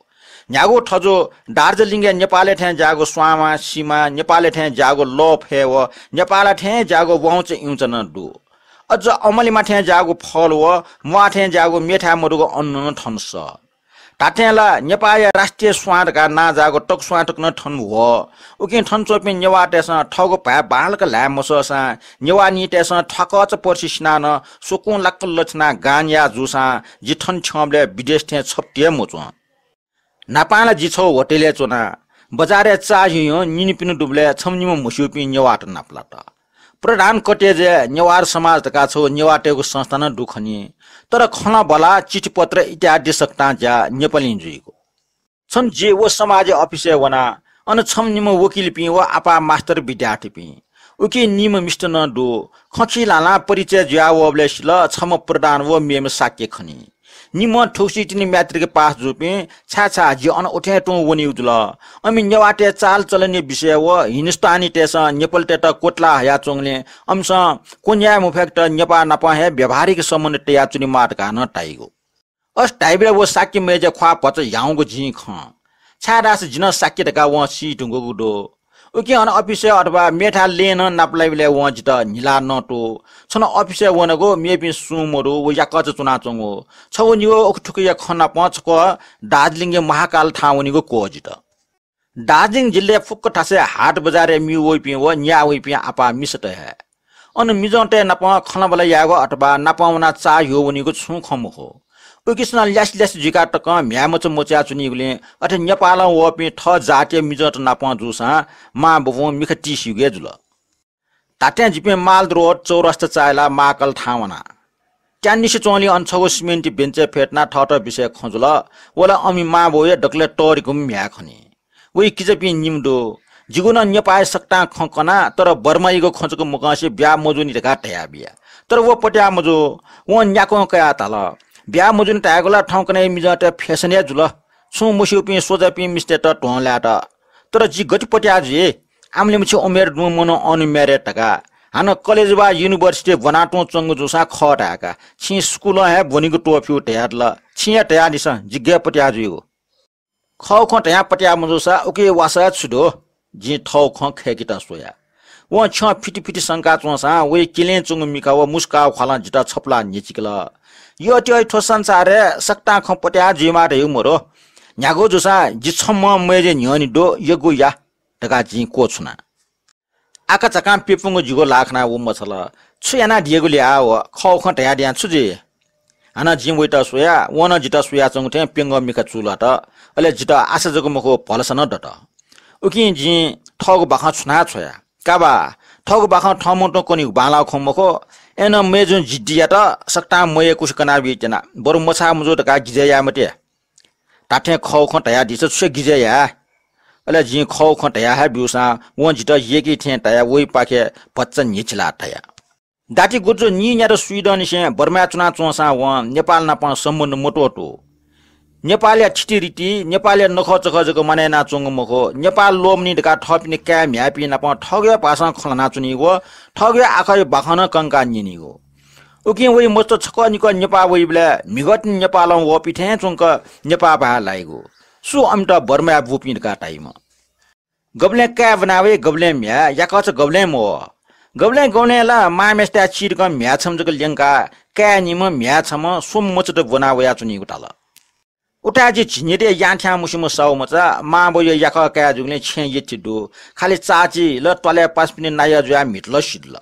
न्ह्यागु थजु दार्जिलिङया नेपालय् थें ज्याःगु स्वांमा सिमा, नेपालय् थें ज्याःगु लः फय् व नेपालय् थें ज्याःगु वाउँचा इउँचा नं दु। अझ अमलिमा थें ज्याःगु फल व म्वाः थें ज्याःगु मेथाय् मदुगु अन्न नं थन सः। धात्थें ला नेपाःया राष्ट्रिय स्वां धकाः नां जाःगु तकस्वां तक नं थन वः। उकिं थन च्वंपिं नेवाःतय्‌सं थःगु भाय् बांलाक ल्हाये मसःसां नेवाः निइतय्‌सं थ्वाकःचा पर्सि सिनाः नं स्वकुं लाक्क लछिनाः गां न्याः जूसां जि थन थ्यंबलय् विदेश थें छप्ति हे मच्वं। न्हापां ला जि छगू होटलय् च्वना। बजारय् चाःहिउहिउं निन्हु पिन्हु दुबलय् छम्ह निम्ह म्हस्यूपिं नेवाःत नापलात। प्रधान कटेजय् नेवार समाज धकाः छगू नेवाःतय्‌गु संस्था नं दु खनी। तर खँल्हाबल्हा, चिठीपत्र इत्यादि सकतां ज्या नेपालीं जुइगु। छन्हु जि व समाजया अफिसय् वना। अन छम्ह निम्ह वकिलपिं व आपाः मास्टर विद्यार्थीपिं। उकी निम्ह मिस्त नं दु। खँ खिलालां परिचय जुया वःबलय् सिल, छम्ह प्रधान व मेम्ह शाक्य खनी। निम्हं थुगुसी तिनि म्याट्रिक पास जूपिं, छाय् छाय् जि अन उथें तुं वनीगु जुल। अमि नेवाःतय् चालचलनया विषय व हिन्दुस्तानीतय्‌सं नेपालीतय्‌त क्वतला हयाच्वंगुलिं अमिसं क्व न्याये मफय्‌केत नेपाः नाप हे व्यावहारिक सम्बन्ध तयाच्वनेमाः धकाः नं धाइगु। अथे धाइबलय् व शाक्य मय्‌जुया ख्वाः भचा ह्याउँगु जिं खं। छाय्‌धाःसा जि नं शाक्य धकाः वं सी धुंकूगु दु। उकिं अन अफिसय् अथवा मेथाय् लँय् नं नापलाइबलय् वं जितः न्हिला नतू। छन्हु अफिसय् वनागु मेपिं सुं मदु, व याकःचा च्वनाच्वंगु। छगू निगू उखुथुखुया खँ नापं छकः दार्जिलिङया महाकाल थाहां वनीगु क्वः जितः। दार्जिलिङ जिल्लाय् फुक्क थासय् हाट बजारय् म्ये वइपिं व न्याः वइपिं आपाः मिसात हे। अन मिजंतय् नाप खँल्हाबल्हा यायेगु अथवा नाप वनाः चाःहिउ वनीगु छुं खँ मखु। उकिसं ल्यासे ल्यासे जुइकाः तकं म्ह्याय् मचा मचायाच्वनीगुलिं अथे नेपालं वःपिं थः जातया मिजंत नाप जूसां मां बौं मिखा तिस्यूगु हे जुल। धात्थें जिपिं माल रोड चौरास्ता चाःहिला महाकाल थाहां वना। त्यानिसे च्वंलि अन छगू सिमेन्टि बेन्चय् फ्यतुना थःत बिषय खँ जुल। व ला अमि मांबौया दकलय् तःधिकःम्ह म्ह्याय् खनी। वइ किजापिं निम्ह दु। जिगु नं नेपाःया सकतां खँ कना, तर बर्मायागु खँ जक मकंसे ब्याहा मजूनि धकाः धयाबिया। तर व पत्याः मजू। वं न्याक्वं कयाः धाल, ब्याहा मजूनि धयागु ला थौंकन्हय् मिजंतय् fashion हे जुल। छुं मस्यूपिं स्वजापिं मिस्तय्त ध्वं लायेत। तर जि गथे पत्याः जुइ? आमले मछि उमेर दुम्ह मनू अन married धकाः। हानं college वा university ब्वनातुं च्वंगु जूसां खः धाय्का। छिं स्कूलं हे ब्वनीगु त्वःफ्यू धयादिल। छिं हे धयादिसँ, जि गय् पत्याः जुइगु? खःगु खँ धयाः पत्याः मजूसा उकिया वासः छु दु? जिं थःगु खँ खय्केत स्वया। वं छ्यं फिति फिति संका च्वंसां वइ किलें च्वंगु मिखा व मुस्काःगु ख्वालं जितः छपुलाः न्ह्यचिकल। यःत्यः, थ्व संसारय् सकतां खँ पत्याः जुइमाः धइगु मदु। न्ह्यागु जूसां जि छम्हं मय्जुया न्ह्यःने दु, यःगु या धकाः जिं क्वछुना। आकाझाकां प्यपुंगु जिगु ल्हाः खनाः व मछाल। छु यानादियागुलिं आः व? खःगु खँ धयादियां छु जुइ? हानं जिं वइत स्वया, वं नं जितः स्वयाच्वंगु थें प्यंगः मिखा चूलात। अले जितः आशा जक मखु, भलसा नं दत। उकिं जिं थःगु बाखं छुनाः छ्वया। का बा, थःगु बाखं थःम्हं तुं कनीगु बांलाःगु खँ मखु। अय्नं मय्जुं जिद्दियात सकतां मयय्कुसे कनाबी त्यना, बरु मछाः मजू धकाः गिजय् याये मते। धात्थें खःगु खँ धयादिसँ, छु हे गिजय् याये? अले जिं खःगु खँ धया हे ब्यूसां वं जितः यय्की थें धयाः वइपाखे भचा न्ह्यचिलाः धया। दाति गुर्जु नीन्यादँ स्वीदँनिसें बर्माय् च्वनाच्वंसां वं नेपाल नाप सम्बन्ध मत्वःतू। नेपालया थितिरिति, नेपालया नखःचखः जक मानय् यानाच्वंगु मखु। नेपाल ल्वःमनी धकाः थःपिनि काय् म्ह्याय्पिं नाप थःगु हे भाषां खँ ल्हानाच्वनीगु, थःगु हे आखःया बाखं नं कंकाः न्यनीगु। उकिं वइ मस्त छकः निकः नेपाः वइबलय् म्हिगः तिनि नेपालं वःपिं थें च्वंक नेपाः भाय् लाइगु। सु अमित बर्माय् बूपिं धकाः धाइम्ह? गबलें काय् ब्वना वइ, गबलें म्ह्याय्, याकःचा गबलें मवः। गबलें गबलें ला मांम्हेसिथाय् चिधिकं म्ह्याय् छम्ह जक ल्यंकाः काय् निम्ह, म्ह्याय् छम्ह, स्वम्ह मचात ब्वना वयाच्वनीगु धाल। उताय् जि झिंनिदँय् यां थ्यां मुसिम्ह साहु मचा, मांबौया याकः काय् जूगुलिं छेँय् यःथें दु। खालि चाची ला त्वालय् पासापिनि नायः जुयाः म्हितल सिधल।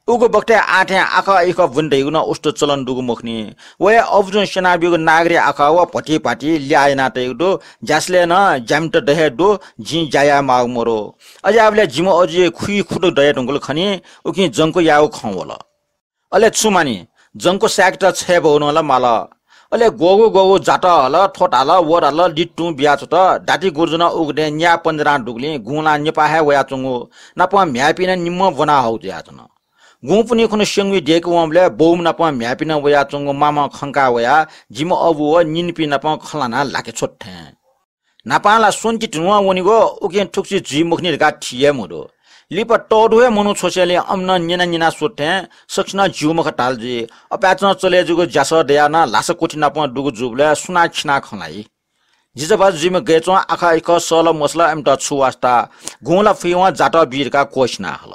उगु बखतय् आः थें आखः इखः ब्वने धइगु नं उस्ता चलन दुगु मखुनि। व हे अबुजुं स्यनाब्यूगु नागरी आखः व भतिभति ल्याः याना तइगु दु। ज्यासलय् नं ज्यामित द हे दु, जिं ज्या याये माःगु मदु। अज्याःबलय् जिम्ह अजुया खुइ खुदँ दये धुंकल खनी, उकिं जंक्व यायेगु खँ वल। अले छु मानि, जंक्व साय्केत छय् बौ नं ला माल। अले ग्वःगु ग्वःगु जात हल, थ्व धाल, व धाल, लित तुं बियाच्वत। दाति गुर्जु नं उगु दँय् न्याय पञ्जरां दुगुलिं गुंलां नेपाः हे वयाच्वंगु, नापं म्ह्याय्पिं नं निम्हं ब्वना हःगु जुयाच्वन। गुंपुन्हि खुन्हु स्यंगुइ देके वंबलय् बौम्ह नापं म्ह्याय्पिं नं वयाच्वंगु मामं खंका वयाः जिम्ह अबु व निनिपिं नापं खँ ल्हानाः ल्हाके छ्वत थें। न्हापां ला स्वन्ति धुनुवं वनीगु, उकिं थुगुसी जुइ मखुनि धकाः थी हे मदु। लिपा तःधु हे मनू छ्वसेंलि अमिनं न्यना न्यना स्वत थें सकसिनं ज्यू मखु धाल जुइ। अपाय्चं चले जूगु ज्यासः दयाः नं ल्हासा क्वथि नापं दुगु जूबलय् सुनां खिनाः खँ ल्हाइ। जिजः भाजु जुइम्ह गय् च्वं आखः इखः सःल मसःल अमित छु वास्ता, गुं ला फुइवं जातः बी धकाः क्वःछिना हल।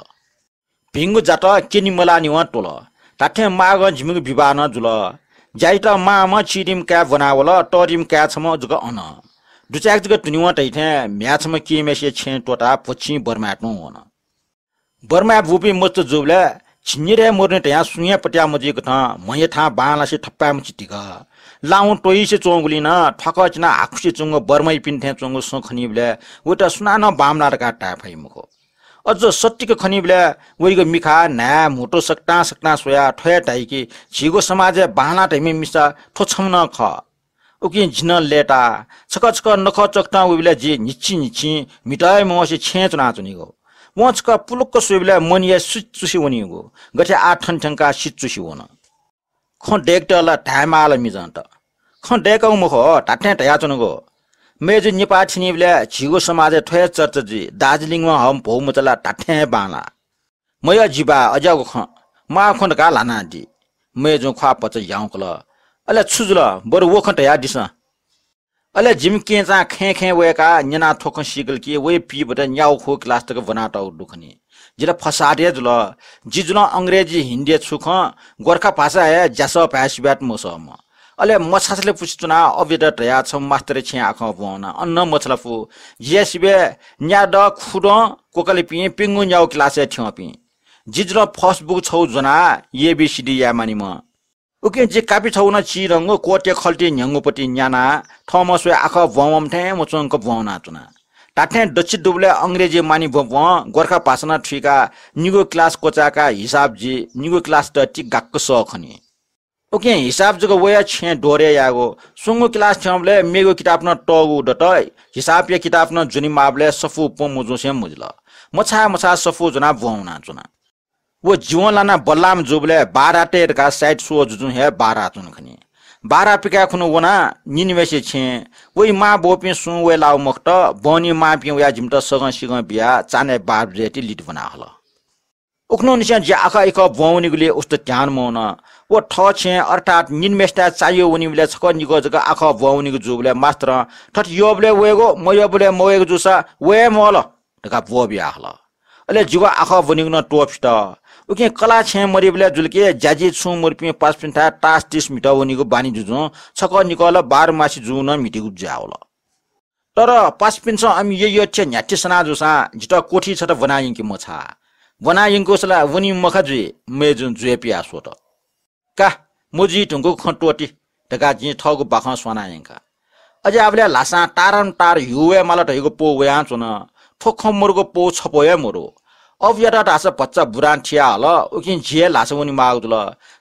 भिंगु जातः क्यने मलाःनिवं त्वल। धात्थें माःगं जिमिगु विवाह नं जुल। ज्याइत मांम्ह चिधिम्ह काय् ब्वना वल, तःधिम्ह काय् छम्ह जक अन। दुचाय्क जक धुनिवं तइथें म्ह्याय् छम्ह किम्हेसिया छेँय् त्वःताः भचिं बर्माय् तुं वन। बर्माय् बूपिं मस्त जूबलय् झिंनिदँय् मरुनि धयां सुं हे पत्याः मजुइकथं म्हया थां बांलासे थपाय् मछि तिग। लाहुं त्वइसे च्वंगुलिं नं थ्वाकः चिनाः हाकुसे च्वंगु बर्माइपिन्थें च्वंगु सँ खनीबलय् वइत सुनानं बांमलाः धकाः धाये फइ मखु। अझ सत्तिक खनीबलय् वइगु मिखा, न्हाय्, म्हुतु सकतां सकतां स्वयाः थ्व हे धाइ कि झीगु समाजय् बांलाः धइम्ह मिसा थ्व छम्ह नं खः। उकिं जि नं लय्ताः छकः छकः नखः चकतं वइबलय् जि न्हिच्छि न्हिच्छि म्हितः हे मवसे छेँय् च्वनाच्वनीगु। वं छकः पुलुक्क स्वइबलय् मनया सिचुसे वनीगु, गथे आः थन थ्यंकाः सिचुसे वन। खँ दय्केत ला धायेमाल मिजंत। खँ दय्कःगु मखु, धात्थें धयाच्वनागु। मय्जु नेपाः थिनिबलय् झीगु समाजय् थ्व हे चर्चा जुइ, दार्जिलिङं हःम्ह भौमचा ला धात्थें हे बांलाः। मयः जि बाः, अज्याःगु खँ, माःगु खँ धकाः ल्हानादी। मय्जुं ख्वाः भचा याउँकल। अले छु जुल, बरु व खँ धयादिसँ। अले जिमि केहेँचां खँय् खँय् वय्काः न्यनाः थ्व खँ सीकल कि वया पीबत न्यागू खुगू क्लास तक ब्वनातःगु दु खनी। जि ला फसाद हे जुल। जि जुलं अंग्रेजी, हिन्दी छु खँ, गोर्खा भाषा हे ज्यासः भाय् सिबय्त मसःम्ह। अले मछासले पुसे च्वनाः अबुयात धयाः छम्ह मास्तर छेँय् आखः ब्वंवना। अन नं मछालापु। जि हे सिबय् न्यादँ, खुदँ, क्वकलिपिं प्यंगू न्यागू क्लासय् थ्यंपिं। जि जुलं फसबुक छगू ज्वनाः एबीसीडी याये मानिम्ह। उकिं जि कापि छगू नं चिधंगु क्वःत्या खल्ति न्ह्यंगुपति न्यानाः थःम्हं स्वयाः आखः ब्वंवंम्ह थें मच्वंक ब्वंवनाच्वना। धात्थें दच्छि दुबलय् अंग्रेजी मानि भ्वं भ्वं गोर्खा भाषा नं थुइकाः निगू class क्वचाय्काः हिसाब जी, निगू class त ति गाक्क सः खनी। उकिं हिसाब जक वया छेँय् दोहरे यायेगु। स्वंगू class थ्यंबलय् मेगु किताब नं तःगु दत, हिसाबया किताब नं ज्वनेमाःबलय् सफू प्वँ मजूसें मजिल। मछाः मछाः सफू ज्वनाः भ्वं वनाच्वना। व जीवन लानाः बल्लाःम्ह जूबलय् बारातय् धकाः side show जुजुं हे बाराच्वन खनी। बारा पिकाय् खुन्हु वनाः निनिम्हेसिया छेँय् वइ मां बौपिं सुं वये लाःगु मखुत, बहनी मांपिं वयाः जिमित सगं सिगं बियाः चान्हय् बाह्र बजे ति लित ब्वना हल। उखुन्हुनिसें जि आखः इखः भ्वं वनीगुलिइ उस्त ध्यान मवन। व थः छेँय् अर्थात् निनिम्हेसिथाय् चाय् यः वनीबलय् छकः निकः जक आखः भ्वं वनीगु जूबलय् मास्तरं थथे यःबलय् वयेगु, मयःबलय् मवयेगु जूसा वये हे मवल धकाः ब्वः बिया हल। अले जिगु आखः ब्वनीगु नं त्वःफित। उकिं कलाः छेँय् मदीबलय् जुल कि ज्याझी छुं मदुपिं पासापिन्थाय् तास तिस म्हितः वनीगु बानी जुजुं छकः निकः ला बाह्र मासि जूगु नं म्हितीगु जुयावल। तर पासापिन्सं अमि यःयःथें न्ह्याथे सना जूसां जितः कोठी छता ब्वना यंके मछाः। ब्वना यंकूसा ला वनी मखा जुइ, मय्जुं जुया पिया स्वत। का, मजुइ धुंकूगु खँ त्वःति धकाः जिं थःगु बाखं स्वाना यंका। अज्याःबलय् ल्हासां तारं तार ह्यू वये माल धइगु पौ वयाच्वन। थ्व खँ मरुगु पौ छपौ हे मरु। अबुयात धाःसा भचा बुरां थिया हल, उकिं झी हे ल्हासा वने माःगु जुल।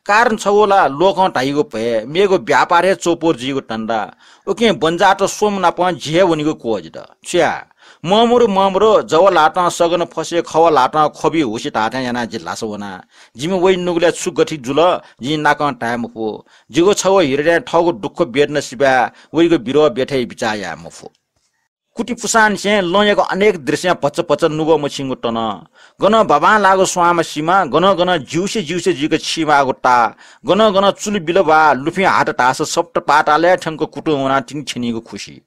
कारण छगू ला लोकं धाइगु भय, मेगु व्यापार हे चौपौर जुइगु धन्दा। उकिं बन्जाःत स्वम्ह नापं झी हे वनेगु क्वःजित। छु याये? ममरु ममरु, जव ल्हातं सगन फसे, खव ल्हातं ख्वबि हुसे धाःथें यानाः जि ल्हासा वना। जिमि वइ नुगलय् छु गथे जुल, जिं नाकं धाये मफु। जिगु छगू हृदयं थःगु दुःख वेदना सिबाय् वइगु बिरोह ब्यथय् बिचाः याये मफु। कुति पुसांनिसें लँयागु अनेक दृश्यं भचा भचा नुगः मछिंगु तन। गनं बाबां लाःगु स्वांमा सिमा, गनं गनं ज्यूसे ज्यूसे जुइक छिमाःगु ता, गनं गनं चुलि बिल वा लुफिं हात धाःसा सप्त पातालय् थ्यंक कुतुं वनाः तिनि छ्यनीगु खुसि।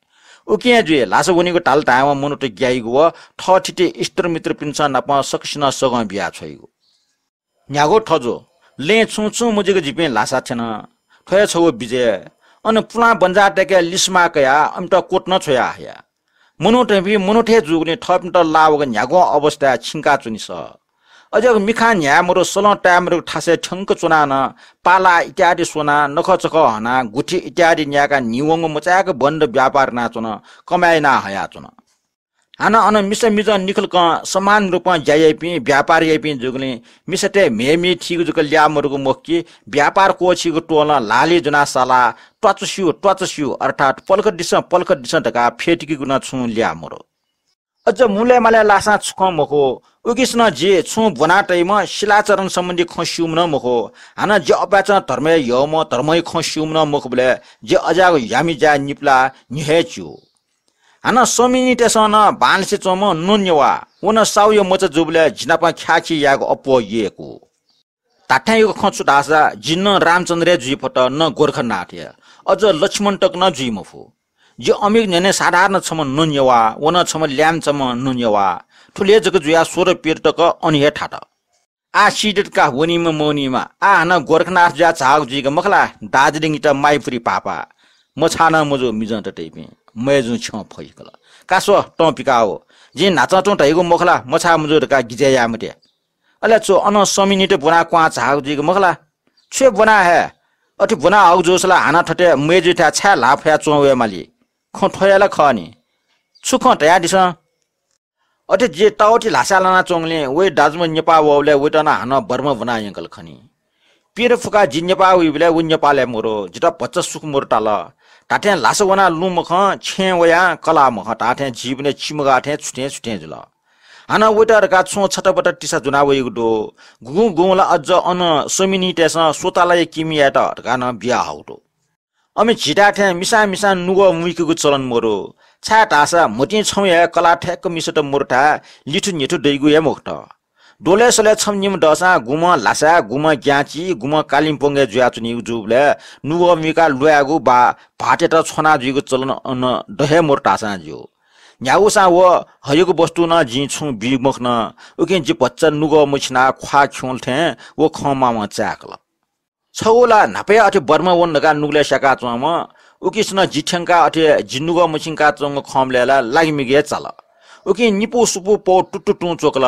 उकिं हे जुइ, ल्हासा वनीगु धाल धायेवं मनूत ग्याइगु व थःथिति इष्टमित्रपिन्सं नाप सकसिनं सगं बिया छ्वइगु। न्ह्यागु थजु, लँय् छुं छुं मजुइक जिपिं ल्हासा थ्यन। थ्व हे छगू विजय। अन पुलां बन्जाःतय्के लिसमा कयाः अमित कोट नं छ्वया हया। मनूतय्पिं मनूत हे जूगुलिं थःपिन्त लाः वःगु न्ह्यागुं अवस्थाय् छिंका च्वने सः। अज्याःगु मिखां न्ह्याये मरु, सलं ताये मरुगु थासय् थ्यंक च्वनाः नं पाला इत्यादि स्वनाः नखःचखः हनाः गुथि इत्यादि न्यायेकाः न्हिं वंगु मचाय्क बन्द व्यापार यानाच्वन, कमाय् याना हयाच्वन। हानं अन मिसा मिजं निखलकं समान रूपं ज्या याइपिं, व्यापार याइपिं जूगुलिं मिसातय् म्हेमे थीगु जक ल्याः मरुगु मखु कि व्यापार क्वःछीगु त्वलं ल्हालय् ज्वनाः सालाः त्वाचस्यू, त्वाचस्यू, अर्थात् पलख दिसँ, पलख दिसँ धकाः फ्यतुकीगु नं छुं ल्याः मरु। अझ मुलय् मालय् लाःसां छुखं मखु। उकिसनं जि छुं ब्वना तइम्ह शिलाचरण सम्बन्धी खँ स्यूम्ह नं मखु। हानं जि अपाय्चं धर्मय् यःम्ह, धर्मया खँ स्यूम्ह नं मखुबलय् जि अज्याःगु ह्यामि ज्याय् निपलाः न्ह्यः हे च्यू। हानं स्वामिनीतय्सं नं बांलासे च्वंम्ह नन्यवा, व नं साहुया मचा जूबलय् जि नाप ख्याःखी यायेगु अप्वः यय्कू। धात्थें यःगु खँ छु धाःसा, जि न रामचन्द्र हे जुइ फत, न गोरखनाथ हे, अझ लक्ष्मण तक नं जुइ मफु। जि अमिगु न्ह्यःने साधारण छम्ह नन्यवा, व नं छम्ह ल्याय्म्ह छम्ह नन्यवा। थुलि हे जक जुयाः सोह्र पीर तक अन हे थात। आः सीदत का, वनीम्ह मवनीम्ह। आः हानं गोरखनाथ जुयाः झाःगु जुइक मखु ला, दार्जिलिङयात माइपुरी पापा। मछाः नं मजू मिजंतय्पिं, मय्जुं छ्यं फैकल। का स्व, तं पिकाः वः। जिं न्हाचः तुं धइगु मखु ला, मछाः मजू धकाः गिजय् याये मते। अले छु, अनं स्वामिनीत ब्वनाः क्वहां झाःगु जुइक मखु ला? छु हे ब्वना हये? अथे ब्वना हःगु जूसा ला हानं थथे मय्जुयाथाय् छाय् ल्हाः फयाः च्वं वये माली? खँ थ्व हे ला खः नि। छु खँ धयादिसँ? अथे जि ताःवथि ल्हासाय् लानाच्वंगुलिं वइ दाजुम्ह नेपाः वःबलय् वइत नं हानं बर्मा ब्वना यंकल खनी। पीर फुकाः जि नेपाः वइबलय् व नेपालय् मरु, जितः भचा सुख मरु ताल। धात्थें ल्हासा वनाः लुँ मखं, छेँय् वयाः कलाः मखं धात्थें जीवनय् चिमगाः थें छुथें छुथें जुल। हानं वइत धकाः छुं छतापता तिसा ज्वना वइगु दु। गुगुं गुगुं ला अझ अन स्वामिनीतय्सं स्वतालाया किमि यायेत धकाः नं बिया हःगु दु। अमि झीथाय् थें मिसां मिसां नुगः मुइकेगु चलन मरु। छाय्धाःसा म्हतिं छम्ह हे कलाः थय्क मिसात मरुथाय् लिथु न्हिथु दइगु हे मखुत। द्वलय् सलय् छम्ह निम्ह दःसां गुम्हं ल्हासाय्, गुम्हं ग्याँचि, गुम्हं कालिम्पोङय् जुयाच्वनीगु जूबलय् नुगः मुइकाः ल्वायेगु वा भाःतयात छ्वना जुइगु चलन अन द हे मरु धाःसां ज्यू। न्ह्यागुसां व हयागु वस्तु नं जिं छुं बी मखन। उकिं जि भचा नुगः मछिनाः ख्वाः खिउँल थें व खँ मावं चाय्कल। छगू ला न्हापा हे अथे बर्मा वन धकाः नुगलय् स्याकाच्वंम्ह, उकिसनं जि थ्यंकाः अथे जि नुगः मछिंकाच्वंगु खंबलय् ला लागिमिगु हे चाल। उकिं निपु सुपु पौ तुतुतुं च्वकल।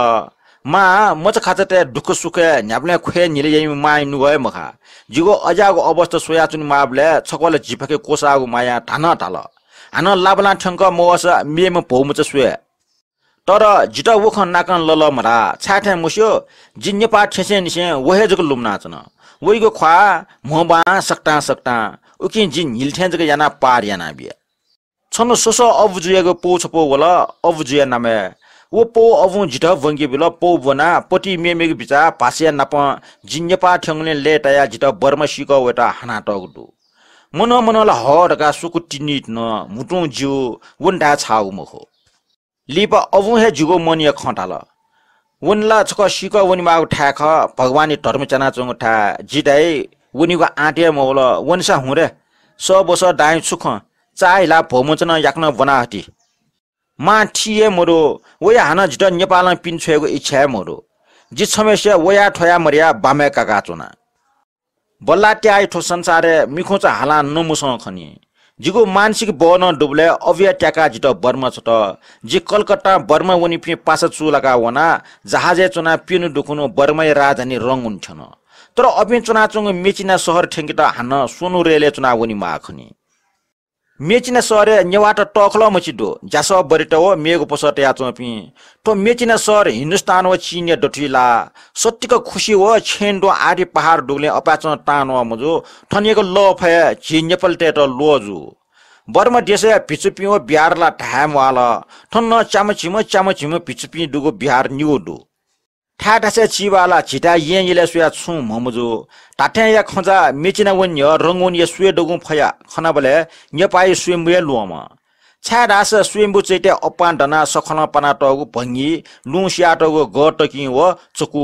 मां, मचाखाचातय् दुःखसुखय् न्ह्याबलें ख्वय् न्हिले याइम्ह मांया नुगः हे मखा। जिगु अज्याःगु अवस्था स्वयाच्वनेमाःबलय् छकः ला जिपाखे क्वसाःगु मायां धानं धाल, हानं लाबालां थ्यंक मवःसा मेम्ह भौमचा स्वये। तर जितः व खँ नाकं लल मधाः, छाय् थें मस्यू, जि नेपाः थ्यंसेंनिसें व हे जक लुमनाच्वना। वइगु ख्वाः म्हो बां सकतां सकतां, उकिं जि न्हिल थें जक यानाः पार यानाबिया। छन्हु स्वसः अबु जुयागु पौ छपौ वल, अबु जुया नामय्। व पौ अबुं जितः ब्वंके बिल, पौ ब्वनाः पति मेमेगु बिचाः भाषाया नापं जि नेपाः थ्यंगुलिं लय्तायाः जितः बर्मा सीकः वयेत हानातःगु दु। मनं मनं ला हः धकाः स्वकू तिनित नं म्हुतुं ज्यू, व नं धाये छाःगु मखु। लिपा अबुं हे जिगु मनया खँ धाल। वने ला छकः सीकः वनेमाःगु थाय् खः, भगवानया धर्म च्यानाच्वंगु थाय्। जि धाइ, वनेगु आँट हे मवल, वनेसा हुँ रे। सःबसः दाइँ छु खँ, चाःहिलाः भ्वमंचा नं याकनं ब्वना हति। मां थी हे मदु, वया हानं जितः नेपालं पिने छ्वयेगु इच्छा हे मदु। जि छम्हय्सिया वया थ्वया मदया बामय् काकाच्वना। बल्लाः त्याःया थ्व संसारय् मिखुंचा हालां नमुसं खनी। जिगु मानसिक बः नं दुबलय् अबुया त्याकाः जितः बर्मा छ्वत। जि कलकत्तां बर्मा वनीपिं पासा चूलाकाः वनाः जहाजय् च्वनाः प्यन्हु दुखुन्हु बर्माया राजधानी रंगुन थ्यन। तर अपिं च्वनाच्वंगु मेचिना शहर थ्यंकेत हानं स्वन्हु रेलय् च्वनाः वनेमाः खनी। मेचिना शहरय् नेवाःत तःखलं मछि दु, ज्यासः बरेत व मेगु पसः तयाच्वंपिं। थ्व मेचिना शहर हिन्दुस्तान व चीनया दथुइ लाः। सत्तिक खुसि व छेँय् दुं आःति पहाड दुगुलिं अपाय्चं तांन्वः मजू। थनयागु लःफय् झी नेपालीतय्त ल्वः जू। बर्मा देशया भिक्षुपिं व बिहार ला धाये म्वाःल। थन नं च्याम्ह झिम्ह, च्याम्ह झिम्ह भिक्षुपिं दुगु बिहार निगू दु। थाय् थासय् चिबाः ला झीथाय् येँ यलय् स्वयाः छुं म्हमजू। धात्थें या खँजा मेचिना वने न्ह्यः रंगुनया स्वये दगुं फया खनाबलय् नेपाःया स्वयम्भू हे ल्वःमं। छाय्धाःसा स्वयम्भू चैत्य अप्पां दनाः सखलं पानातःगु भंगी, लुँ सियातःगु गः तकिं व चकु।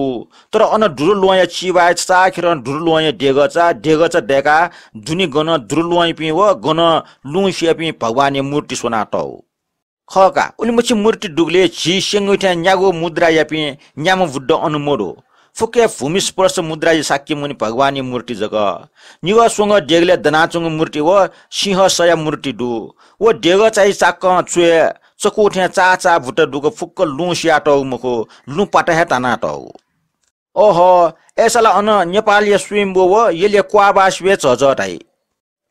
तर अन दुरु ल्वहंया चिबाःया चाचाःखेरं दुरु ल्वहंया देगःचा, देगःचा दय्काः दुने गनं दुरु ल्वहंयापिं व गनं लुँ सियापिं भगवानया मूर्ति स्वनातःगु। खः का, उलिमछि मूर्ति दुगुलिं झी स्यंगु थें न्यागू मुद्रायापिं न्याम्ह बुद्ध अन मदु। फुक्कं भूमि स्पर्श मुद्राया शाक्यमुनि भगवानया मूर्ति जक। निगः स्वंगः देगलय् दनाच्वंगु मूर्ति व सिंहस्या मूर्ति दु। व देगःचाया चाकं च्वय् चकु थें चाःचाः भुत दुगु फुक्क लुँ सियातःगु मखु, लुँ पाता हे तानातःगु। ओहो, अय्सा ला अन नेपालया स्वयम्भू व यलया क्वाःबाः सिबय् झःझः धाइ।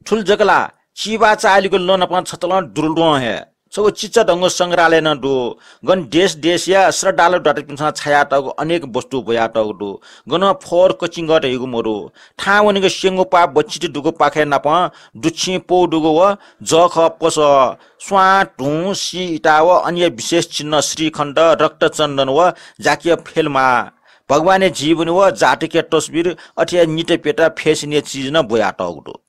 थुलि जक ला, चिबाः चाःहिलागु लँ नाप छतलं दुरुल्वहं हे छगू चिचाधंगु संग्रहालय नं दु। गन देश देशया श्रद्धालु दाजुपिन्सं छायातःगु अनेक वस्तु ब्वयातःगु दु। गन फोहोर कचिंगः धइगु मदु। थाहां वनेगु स्यंगू पाः बच्चित दुगु पाखय् नाप दुच्छिं पौ दुगु व जःखः पसः, स्वां, धुं, सी, इता व अनया विशेष चिन्ह श्रीखण्ड, रक्तचन्दन व जाकिया फेलमाः, भगवानया जीवनी व जातकया तस्वीर, अथे हे नित प्यता fashion-या चिज नं ब्वयातःगु दु।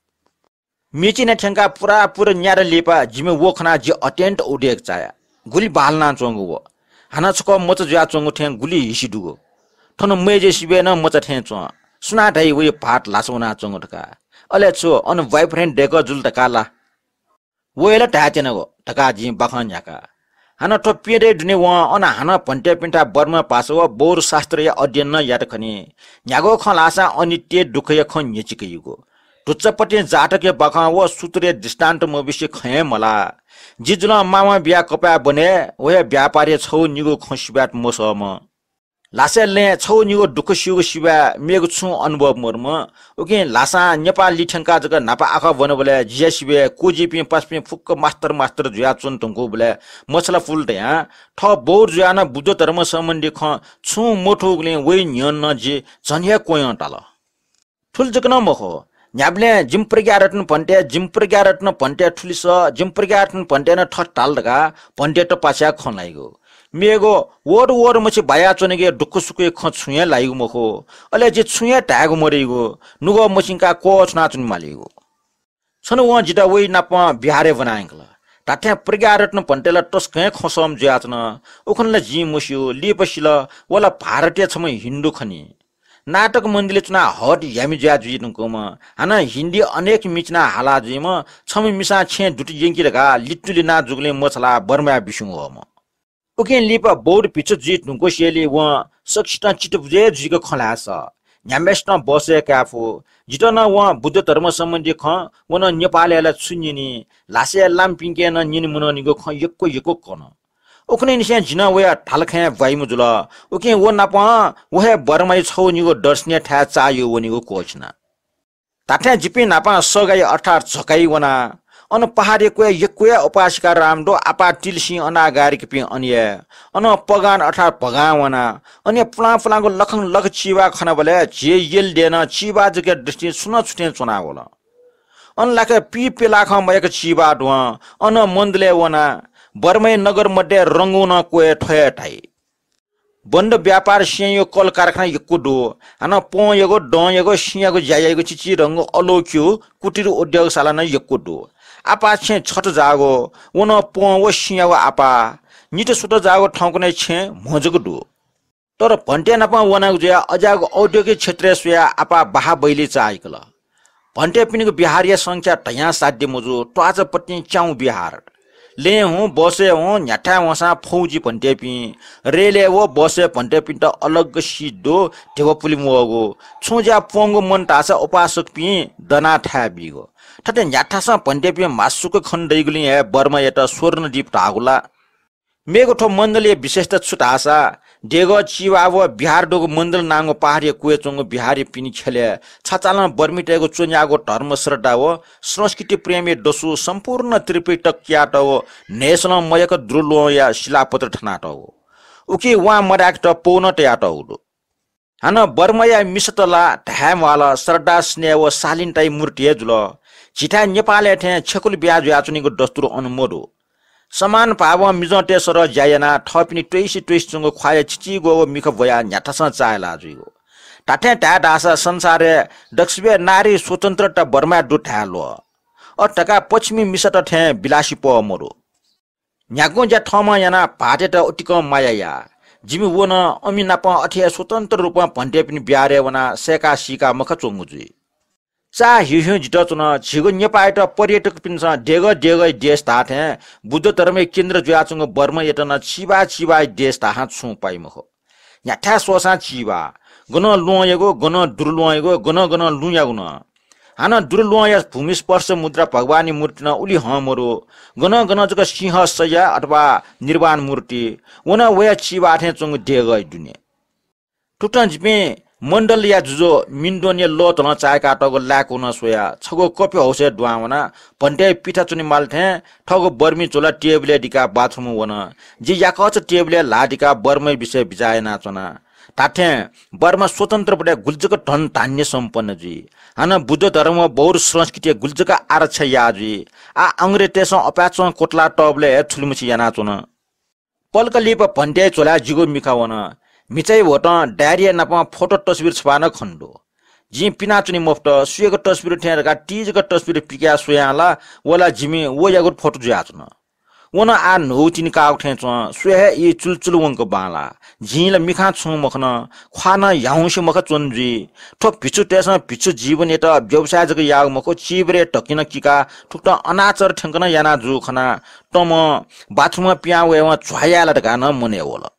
मेचिना थ्यंकाः पुरापुर न्यादँ लिपा जिमि व खनाः जि अत्यन्त उदेक चाया। गुलि बांलानाच्वंगु व। हानं छकः मचा जुयाच्वंगु थें गुलि हिसि दुगु। थन मय्जुया सिबय् नं मचा थें च्वं। सुनां धाइ वया भाःत ल्हासा वनाच्वंगु धकाः। अले छु, अन boyfriend दय्कः जुल धकाः ला? व हे ला धायेत्यनागु धकाः जिं बाखं न्ह्याका। हानं थ्व प्यदँया दुने वं अन हानं भन्तेपिन्थाय् बर्मा भाषा व बौद्ध शास्त्रया अध्ययन नं यात खनी। न्ह्यागु खँ ल्हाःसां अनित्य दुःखया खँ न्ह्यचिकयागु। धुच्चापतिं जातकया बाखं व सूत्रया दृष्टान्त मबिसे खँ हे मल्हाः। जि जुलं मामा बियाः कपाय् ब्वने, व हे व्यापारया छगू निगू खँ सिबायेत मसःम्ह। ल्हासय् लँय् छगू निगू दुःख स्यूगु सिबय् मेगु छुं अनुभव मदुम्ह। उकिं ल्हासां नेपाः लिथ्यंकाः जक न्हापा आखः ब्वनाबलय् जिया सिबय् क्वजिपिं पासापिं फुक्क मास्तर मास्तर जुयाच्वन धुंकूबलय् मछालापुल धयां थः बौद्ध जुयाः नं बुद्ध धर्म सम्बन्धी खँ छुं मथूगुलिं वइ न्ह्यःने नं जि झन हे क्वयं ताल। थुलि जक नं मखु, न्ह्याबलें जिमि प्रज्ञारत्न भन्ते, जिमि प्रज्ञारत्न भन्ते थुलिसः, जिमि प्रज्ञारत्न भन्ते नं थथे धाल धकाः भन्तेत पाछ्याः खँ ल्हाइगु। मेगु वःत वःत मछि बायाच्वनेगु दुःख सुखया खँ छुं हे ल्हाइगु मखु। अले जि छुं हे धायेगु मदइगु, नुगः मछिंकाः क्वछुनाच्वने मालीगु। छन्हु वं जितः वइ नाप बिहारय् ब्वना यंकल। धात्थें प्रज्ञारत्न भन्ते ला तसकं हे खँसःम्ह जुयाच्वन। उखुन्हु ला जिं मस्यू, लिपा सिल, व ला भारतया छम्ह हिन्दू खनी। नाटक मण्डलीइ च्वनाः हट ह्यामि जुया जुइ धुंकूम्ह, हानं हिन्दी अनेक मिचिनाः हाला जुइम्ह, छम्ह मिसां छेँय् दुति यंकि धकाः लित्तुलिना जूगुलिं मछालाः बर्माय् बिस्युं वःम्ह। उकिं लिपा बौद्ध भिक्षु जुइ धुंकूसेंलि वं सकसितं चित्तबुझे जुइक खँ ल्हाये सः। न्ह्याम्हय्सितं बसय् काये फु। जितः नं वं बुद्ध धर्म सम्बन्धी खँ, व नं नेपालय् ला छु न्यनी, ल्हासय् लाःम्हपिन्के नं न्यने मनंनिगु खँ यक्व यक्व कन। उखुन्हुनिसें जि नं वया धालखँय् ब्वाइम्ह जुल। उकिं व नापं व हे बर्माया छगू निगू दर्शनीय थाय् चाःह्यू वनेगु क्वःछिना। धात्थें जिपिं न्हापां सगाइ अर्थात् झकाइ वना। अन पहाडया क्वय् यक्व हे उपासिका राम दु, आपाः तिलिसिं अनागारिकपिं अन हे। अन पगान अर्थात् भगां वना। अन हे पुलां पुलांगु लखं लख चिबाः खनाबलय् झी यल देय् नं चिबाः जक दृष्टिं छुं नं छुथें च्वनावल। अन लाखे पीप्यलाखं मयाक चिबाः दुहां अन मन्दलय् वना। बर्माया नगर मध्ये रंगूनं क्वय् थ्व हे धाइ। बन्द व्यापार सिंयागु कल कारखाना यक्व दु। हानं पंयागु, दँयागु, सिंयागु ज्या याइगु चिचिधंगु अलोक्यु कुटीर उद्योगशाला नं यक्व दु। आपाः छेँ छत जाःगु, व नं पं व सिंयागु आपाः। नित सुत जाःगु थौंकन्हय् छेँ म्हो जक दु। तर भन्ते नाप वनागु जुयाः अज्याःगु औद्योगिक क्षेत्रय् स्वयाः आपाः बाहा बैली चाःहिकल। भन्तेपिनिगु बिहारया संख्या धयां साध्य मजू, त्वाःचापतिं च्याउ बिहार। लँय् हुँ, बसय् हुँ, न्ह्याथाय् वंसां फौजी भन्तेपिं। रेलय् व बसय् भन्तेपिन्त अलग seat दु, ध्यबा पुलिं वःगु। छुं ज्या प्वंगु मन धाःसा उपासकपिं दनाः थाय् बीगु। थथे न्ह्याथासं भन्तेपिं म्हासुक खने दइगुलिं हे बर्मायात स्वर्णदीप धाःगु ला। मेगु थ्व मण्डलया विशेषता छु धाःसा, देगः चिबाः व बिहार दुगु मण्डल नांगु पहाडया क्वय् च्वंगु बिहारया पिने ख्यलय् छचालं बर्मीतय्गु च्वन्याःगु धर्म श्रद्धा व संस्कृति प्रेमया दसु सम्पूर्ण त्रिपिटक कियातःगु न्हय्सलं मयक दुर्लुहंया शिलापत्र थनातःगु। उकी वां मदाय्केत पौ नं तयातःगु दु। हानं बर्माया मिसात ला धाये म्वाःल, श्रद्धा, स्नेह व शालीनताया मूर्ति हे जुल। झीथाय् नेपालय् थें छेकुल ब्याहा जुयाच्वनीगु दस्तुर अन मदु। समान भावं मिजंतय् सरह ज्या यानाः थःपिनि त्वइसे त्वइसे च्वंगु ख्वाःया चिचिग्वःगु मिखा ब्वयाः न्ह्याथासं चाःहिला जुइगु। धात्थें धाये धाःसा संसारय् दक्वसिबय् नारी स्वतन्त्रता बर्माय् दु धाये ल्वः। अथे धकाः पश्चिमी मिसात थें विलासीपः मदु। न्ह्यागुं ज्या थःम्हं यानाः भाःतयात उतिकं माया याः। जिमि व नं अमि नाप अथे हे स्वतन्त्र रूपं भन्तेपिनि बिहारय् वनाः सय्काः सीकाः मखा च्वंगु जुइ। चाः ह्यूह्यूं जितः च्वन, झीगु नेपाःयात पर्यटकपिन्सं देगः देगःया देश धाःथें बुद्ध धर्मया केन्द्र जुयाच्वंगु बर्मायात नं चिबाः चिबाःया देश धाःसां छुं पाइ मखु। न्ह्याथाय् स्वःसां चिबाः। गनं ल्वहंयागु, गनं दुर्लुहंयागु, गनं गनं लुँयागु नं। हानं दुर्लुहंया भूमि स्पर्श मुद्रा भगवानया मूर्ति नं उलि हं मदु। गनं गनं जक सिंह शय्या अथवा निर्वाण मूर्ति। व नं वया चिबाः थें च्वंगु देगःया दुने। थुकथं जिपिं मण्डलया जुजु मिन्दोनया लःतलं चाय्कातःगु लाय्कू नं स्वयाः छगू कफि हाउसय् दुहां वनाः भन्तेया पिथा च्वनेमाल थें थःगु बर्मी झोला टेबलय् दिकाः बाथरुमय् वन। जि याकःचा टेबलय् ल्हाः दिकाः बर्माया विषय बिचाः यानाच्वना। धात्थें बर्मा स्वतन्त्र बलय् गुलि जक धन धान्य सम्पन्न जुइ। हानं बुद्ध धर्म व बौद्ध संस्कृतिया गुलि जक आरक्षा याः जुइ। आः अंग्रेजतय्सं अपाय्चं क्वतलातःबलय् हे थुलिमछि यानाच्वन। पलख लिपा भन्तेया झोलाय् जिगु मिखा वन। म्हिचाया ह्वतं डायरीया नापं फोटो तस्बिर छपाः नं खने दु। जिं पिनाच्वने मफुत, सुयागु तस्बिर थें धकाः ति जक तस्बिर पिकयाः स्वयां ला व ला जिमि वयागु फोटो जुयाच्वन। व नं आः न्हूगु तिनि काःगु थें च्वं, स्वये हे ई चुलचुल वंक बांलाः। जिं ला मिखां छुं मखन, ख्वाः नं ह्याउँसे मखा च्वने जुइ। थ्व भिक्षुतय्सं भिक्षु जीवनयात व्यवसाय जक याःगु मखु, चिबरय् धकिं नं किकाः थुकथं अनाचार थ्यंक नं याना जूगु खनाः तमं बाथरुमं पिहां वयेवं झ्वाः याये ला धकाः नं मनय् वल।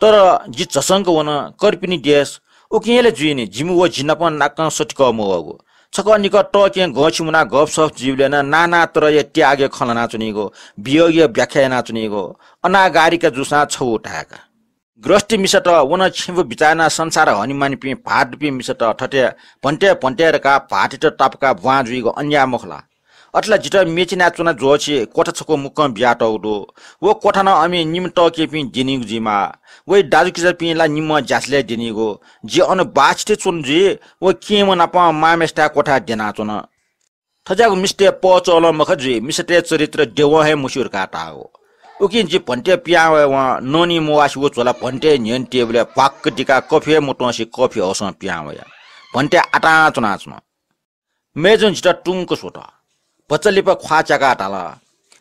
तर जि झसंक वन, कर्पिनि देश। उकिं हे ला जुइनि, जिमि व जि नाप नाकं सतिकः मवःगु। छकः निकः तःकें गंछि मुनाः गपसप जुइबलय् नं नाना तरहया त्यागया खँ ल्हानाच्वनीगु, वियोगया व्याख्या यानाच्वनीगु, अनागारिका जूसां छगू धाय्का। गृहस्थी मिसात व नं छेँबुँ बिचाः यानाः संसार हनेमानिपिं भाःतुपिं मिसात थथे भन्ते भन्ते धकाः भाःतयात तापाकाः ब्वां जुइगु अन्याय मखु ला? अथे ला जितः मेचीनाय् च्वना ज्वःछि क्वथा छकू मुक्कं बियातःगु दु। व क्वथा नं अमि निम्ह तःकेपिं द्यनीगु जुइमाः। वइ दाजुकिजापिं ला निम्हं ज्याझ्वलय् द्यनीगु। जि अन बाःछि थें च्वने जुइ, व केहेँम्ह नाप मांम्हेसिथाय् क्वथाय् द्यनाच्वन। थज्याःगु मिस्तय् पहःचःलं मखा जुइ, मिसातय् चरित्र द्यवं हे मस्यू धकाः धाःगु। उकिं जि भन्ते पिहां वयेवं ननी मवासेगु झोला भन्ते न्ह्यःने टेबलय् भ्वाक्क दिकाः कफि हे मत्वंसे कफि हाउसं पिहां वया। भन्ते आतां च्वनाच्वन। मय्जुं जितः टुंक स्वत। भचा लिपा ख्वाः च्याकाः धाल,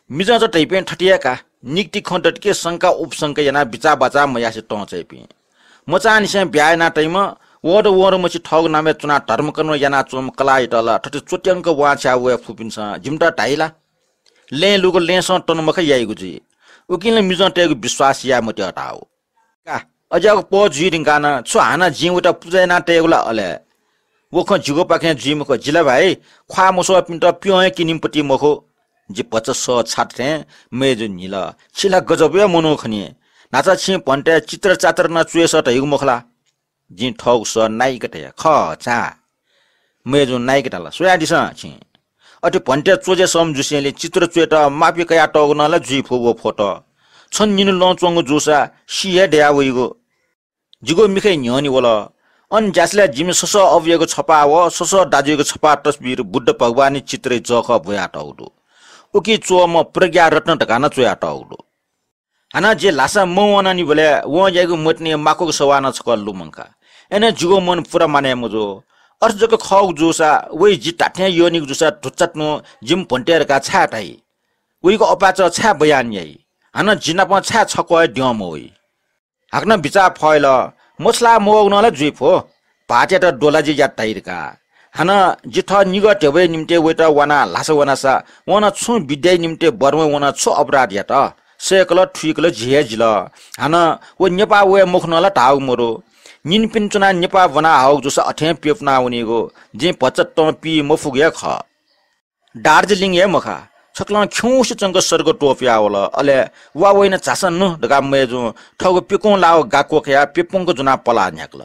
मिजंचा धइपिं थथे हे का, निकति खँ दत कि शंका उपशंका यानाः बिचाः बाचाः मयासे तं चाइपिं। मचांनिसें ब्याहा याना तइम्ह, वहत वहत मछि थःगु नामय् च्वनाः धर्मकर्म यानाच्वंम्ह कलाःयात ला थथे च्वत्यंक वांछ्वया वये फुपिन्सं जिमित धाइ ला? लँय् लूगु लँय्सं तन मखा याइगु जुइ। उकिं ला मिजंतय्गु विश्वास याये मते धाःगु। का, अज्याःगु पहः जुइ धुंकाः नं छु हानं जिं वयात पुजा याना तयेगु ला अले? व खँ जिगुपाखें जुइ मखु, जि ला भाइ ख्वाः मस्वःपिन्त प्यं हे किनिम्ह पति मखु। जि भचा सः छात थें मय्जु न्हिल। छि ला गजब हे मनू खनी। न्हाचा छिं भन्ते चित्र चात्र नं च्वय् सः धइगु मखु ला? जिं थःगु सः नाइक धया। खः, छाय्? मय्जुं नाइक धाल, स्वयादिसँ छिं। अथे भन्ते च्वज्यासःम्ह जुसेंलि चित्र च्वयेत माफी कयातःगु नं ला जुइ फु व फोटो। छन निन्हु लं च्वंगु जूसा सी हे दया वइगु। जिगु मिखा न्ह्यःने वल। अन ज्यासलय् जिमि ससः अबुयागु छपाः व ससः दाजुयागु छपाः तस्वीर बुद्ध भगवानया चित्रया जःखः ब्वयातःगु दु। उकी च्वःम्ह प्रज्ञा रत्न धकाः नं च्वयातःगु दु। हानं जि ल्हासा मवनानिबलय् वं याइगु मतिनि माकुगु सवाः नं छकः लुमंका। अय्नं जिगु मन पूरा मानय् मजू। अथे जक खःगु जूसा वइ जि धात्थें यःनिगु जूसा धुच्चा तुं जिमि भन्ते धकाः छाय् धाइ? वइगु अपाय्‌चः छाय् बयान याइ? हानं जि नाप छाय् छक्वः हे द्यं मवइ? हाकनं बिचाः फय्‌ल, मछुला मवःगु नं ला जुइ फु। भाःतयात द्वलाजि यात धाइ धकाः। हानं जि थः निगः ध्यबाया निम्तिं वइत वानाः ल्हासा वनासा वं नं छुं विद्याया निम्तिं बर्माय् वनाः छु अपराध यात? सय्‌कल थुइकल जि हे जिल। हानं व नेपाः वये मखु नं ला धाःगु मदु। निनिपिं च्वनाः नेपाः ब्वना हःगु जूसा अथें प्यपुना वनीगु। जिं भचा तं पी मफुगु हे खः। दार्जिलिङ हे मखा, छकलं खिउँसे च्वंक सर्ग त्वपुया वल। अले वा वइन झासँ नु धकाः मय्‌जुं थःगु प्यकुं लाःगु गा क्वकयाः प्यपुंक ज्वनाः पलाः न्ह्याकल।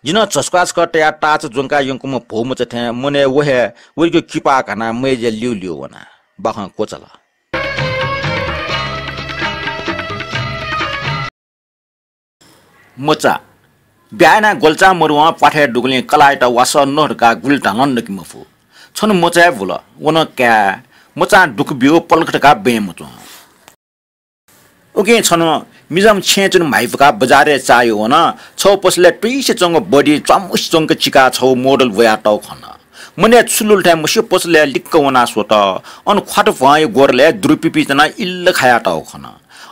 जि नं झस्क्वाः छकः तयाः ताःचा ज्वंका यंकूम्ह भौमचा थें मनय् व हे वइगु किपाः घानाः मय्‌जुया ल्यूल्यू वना। बाखं क्वचाल। मचा। ब्याहा यानाः ग्वल्चां मरुवं प्वाथय् दुगुलिं कलाःयात वासः नः धकाः गुलि धालं नके मफु। छन्हु मचा हे बुल, व नं काय्। मचां दुःख ब्यू पलख धकाः बँय् मच्वं। उकिं छन्हु मिजंम्ह छेँय् च्वने म्हाइपुकाः बजारय् चाःह्यू वन। छगू पसलय् तुइसे च्वंगु बडी च्वामुसे च्वंक चिकाः छगू मोडल ब्वयातःगु खन। मनय् छु लुल थें मस्यू पसलय् लिक्क वनाः स्वत। अन ख्वात भ्वंया ग्वदलय् दुरुपिपिं च्वनाः इल्ल खायातःगु खन।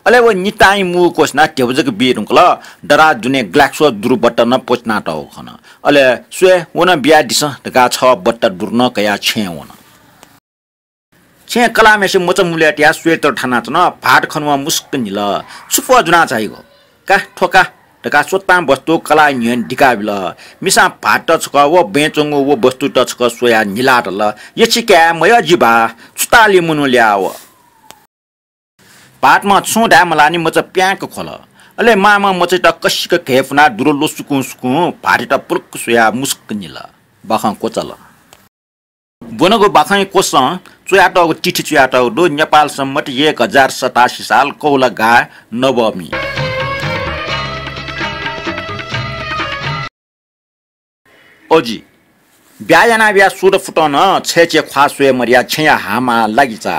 अले व नितां मू क्वछिनाः ध्यबा जक बी धुंकल। दराज दुने ग्लाक्सो दुरु बट्टा नं प्वछिनातःगु खन। अले स्वये, व नं बियादिसँ धकाः छगः बट्टा दुरु नं कयाः छेँय् वन। छेँय् कलाःम्हेसित मचा मुलय् तयाः स्वेटर थानाच्वन। भाःत खन वं मुसुक्क न्हिल। छु पः ज्वनाः झाइगु? का, थ्व का धकाः स्वतां वस्तु कलाःया न्ह्यःने दिकाबिल। मिसां भाःतयात छकः व बँय् च्वंगु व वस्तुत छकः स्वयाः न्हिलाः धाल, यछि काय् मयः जि बाः, छु तालया मनू ल्याः व। भाःतम्हं छुं धाये मलाःनि मचा प्याँक ख्वल। अले मांम्हं मचायात कसिक घय्पुनाः दुरु ल्वसुकुं सुकुं भाःतयात पुलुक्क स्वयाः मुसुक्क न्हिल। बाखं क्वचाल। ब्वनागु बाखंया क्वसं च्वयातःगु तिथि च्वयातःगु दु, नेपाल सम्बत एक हजार सतासी साल कौला गाः नवमी। अजि ब्याहा यानाबिया सुथ फुतं नं छय्‌चे ख्वाः स्वये मदयाः छेँया हामा लागिचा।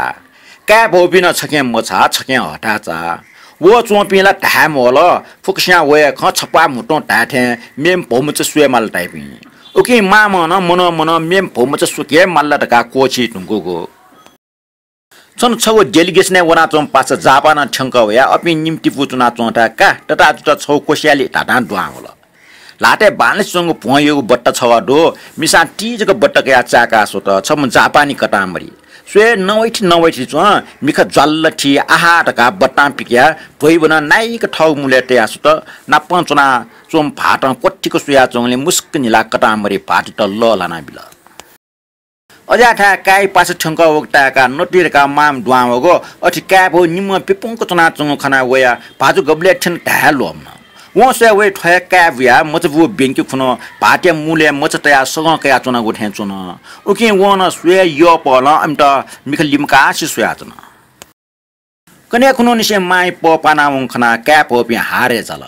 काय् भौपिं नं छखें मछाः, छखें हथाचा। वःच्वंपिं ला धाये म्वल, फुक्कसियां वये खँ छप्वाः म्हुतुं धाये थें मेम्ह भौमचा स्वये माल धाइपिं। उकिं मांम्हं नं मनं मनं मेम्ह भौमचा स्वके हे माल ला धकाः क्वःछी धुंकूगु। छन्हु छगू डेलिगेसनय् वनाच्वंम्ह पासा जापानं थ्यंकः वयाः अपिं निम्ह तिपू च्वनाच्वंथाय् का ततातुता छगू क्वस्यालि धाधां दुहां वल। ल्हातय् बांलासे च्वंगु भ्वं यःगु बट्टा छगः दु। मिसां ति जक बट्टा कयाः चाय्‌काः स्वत। छम्ह जापानी कतांमरि। स्वये नवइथि नवइथि च्वं, मिखा ज्वाल्ल थी, आहा धकाः बट्टां पिकयाः ध्वइबनं नाइक थःगु मुलय् तयाः स्वत। नापं च्वनाच्वंम्ह भाःतं क्वथिक स्वयाच्वंगुलिं मुसुक्क न्हिलाः कतांमरि भाःतयात लःल्हानाबिल। अज्याःथाय् काय् पासा थ्यंकः वःगु ताय्‌काः नतुइ धकाः मांम्ह दुहां वःगु। अथे काय् भौ निम्हं प्यपुंक च्वनाच्वंगु खनाः वयाः भाजु गबलय् थ्यन धाये ल्वःमन। वं स्वये वइ थ्व हे काय् बुयाः मचा बू ब्यंके खुन्हु भाःतया मुलय् मचा तयाः सगं कयाच्वनागु थें च्वन। उकिं वं नं स्वये यःपहलं अमित मिखा लिमकासे स्वयाच्वन। कन्हय् खुन्हुनिसें मांया पः पानावंगु खनाः काय् भौपिं हारय् झाल।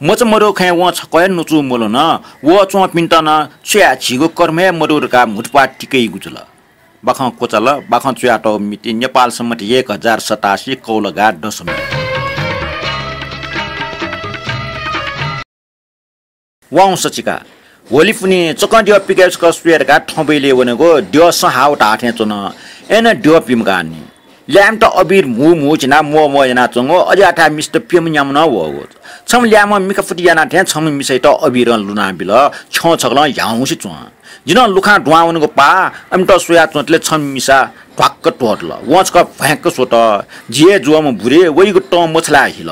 मचा मदुगु खँय् वं छकः हे नुचू मल्हुन। वःच्वंपिन्त नं छु याये, झीगु कर्म हे मदु धकाः म्हुतुप्वाः तिकइगु जुल। बाखं क्वचाल। बाखं च्वयातःगु मिति नेपाल सम्बत एक हजार सतासी कौला गाः दशमी। वाउँस चिका। होली पुन्हि चकं द्यः पिकाय् छकः स्वये धकाः थँबुइले वनेगु द्यः सँ हाव धाः थें च्वन। अय्‌नं द्यः पिमकाःनि। ल्याय्‌म्हत अबिर म्हू म्हू झिनाः म्वः म्वः यानाच्वंगु अज्याःथाय् मिसात प्यम्ह न्याम्ह नं वःगु। छम्ह ल्याय्‌म्हं मिखा फुति याना थें छम्ह मिसायात अबिरं लुनाबिल। छ्यं छकलं ह्याउँसे च्वं। जि नं लुखां दुहां वनेगु पाः अमित स्वयाच्वंतले छम्ह मिसा ध्वाक्क त्वःतल। वं छकः भ्वाँय्‌क्क स्वत। जि हे जुवःम्ह बुरे वइगु तं मछालाः हिल।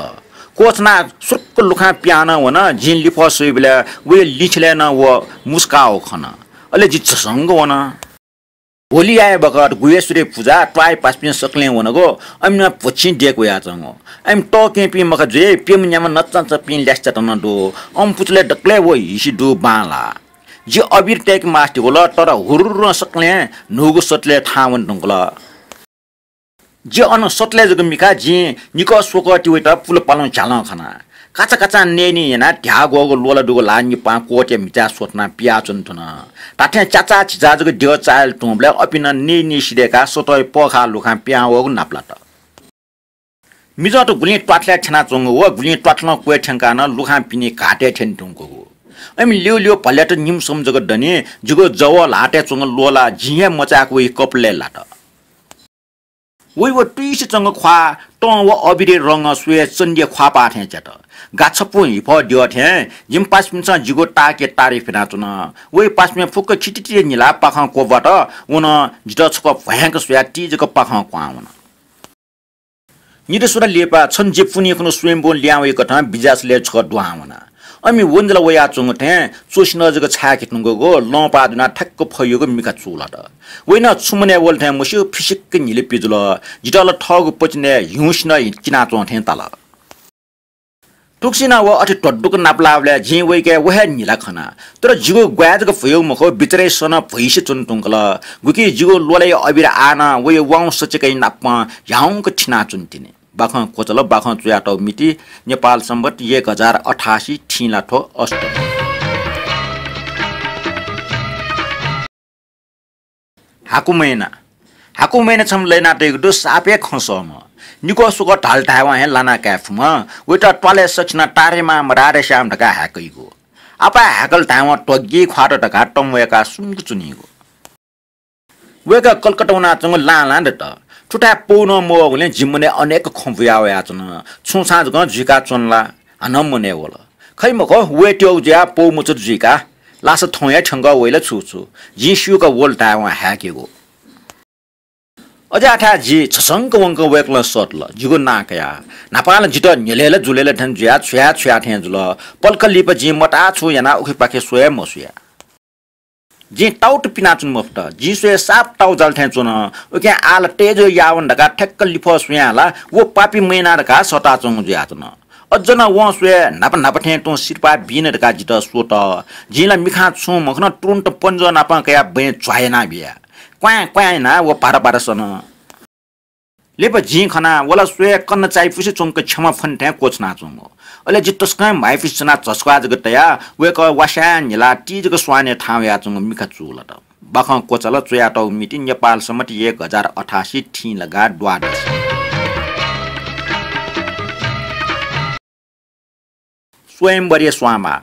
क्वछनाः सुरुक्क लुखां पिहां नं वन। जिं लिफः स्वइबलय् वया लिंछिलय् नं व मुस्काः वःगु खन। अले जि झसंक वन। होलिया हे बखत गुह्येश्वरी पुजा त्वाःया पासापिं सकलें वनागु। अमि नं भ्वछिं देय्‌क वयाच्वंगु। अमि तःकेहेँपिं मखा जुइ, प्यम्ह न्याम्ह नचांचापिं ल्यासेत नं दु। अम्मु पुचलय् दकलय् व हिसि दु बांलाः। जि अबिर तय्के मास्ति वल, तर हुर्र सकलें न्हूगु सतलय् थाहां वने धुंकल। जि अन सतलय् जक मिखा, जिं निकः स्वकः तिवय्त पुल पालं झ्यालं खना। काचा काचां नयेनी यानाः ध्याः ग्वःगु ल्वला दुगु ल्हाः निपां क्वःतया म्हिचाय् स्वथनाः पियाच्वन धुन। धात्थें च्याचाः झिचाः जक द्यः चाःहिल तुंबलय् अपिं नं नयेनी सिधय्काः सतःया पःखाः लुखां पिहां वःगु नापलात। मिजंत गुलिं त्वाथलय् थ्यनाच्वंगु व गुलिं त्वाथलं क्वय् थ्यंकाः नं लुखां पिने घातय् थ्यने धुंकूगु। अमि ल्यू ल्यू भल्यात निम्ह सम्ह जक दनि, जिगु जवः ल्हातय् च्वंगु ल्वला जिं हे मचाय्क वइ कपालय् लात। वइ व तुइसे च्वंगु ख्वाः तं व अबिरया रंगं स्वयाः चण्डीया ख्वाःपाः थें च्यात। गा छपुं हिफः द्यः थें जिमि पासापिन्सं जिगु ताःके तारिफ यानाच्वन। वइ पासापिं फुक्क खितितिया न्हिलाः पाखं क्वब्वात। व नं जितः छकः भ्वाँय्क स्वयाः ति जक पाखं क्वहां वन। निदँ स्वन्हु लिपा छन्हु जि पुन्हि खुन्हु स्वयम्भूं लिहां वइकथं बिज्यासलय् छकः दुहां वना। अमि वंजल वयाच्वंगु थें च्वसिनं जक छाय्के धुंकूगु लंपाः दुनाः ठ्याक्क फयुगु मिखा चूलात। वइ नं छु मनय् वल थें मस्यू, फिसिक्क न्हिले पिजुल। जितः ला थःगु पतिनय् ह्युंसिनं चिनाच्वं थें ताल। थुगुसिनं व अथे ध्वदुक नापलाःबलय् जिं वइके व हे न्हिला खना। तर जिगु ग्वाये जक भ्वयु मखु, बिचरय् सनं भ्वइसे च्वने धुंकल। गुकी जिगु ल्वलाया अबिर आः नं वइ वाउँस चिकय् नापं ह्याउँक थिनाच्वनी तिनि। बाखं क्वचाल, बाखं च्वयातःगु मिति नेपाल संवत् एक हजार अठासी, थिंलाथ्व अष्टमी। हाकु मैना। हाकु मैना छम्ह लय्नातयागु दु, साप हे खँ सःम्ह। निकः स्वकः धाल धायेवं हे लाना काये फुम्ह। वइत त्वालय् सकसिनं तारेमाम राधेश्याम धकाः हाय्कइगु। आपाः हाय्कल धायेवं त्वग्गी ख्वात धकाः तंवय्काः सुम्क च्वनीगु। वय्कः कलकत्ता वनाच्वंगु लां लां दत। थुथाय् पौ नं मवःगुलिं जि मनय् अनेक खँ बुया वयाच्वन। छुं छां जकं जुइका च्वन ला? हानं मनय् वल। खइ मखु, वयेत्यःगु जुयाः पौ मछुत जुइका लासा थौं हे थ्यंक वइ ला छु छु। जिं स्यूक वल धायेवं हाय्केगु। अज्याःथाय् जि छसंक वंक वय्कलं सःतल। जिगु नां कयाः न्हापां ला जितः न्ह्यलय् ला जुलय् ला थें जुयाः छुया छुया थें जुल। पलख लिपा जिं मताः छु यानाः उखेपाखे स्वये मसुया। जिं ताउत पिनाच्वने मफुत। जिं स्वये साप ताउजाल थें च्वन। उकिं आः ला तय्जु यावन धकाः ठ्याक्क लिफः स्वयां ला व पापी मैना धकाः सःताच्वंगु जुयाच्वन। अज्ज नं वं स्वये न्हापा न्हापा थें तुं सिरपाः बीन धकाः जितः स्वत। जिं ला मिखां छुं मखन, तुरुन्त पन्जं नापं कयाः बँय् झ्वाः यानाबिया। क्वाँय् क्वाँय् यानाः व भारा भारा सन। लिपा जिं खना, व ला स्वये कन्ना चायापुसे च्वंक क्षमा फने थें क्वछुनाच्वंगु। अले जि तसकं म्हाइपुसे च्वनाः झस्वाः जक तयाः वय्कः वास्यां न्हिलाः ति जक स्वानय् थाहां वयाच्वंगु मिखा चूलात। बाखं क्वचाल, च्वयातःगु मिति नेपाल संवत् एक हजार अठासी, थिंलागा द्वादशी। स्वयम्वरया स्वांमाः।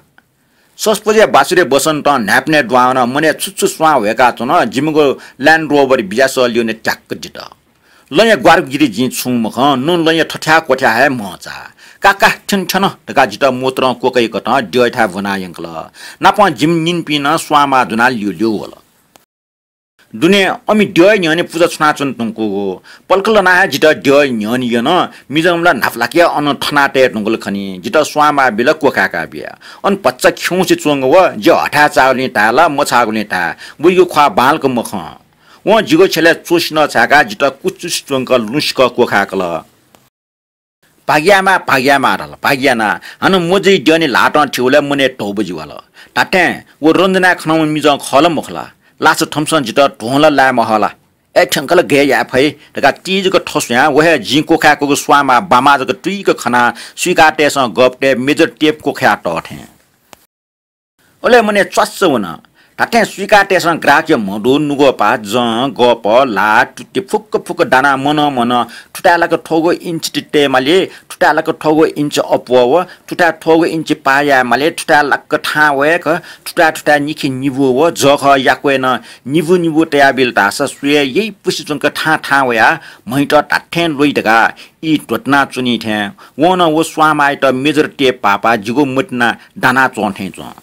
ससपुजया बाछुरे बसन्तं न्हाय्पनय् दुहां वनाः मनय् छु छु स्वां ह्वय्काच्वन। जिमिगु Land Rover बिज्यासः ल्यूने त्याक्क दित। लँया ग्वारागु गिरि जिं छुं मखं, नं लँया थथ्याः क्वथ्याः हे म्हंचा। का का, थ्यन थ्यन धकाः जितः मोतरं क्वकय्कथं द्यःयाथाय् ब्वना यंकल। नापं जिमि निंपिं नं स्वांमाः ज्वनाः ल्यूल्यू वल। दुने अमि द्यःया न्ह्यःने पुजा छुनाच्वने धुंकूगु। पलख लनाः हे जितः द्यःया न्ह्यःने यन। मिजंम्ह ला न्हापालाक हे अन थनातये धुंकल खनी। जितः स्वांमाः बिल, क्वखाय्का बिया। अन भचा खिउँसे च्वंगु व जि हथाय् चाःगुलिं धाये ला मछाःगुलिं धाये, वइगु ख्वाः बांलाक मखं। वं जिगु छ्यलय् च्वसिनं छाय्काः जितः कुचुसे च्वंक लुँसिकं क्वखाय्कल। भाग्यामा, भाग्यामा धाल, भाग्याना। हानं मजुइ द्यःने ल्हातं थिउलय् मनय् तौबजि वाल। धात्थें व रञ्जनाया खनाम्ह मिजं खः ला मखु ला? लासा थम्सं जितः ध्वं ला लाये महः ला? ए, थ्यंक ला गय् याये फइ धकाः ति जक थस्वयां व हे जिं क्वखाय्कूगु स्वांमाः बांमाः जक तुइक खनाः सुइकातय्सं गःपतय् मेजर टेप क्वखाया तः थें। अले मनय् च्वास्स वन। धात्थें सुइकातय्सं ग्राहकया म्ह दु, नुगःपा, जं, गःपः, ल्हाः, तुति फुक्क फुक्क दानाः मनं मनं थुथाय् लाक थ्वगु इन्च ति तये माली, थुथाय् लाक थ्वगु इन्च अप्वः व, थुथाय् थ्वगु इन्च पाः याये माली, थुथाय् लाक थाहां वय्क, थुथाय् थुथाय् निखे निबू व, जःखः याक्वय् नं निबू निबू तयाबिल धाःसा स्वये यइपुसे च्वंक थाहां थाहां वयाः म्हइत धात्थें ल्वइ धकाः ई ध्वतुना च्वनी थें वं नं व स्वांमाःयात मेजर टेप पाःपाः जिगु मतिना दाना च्वं थें च्वं।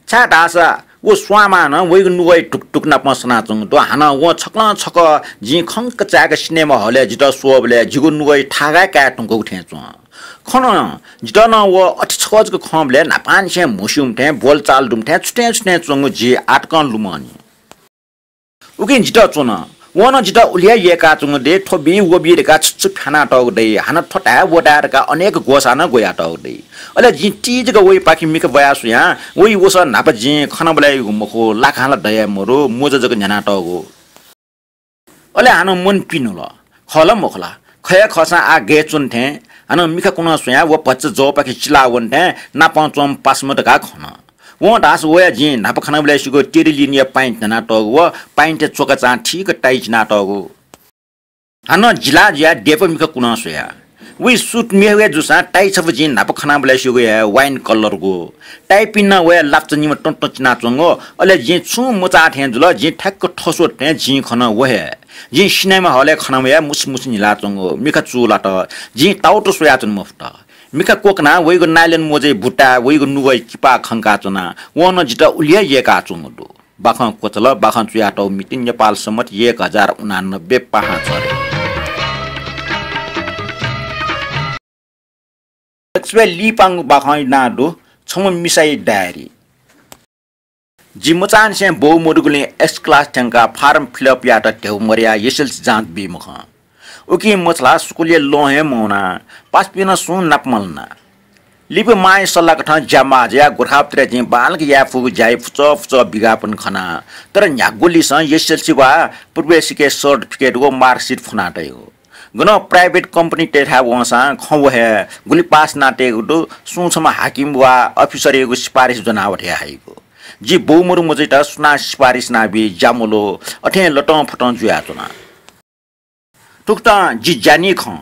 छाय्धाःसा व स्वांमाः नं वइगु नुगःया ढुकढुक नाप सनाच्वंगु दु। हानं वं छकलं छकः जिं खंक चाय्क सिनेमा हलय् जितः स्वःबलय् जिगु नुगःया थाय् काये धुंकूगु थें च्वं। खन, जितः नं व अथे छकः जक खंबलय् न्हापांनिसें म्हस्यूम्ह थें, बोलचाल दुम्ह थें, छुथें छुथें च्वंगु जि आःतकं लुमंनि। उकिं जितः च्वन। वं नं जितः उलि हे यय्काच्वंगु दइ, थ्व बी व बी धकाः छु छु फ्यानातःगु दइ, हानं थ्व धाये व धाये धकाः अनेक ग्वसाः नं ग्वयातःगु दइ। अले जिं ति जक वइपाखे मिखा ब्वया स्वयां वइ वसः न्हापा जिं खनाबलय् याइगु मखु, लाकां ला दये मरु, मोजा जक न्ह्यानातःगु। अले हानं मन पिन्हुल, खः ला मखु ला? खः हे खःसां आः गय् च्वन थें। हानं मिखा कुनं स्वयां व भचा जवपाखे चिलाः वन थें नापं च्वंम्ह पासाम्ह धकाः खन। वं धाःसा वया जिं न्हापा खनाबलय् सिगु टेरिलिनया पाइन्ट न्ह्यानातःगु व पाइन्टय् च्वकाचां ठीक टाइ चिनातःगु। हानं जिलाः जुयाः देपा मिखा कुनं स्वया। वइ सुट मेगु हे जूसां टाइ छपु जिं न्हापा खनाबलय् सिगु हे वाइन कलरगु। टाइपिं नं वया लापचा निम्ह तं तं चिनाच्वंगु। अले जिं छुं मचाः थें जुल, जिं ठ्याक्क थस्वत थें जिं खन व हे। जिं सिनेमा हलय् खनावया मुसु मुसु न्हिलाच्वंगु मिखा चूलात। जिं ताउत स्वयाच्वने मफुत। मिखा क्वकनाः वइगु नाइलन मोजय् बुताः वइगु नुगः किपाः खंकाच्वना। वं नं जितः उलि हे यय्काच्वंगु दु। बाखं क्वचाल, बाखं चुयातःगु मिति नेपाल सम्बत एक हजार उनानब्बे पाहां झरे। दक्वसिबय् लिपांगु बाखंया नां दु छम्ह मिसाया डायरी। जि मचांनिसें बौ मदुगुलिं S class थ्यंकाः form fill up यायेत ध्यबा मदयाः SSLC जाँच बी मखं। उकिं मछालाः स्कुलय् लं हे मवना। पासापिं नं सुं नाप मल्हुना। लिपा मांया सल्लाकथं ज्या माः जुयाः गोरखापत्रय् जिं बांलाक याये फुगु ज्याया फुचः फुचः विज्ञापन खना। तर न्ह्यागुलिसं SSLC वा प्रवेशिका certificate व marksheet फ्वना तइगु। गनं private company तय्थाय् वंसां खँ व हे गुलि पास यानातयेगु दु, सुं छम्ह हाकिम वा अफिसरयागु सिफारिस ज्वनाः व धयाः हइगु। जि बौ मदु मजुइत सुनां सिफारिस यानाबी ज्या मल्हू, अथें लतं फतं जुयाच्वना। थुकथं जि ज्यानि खँ,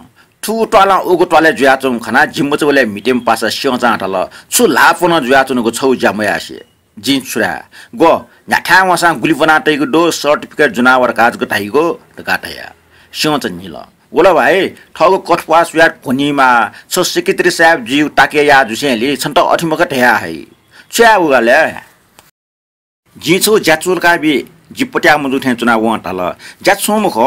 थुगु त्वालं उगु त्वालय् जुयाच्वंगु खनाः जि मचाबलय् म्हितेम्ह पासा स्यंचां धाल, छु ल्हाः प्वनं जुयाच्वनागु छगू ज्या मयासें। जिं छु धाये? ग्व, न्ह्याथाय् वंसां गुलि ब्वना तइगु दु, certificate ज्वनाः व धकाः जक धाइगु धकाः धया। स्यंचा न्हिल। वल भाइ, थःगु कथप्वाः स्वयाः क्वनीमाः, छ secretary साहेब जुइगु ताकय् याः जुसेंलि छन्त अथे मखु धया हइ। छु याये उगु ले? जिं छगू ज्या चूलाकाबी। जि पत्याः मजू थें च्वनाः वं धाल, ज्या छुं मखु,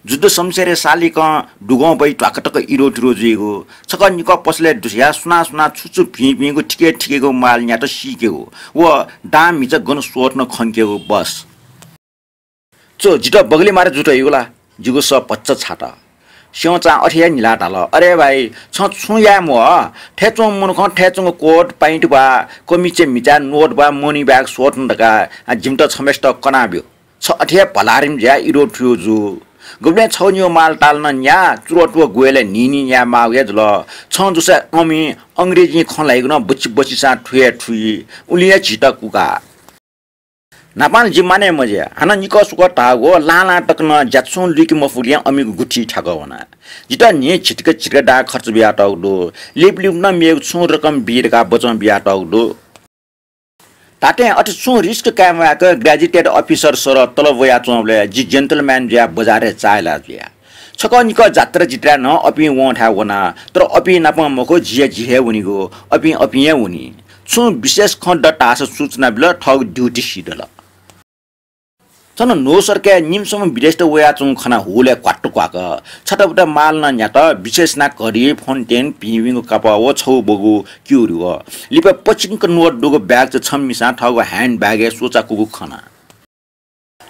जुद्ध शमशेरया सालिकं दुगं बइ ध्वाका तक इरो तिरो जुइगु। छकः निकः पसलय् दुस्याः सुनां सुनां छु छु भिं भिंगु थिके थिकेगु माल न्यात सीकेगु व दां म्हिचा गन स्वःथन खंकेगु बस। च्व, जितः बगलय् मारे जुइत हइगु ला? जिगु सः भचा छात। स्यंचां अथे हे न्हिलाः धाल, अरे भाइ, छं छुं याये म्वाः। थय् च्वंम्ह मनुखं थय् च्वंगु कोट, पाइन्ट वा कमिचय् म्हिचाय् नोट वा money bag स्वःथन धकाः जिमित छम्हय्सित कनाब्यु। छ अथे हे भलारिम जुयाः इरो थुयो जू। गुबलें छगू निगू माल ताल नं न्याः, चुरतुर ग्वय्लय् न्हिं न्हिं याये माःगु हे जुल। छं जूसा अमिं अंग्रेजीं खँ ल्हाइगु नं बच्छि बच्छि सां थुये थुइ, उलिं हे झीत कुका। न्हापां जि मानय् मजुया, हानं निकः सुकः धाःगु लां लां तक नं ज्या छुं लुइके मफुगुलिं अमिगु गुथि थ्याकः वना। जितः न्हिं झितिक झितिक दां खर्च बियातःगु दु। लिपा लिपा नं मेगु छुं रकम बी धकाः बचं बियातःगु दु। धात्थें अथे छुं risk काये म्वायेक gazetted officer सरह तलब वयाच्वंबलय् जि gentleman जुयाः बजारय् चाःहिला जुया। छकः निकः जात्रा जित्राय् नं अपिं वंथाय् वना, तर अपिं नाप मखु, जि हे जि हे वनीगु, अपिं अपिं हे वनी। छुं विशेष खँ दत धाःसा सूचना बिल, थःगु duty सिधल। थन न्हूसरकाय् निम्हसम्ह विदेशीत वयाच्वंगु खनाः हुलय् क्वात्तु क्वाक। छताबुता माल नं न्यात, विशेष यानाः घडी, फोन टेन, भिंभिंगु कापः व छगू बगू क्यूरि व लिपा पचिंक नोट दुगु bag च छम्ह मिसां थःगु hand bag-य् स्वचाकूगु खना।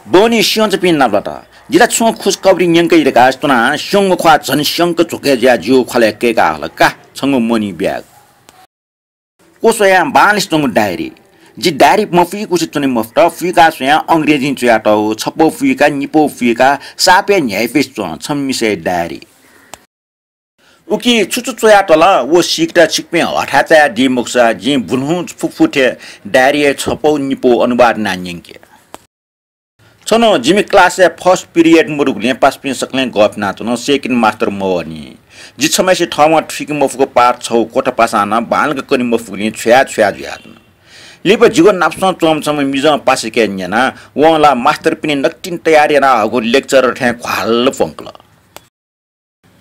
बहनी स्यंचापिं नापलात। जि ला छुं खुसखबरी न्यंके धकाः च्वनाः स्यंगु ख्वाः झन स्यंक झ्वके जुयाः जिगु ख्वालय् कय्काः हल, का, छंगु money bag। क्वस्वयां बांलासे च्वंगु डायरी। जि डायरी मफुइकुसे च्वने मफुत, फुइका स्वयां अंग्रेजीं च्वयातःगु, छपौ फुइका, निपौ फुइका, सापय् न्ह्याइपुसे च्वं, छम्ह मिसाया डायरी। उकी छु छु च्वयातल व सीकेत छिकपिं हथाय् चायादी मखुसा, जिं बुन्हु फुफुथे डायरीया छपौ निपौ अनुवाद यानाः न्यंके। छन्हु जिमि class-य् first period मदुगुलिं पासापिं सकलें गःफिनाच्वन, second मास्टर मवःनि। जि छम्हय्सित थःम्हं थुइके मफुगु पाठ छगू क्वथा पासां नं बांलाक कने मफुगुलिं छ्वया छ्वया जुयाच्वन। लिपा जिगु नापसं च्वंम्ह छम्ह मिजं पासाके न्यना, वं ला मास्टरपिनि नकतिनि तयार याना हःगु lecturer थें ख्वाल प्वंकल।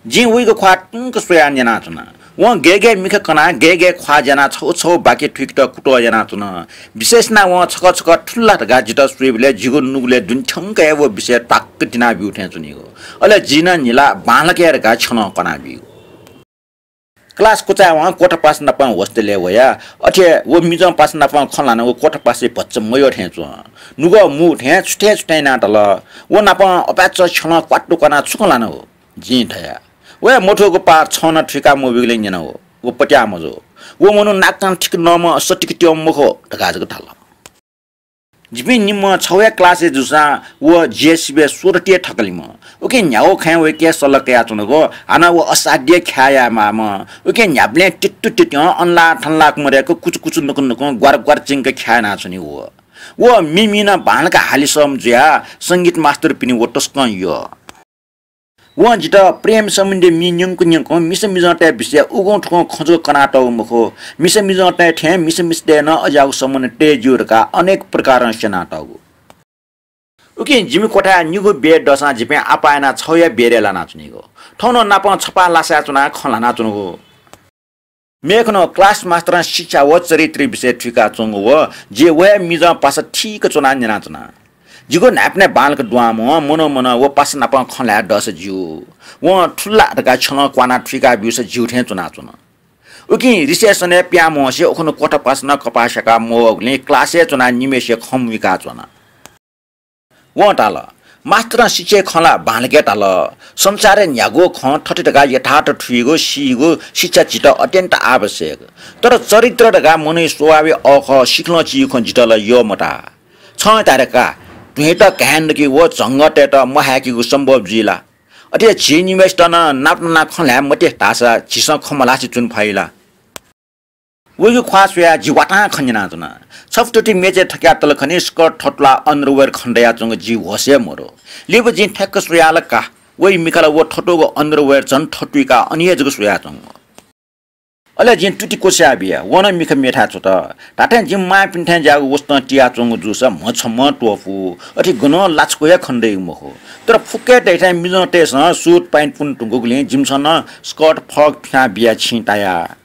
जिं वइगु ख्वाः तुंक स्वयाः न्यनाच्वना। वं गय् गय् मिखा कनाः गय् गय् ख्वाः ज्यानाः छगू छगू वाक्य थुइकेत कुतः यानाच्वन। विशेष यानाः वं छकः छकः थुल ला धकाः जितः स्वइबलय् जिगु नुगलय् दुने थ्यंक हे व विषय ध्वाक्क तिनाब्यू थें च्वनीगु। अले जिं नं न्हिलाः बांलाक हे धकाः छ्यलं कनाबीगु। क्लास क्वचाय्‌वं क्वथापासा नाप hostel-य् वया। अथे व मिजंपासा नाप खँ ल्हानागु क्वथापासय् भचा मयः थें च्वं। नुगः मू थें छुथें छुथें यानाः धाल, "व नाप अपाय्‌चा छ्यलं क्वातुक्वानाः छु खँ ल्हानागु?" जिं धया। वया मथूगु पाः छं नं थुइका मब्यूगुलिं न्यनागु। व पत्याः मजू। व मनू नाकं ठीक नःम्ह, सतिक त्यंम्ह मखु धकाः जक धाल। जिपिं निम्ह छगू हे क्लासय् जूसां व जिया सिबय् सोह्रतिया थकालिम्ह। उकिं न्ह्यागु खँय् वय्‌के सल्लाह कयाच्वनागु, हानं व असाध्य ख्याः यायेमाःम्ह। उकिं न्ह्याबलें तित्तु तित्यं अनलाः थनलाः मदय्‌क कुचु कुचु नुकु नुकुं ग्वार ग्वार चिंक ख्याः यानाच्वनीगु। व मिमि नं बांलाक हालिसःम्ह जुयाः संगीत मास्टरपिनि व तसकं यः। वं जितः प्रेम सम्बन्धी मि न्यंकु न्यंकुं मिसा मिजंतय् विषयय् उगुं थुगुं खँ जक कनातःगु मखु, मिसा मिजंतय् थें मिसा मिस्तय् नं अज्याःगु सम्बन्ध तये ज्यू धकाः अनेक प्रकारं स्यनातःगु। उकिं जिमि क्वथाय् निगू बेड दःसां जिपिं आपाः यानाः छगूया बेडय् लानाच्वनीगु। थौं नं नापं छपाः लासाय् च्वनाः खँ ल्हानाच्वनागु। मेखुन्हु क्लास मास्टरं शिक्षा व चरित्र विषय थुइकाच्वंगु व जि व हे मिजंपासा ठीक च्वनाः न्यनाच्वना। जिगु न्हाय्‌पनय् बांलाक दुहां मुहां मनं मनं व पासा नाप खँ ल्हाये दःसा ज्यू। वं थुल ला धकाः छ्यलं क्वानाः थुइका ब्यूसा ज्यू थें च्वनाच्वन। उकिं रिसेसनय् पिहां म्हसे उखुन्हु क्वथापासा नं कपाः स्याकाः मवःगुलिं क्लासय् च्वनाः निम्हय्‌सिया खँ मुइकाच्वन। वं धाल, "मास्टरं शिक्षाया खँ ला बांलाक हे धाल। संसारय् न्ह्यागु खँ थथे धकाः यथार्थ थुइगु, सीगु शिक्षा झीत अत्यन्त आवश्यक। तर चरित्र धकाः मनूया स्वभावया अःखः सिखलं चीगु खँ जितः ला यः मताः। छं धाय्‌का, ध्वंयात घाये नकी व झंगःतय्‌त महाय्‌केगु सम्भव जुइ ला? अथे झी निम्हय्‌सित नं नाप नाप खँ ल्हाये मते धाःसा झीसं खँ मल्हासे च्वने फइ ला?" वइगु ख्वाः स्वयाः जि वातां खँ न्यनाच्वना। छपु तुति मेचय् थकयातल खनी, स्कर्ट थतुलाः underwear खनेदयाच्वंगु जि होशय् मदु। लिपा जिं ठ्याक्क स्वयाः ला का, वइ मिखां ला व थतुगु underwear झन थतुइकाः अन हे जक स्वयाच्वंगु। अले जिं तुति क्वचाय् बिया, व नं मिखा मेथाय् छ्वत। धात्थें जिमि मांपिन्थाय् ज्याःगु वसतं तियाच्वंगु जूसा म्ह छम्हं त्वःपू, अथे गनं लाछ्वः हे खनेदइगु मखु। तर फुक्क हे दइथाय् मिजंतय्‌सं suit pant पुने धुंकूगुलिं जिमिसं नं स्कर्ट फरक फिनाः बिया छिं ताया।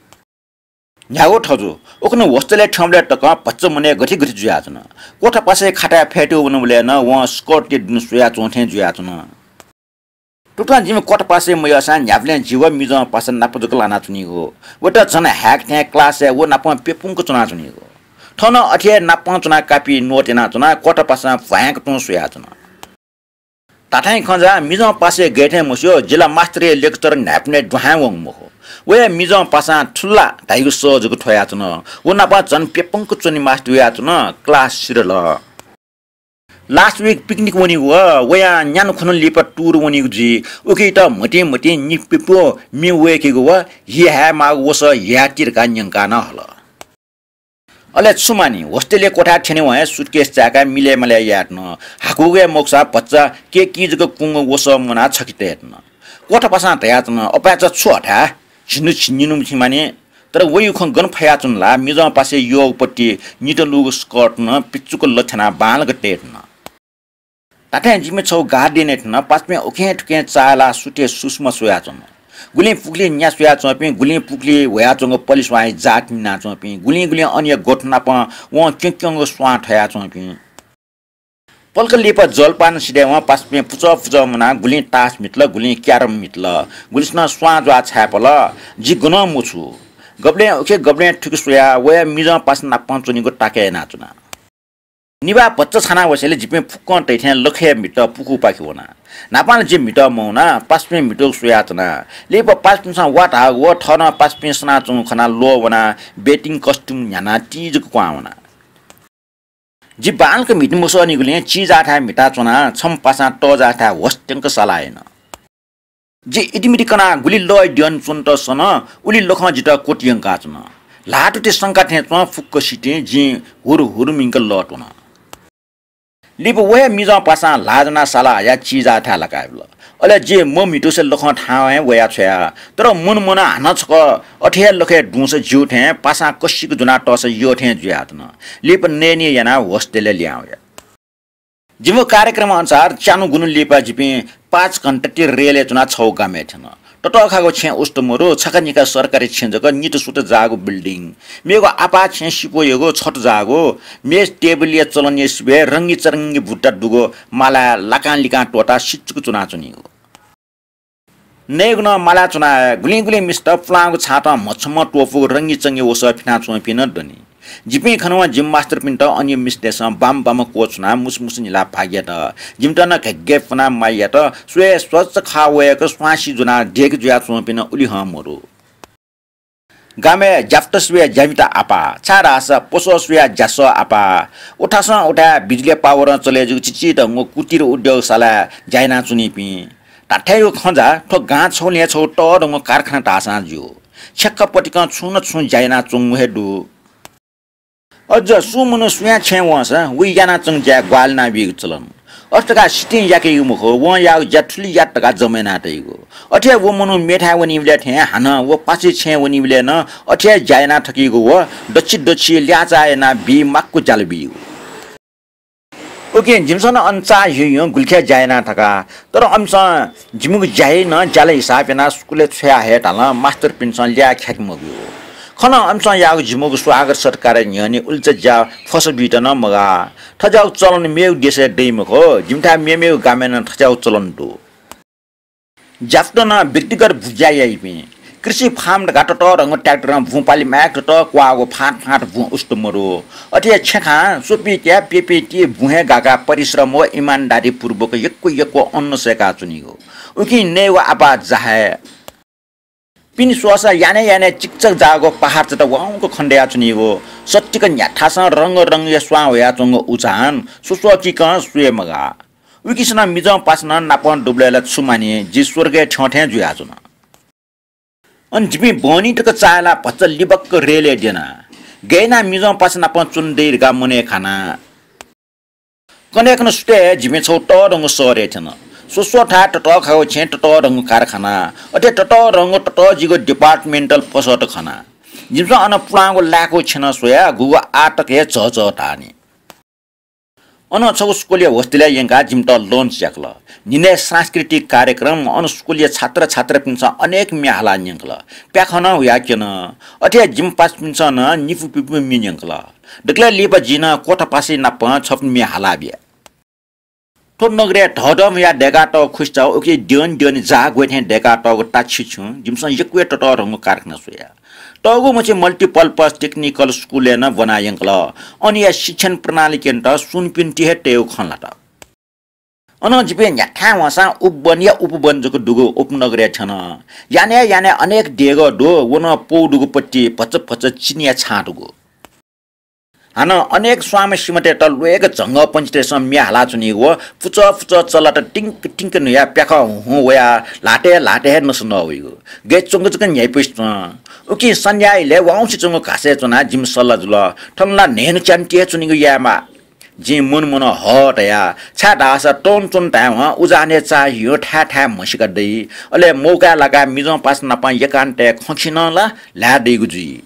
न्ह्यागु थजु, उखुन्हु hostel-य् थ्यंबलय् तकं भचा मनय् गथे गथे जुयाच्वन। क्वथापासय् खाताय् फ्यतुइ वनाबलय् नं वं स्कर्टया दुने स्वयाच्वं थें जुयाच्वन। तुकथं जिमि क्वथापासय् मयःसां न्ह्याबलें जि व मिजंपासा नाप जक लानाच्वनीगु। वयात झन हाय्‌क थें क्लासय् व नापं प्यपुंक च्वनाच्वनीगु। थन अथे हे नापं च्वनाः कापि note यानाच्वनाः क्वथापासां भ्वाँय्‌क तुं स्वयाच्वन। धात्थें खँ जा, मिजंपासय् गय् थें मस्यू, जि ला मास्टरया lecture न्हाय्‌पनय् दुहां वंगु मखु। वया मिजंपासां थुल ला धाइगु सः जक थ्वयाच्वन। व नाप झन प्यपुंक च्वने मास्ति वयाच्वन, क्लास सिधल। Last week picnic वनीगु व, वयां न्यान्हु खुन्हु लिपा tour वनीगु जुइ। उकियात म्हतिं म्हतिं निप्यपु म्ये वय्‌केगु व हि हायेमाःगु वसः ह्याति धकाः न्यंकाः नं हल। अले छु मानि, hostel-या क्वथाय् थ्यनेवं हे suitcase चाय्‌काः मिलय् मालय् यायेत्यन। हाकुगु हे मखुसा भचा केकी जक कुंगु वसः मुनाः छखे तयेत्यन। क्वथापासां धयाच्वन, "अपाय्‌चा छु हथाय्? झिन्हु झिंनिन्हु मछि मानि।" तर वइगु खँ गन फयाच्वन ला, मिजंपासय् यःगु पट्टि नितलूगु स्कर्ट नं पिचुक लथ्यानाः बांलाक तयेत्यन। धात्थें जिमि छगू garden-य् थ्यन, पासापिं उखें थुखें चाःहिलाः सुथय् सुसुमा स्वयाच्वन। गुलिं पुखुलिइ न्या स्वयाच्वंपिं, गुलिं पुखुलिइ ह्वयाच्वंगु पलिस्वांया जात मिनाच्वंपिं, गुलिं गुलिं अनया ग्वथु नाप वं क्यंक्यंगु स्वां थयाच्वंपिं। पलख लिपा जलपान सिधयेवं पासापिं पुचः पुचः मुनाः गुलिं तास म्हितल, गुलिं क्यारम म्हितल, गुलिसिनं स्वां ज्वाः छाय्‌पल। जि गनं मछू। गबलें उखे गबलें थुखे स्वयाः वया मिजंपासा नाप च्वनीगु ताकय् यानाच्वना। निभाः भचा छाना वसेंलि जिपिं फुक्कं तइथें लखय् म्हितः पुखूपाखे वना। न्हापां ला जि म्हितः मवना, पासापिं म्हितःगु स्वयाच्वना। लिपा पासापिन्सं वा धाःगु व थनं पासापिं सनाच्वंगु खनाः ल्वः वनाः bathing costume न्ह्यानाः ति जक क्वहां वना। जि बांलाक म्हिते मसःनिगुलिं चिजाःथाय् म्हिताच्वनाः छम्ह पासां तःजाःथाय् होस्त्यंक साला याना। जि इतिमिति कनाः गुलि लः द्यन च्वनेत सन, उलि लखं जितः क्वति यंकाच्वन। ल्हातुति संका थें च्वं फुक्क सितिं जिं हुरु हुरु मिंक लः त्वन। लिपा व हे मिजंपासां ल्हाः ज्वनाः साला हयाः चिजाःथाय् लाकाबिल। अले जि मम्हितुसे लखं थाहां हे वया छ्वया। तर मन मनं हानं छकः अथे हे लखय् दुंसा ज्यू थें, पासां कसिक ज्वनाः तःसा यः थें जुयाच्वन। लिपा नयेनी यानाः होस्त्यलय् लिहां वया। जिमिगु कार्यक्रम अनुसार च्यान्हु गुन्हु लिपा जिपिं पाँच घण्टा ति रेलय् च्वनाः छगू गामय् थ्यन। ततःखाःगु छेँ उस्त मरु, छखा निखा सरकारी छेँ जक, नित सुत जाःगु building। मेगु आपाः छेँ सिपु यःगु छत जाःगु, मेज टेबलया चलनया सिबय् रंगीचरंगी बुट्टा दुगु मालाय् लाकां लिकां त्वःताः सिचुक च्वनाच्वनीगु। नयेगु नं माला च्वना हे गुलिं गुलिं मिस्त पुलांगु छातं म्हछम्ह त्वपुगु रंगी चंगी वसः फिनाच्वंपिं नं दनि। जिपिं खनवं जिमि मास्तरपिन्त अन मिस्तय्सं बाम बाम क्वछुनाः मुसु मुसु न्हिलाः भाग्यात। जिमित नं घ्यग्घे पुनाः माया यात। स्वये स्वच्छ खा वय्क स्वांसी ज्वनाः देगि जुयाच्वंपिं नं उलि हं मरु। गामय् ज्याप्त स्वयाः ज्यामित आपाः, छाय्धाःसा पसः स्वयाः ज्यासः आपाः। उथासं उथाय् बिजुली पावरं चले जूगु चिचिधंगु कुटीर उद्योगशालाय् ज्या यानाच्वनीपिं। धात्थेंगु खँ जा, थ्व गां छगू नं छगू तःधंगु कारखाना धाःसां ज्यू। छेँखा पतिकं छुं न छुं ज्या यानाच्वंगु हे दु। अझ सुं मनू सुयां छेँय् वंसां वइ यानाच्वंगु ज्याय् ग्वाहालि यानाबीगु चलन। अथे धकाः सितिं याकेगु मखु, वं याःगु ज्या थुलि यात धकाः जमा याना तइगु। अथे हे व मनू मेथाय् वनीबलय् थें हानं व पासाया छेँय् वनीबलय् नं अथे हे ज्या याना थकीगु व दछि दछि ल्याःचाः यानाः बी माक्व ज्याला बीगु। उकिं जिमिसं नं अन चाःहिउहिउं गुलिखे ज्या याना थका। तर अमिसं जिमिगु ज्या हे नं ज्याला हिसाब यानाः स्कुलय् छ्वया हये धालं मास्तरपिन्सं ल्याः ख्याके मब्यू। खनं अमिसं याःगु जिमिगु स्वागत सत्कारया न्ह्यःने उलिचा ज्या फसः बीत नं मगाः। थज्याःगु चलन मेगु देशय् दइ मखु, जिमिथाय् मेमेगु गामय् नं थज्याःगु चलन दु। ज्याप्त नं व्यक्तिगत बुँज्या याइपिं। कृषि फार्म धकाः ततःधंगु ट्र्याक्टरं बुँ पालि माय्क ततः क्वाःगु फाँट फाँट बुँ उस्त मरु। अथे हे छेँखां स्वपित्या प्यपिति बुँ हे गाकाः परिश्रम व इमानदारीपूर्वक यक्व यक्व अन्न सय्काच्वनीगु। उकिं नयेगु आपाः जाहाय्। पिने स्वःसा यानय् यानय् चिकचक जाःगु पहाडचात वाउँक खनेदयाच्वनीगु। सत्तिक न्ह्याथासं रंग रंगया स्वां ह्वयाच्वंगु उजान स्वस्वकीकं स्वये मगाः। उकिसनं मिजं पासानं नापं दुबलय् ला छु मानि, जि स्वर्गय् थ्यंथें जुयाच्वना। अन जिपिं बहनी तक चाःहिलाः भचा लिबक्क रेलय् द्यना। गय् यानाः मिजं पासा नापं च्वने दइ धकाः मनय् खाना। कन्हय्कन्हय् सुथय् हे जिपिं छगू तःधंगु शहरय् थ्यन। स्वस्वथाय् ततःखागु छेँय् ततःधंगु कारखाना, अथे ततःधंगु ततःजिगु departmental पसःत खना। जिमिसं अन पुलांगु लाय्कू छेँ नं स्वयाः गुगु आः तक हे झःझः धाःनि। अन छगू स्कुलया hostel-य् यंकाः जिमित lunch याकल। न्हिनय् सांस्कृतिक कार्यक्रम, अन स्कुलया छात्र छात्रापिन्सं अनेक म्ये हालाः न्यंकल। प्याखं नं हुयाः क्यन। अथे हे जिमि पासापिन्सं नं निपु पिपु म्ये न्यंकल। दकलय् लिपा जिं नं क्वथा पासाया नाप छपु म्ये हालाः बिया। थ्व नगरय् धःधःम्ह हुयाः दय्कातःगु खुसिचा उकी द्यःने द्यःने जाः ग्वय् थें दय्कातःगु ताछि छुं जिमिसं यक्व हे ततःधंगु कारखाना स्वया। तःगु मछि multipurpose technical school-य् नं ब्वना यंकल। अनया शिक्षण प्रणाली क्यनेत सुनपिन्ति हे तयेगु खँ ल्हात। अनं जिपिं न्ह्याथाय् वंसां उपवन या उपवन जक दुगु उपनगरय् थ्यन। यानय् यानय् अनेक देगः दु, व नं पौ दुगु पट्टि भचा भचा चिनिया छां दुगु। हानं अनेक स्वांम्ह सिमातय्त ल्वय्क झंगःपंक्षीतय्सं म्ये हालाच्वनीगु व पुचः पुचः चल्लात तिंक तिंक न्हुयाः प्याखं हुँ हुँ वयाः ल्हातय् ल्हातय् हे नसा नः वइगु। गय् च्वंक जक न्ह्याइपुसे च्वं। उकिं सन्ध्या इलय् वाउँसे च्वंगु घासय् च्वनाः जिमि सल्लाह जुल, थन ला न्हय्न्हु च्यान्हु ति हे च्वनीगु यायेमाः। जिं मन मनं हः तया, छाय्धाःसा तौं च्वने धायेवं उजानय् चाःहिउं थाय् थाय् म्हसीका दइ। अले मौकाय् लाकाः मिजं पासा नाप एकान्तय् खँ खिनं ला ल्हाये दइगु जुइ।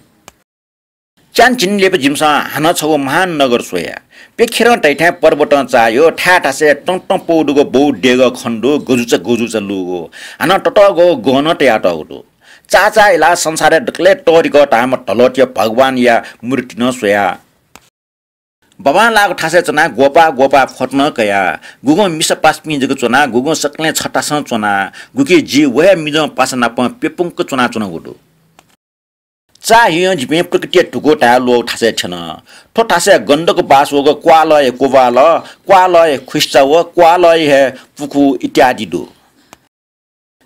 च्यान्हु चिने लिपा जिमिसं हानं छगू महान नगर स्वया। प्यखेरं धइथें पर्वतं चाःहिउ, थाय् थासय् तं तं पौ दुगु बौ देगः खने दु, गजुचा गजुचा लूगु। हानं ततःगु गहनं तयातःगु दु। चाःचाःहिलाः संसारय् दकलय् तःधिकः धाःम्ह धलःतिया भगवानया मूर्ति नं स्वया। बाबांलाःगु थासय् च्वनाः ग्वपाः ग्वपाः फोटो नं कया। गुगुं मिसा पासापिं जक च्वनाः, गुगुं सकलें छतासं च्वनाः, गुकी जि व हे मिजं पासा नाप प्यपुंक च्वनाच्वनागु दु। चाःहिउं जिपिं प्रकृतिया धुकू धाये ल्वःगु थासय् थ्यन। थ्व थासय् गन्धक बास वःगु क्वालया कोबाल, क्वालया खुसिचा व क्वालया हे पुखू इत्यादि दु।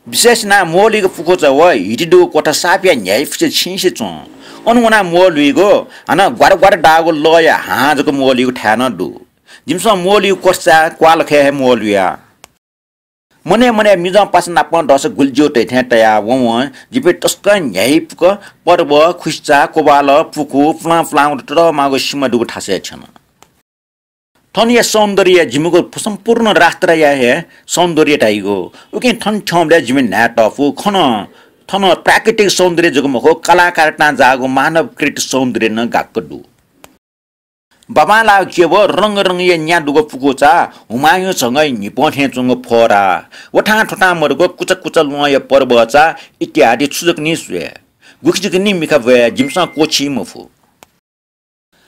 विशेष यानाः म्वःल्हुइगु पुखूचा व हिति दुगु क्वथा सापया न्ह्याइपुसे छिंसे च्वं। अन वनाः म्वःल्हुइगु, हानं ग्वार ग्वार दाःगु लःया हां जक म्वःल्हुइगु थाय् नं दु। जिमिसं म्वःल्हुइगु क्वथाचाय् क्वालखय् हे म्वःल्हुया। मनय् मनय् मिजं पासा नाप दःसा गुलि ज्यू धइथें तयाः वं वं जिपिं तसकं न्ह्याइपुक पर्व, खुसिचा, कोबाल, पुखू, पुलां पुलांगु ततःमाःगु सिमा दुगु थासय् थ्यन। थनया सौन्दर्य जिमिगु सम्पूर्ण राष्ट्रया हे सौन्दर्य धाइगु। उकिं थन थ्यंबलय् जिमि न्हाय् तःपु। खन थन प्राकृतिक सौन्दर्य जक मखु, कलाकारतां जाःगु मानवकृत सौन्दर्य नं गाक्क दु। बाबांलाःगु क्यब रंग रंगया न्या दुगु पुकूचा, हुमायूं झंगःया न्हिपं थें च्वंगु फोहरा, वथां थुथां मदुगु कुचा कुचा ल्वहंया पर्वचा इत्यादि छु जक नि स्वये, गुखि जक नि मिखा ब्वये जिमिसं क्वःछी मफु।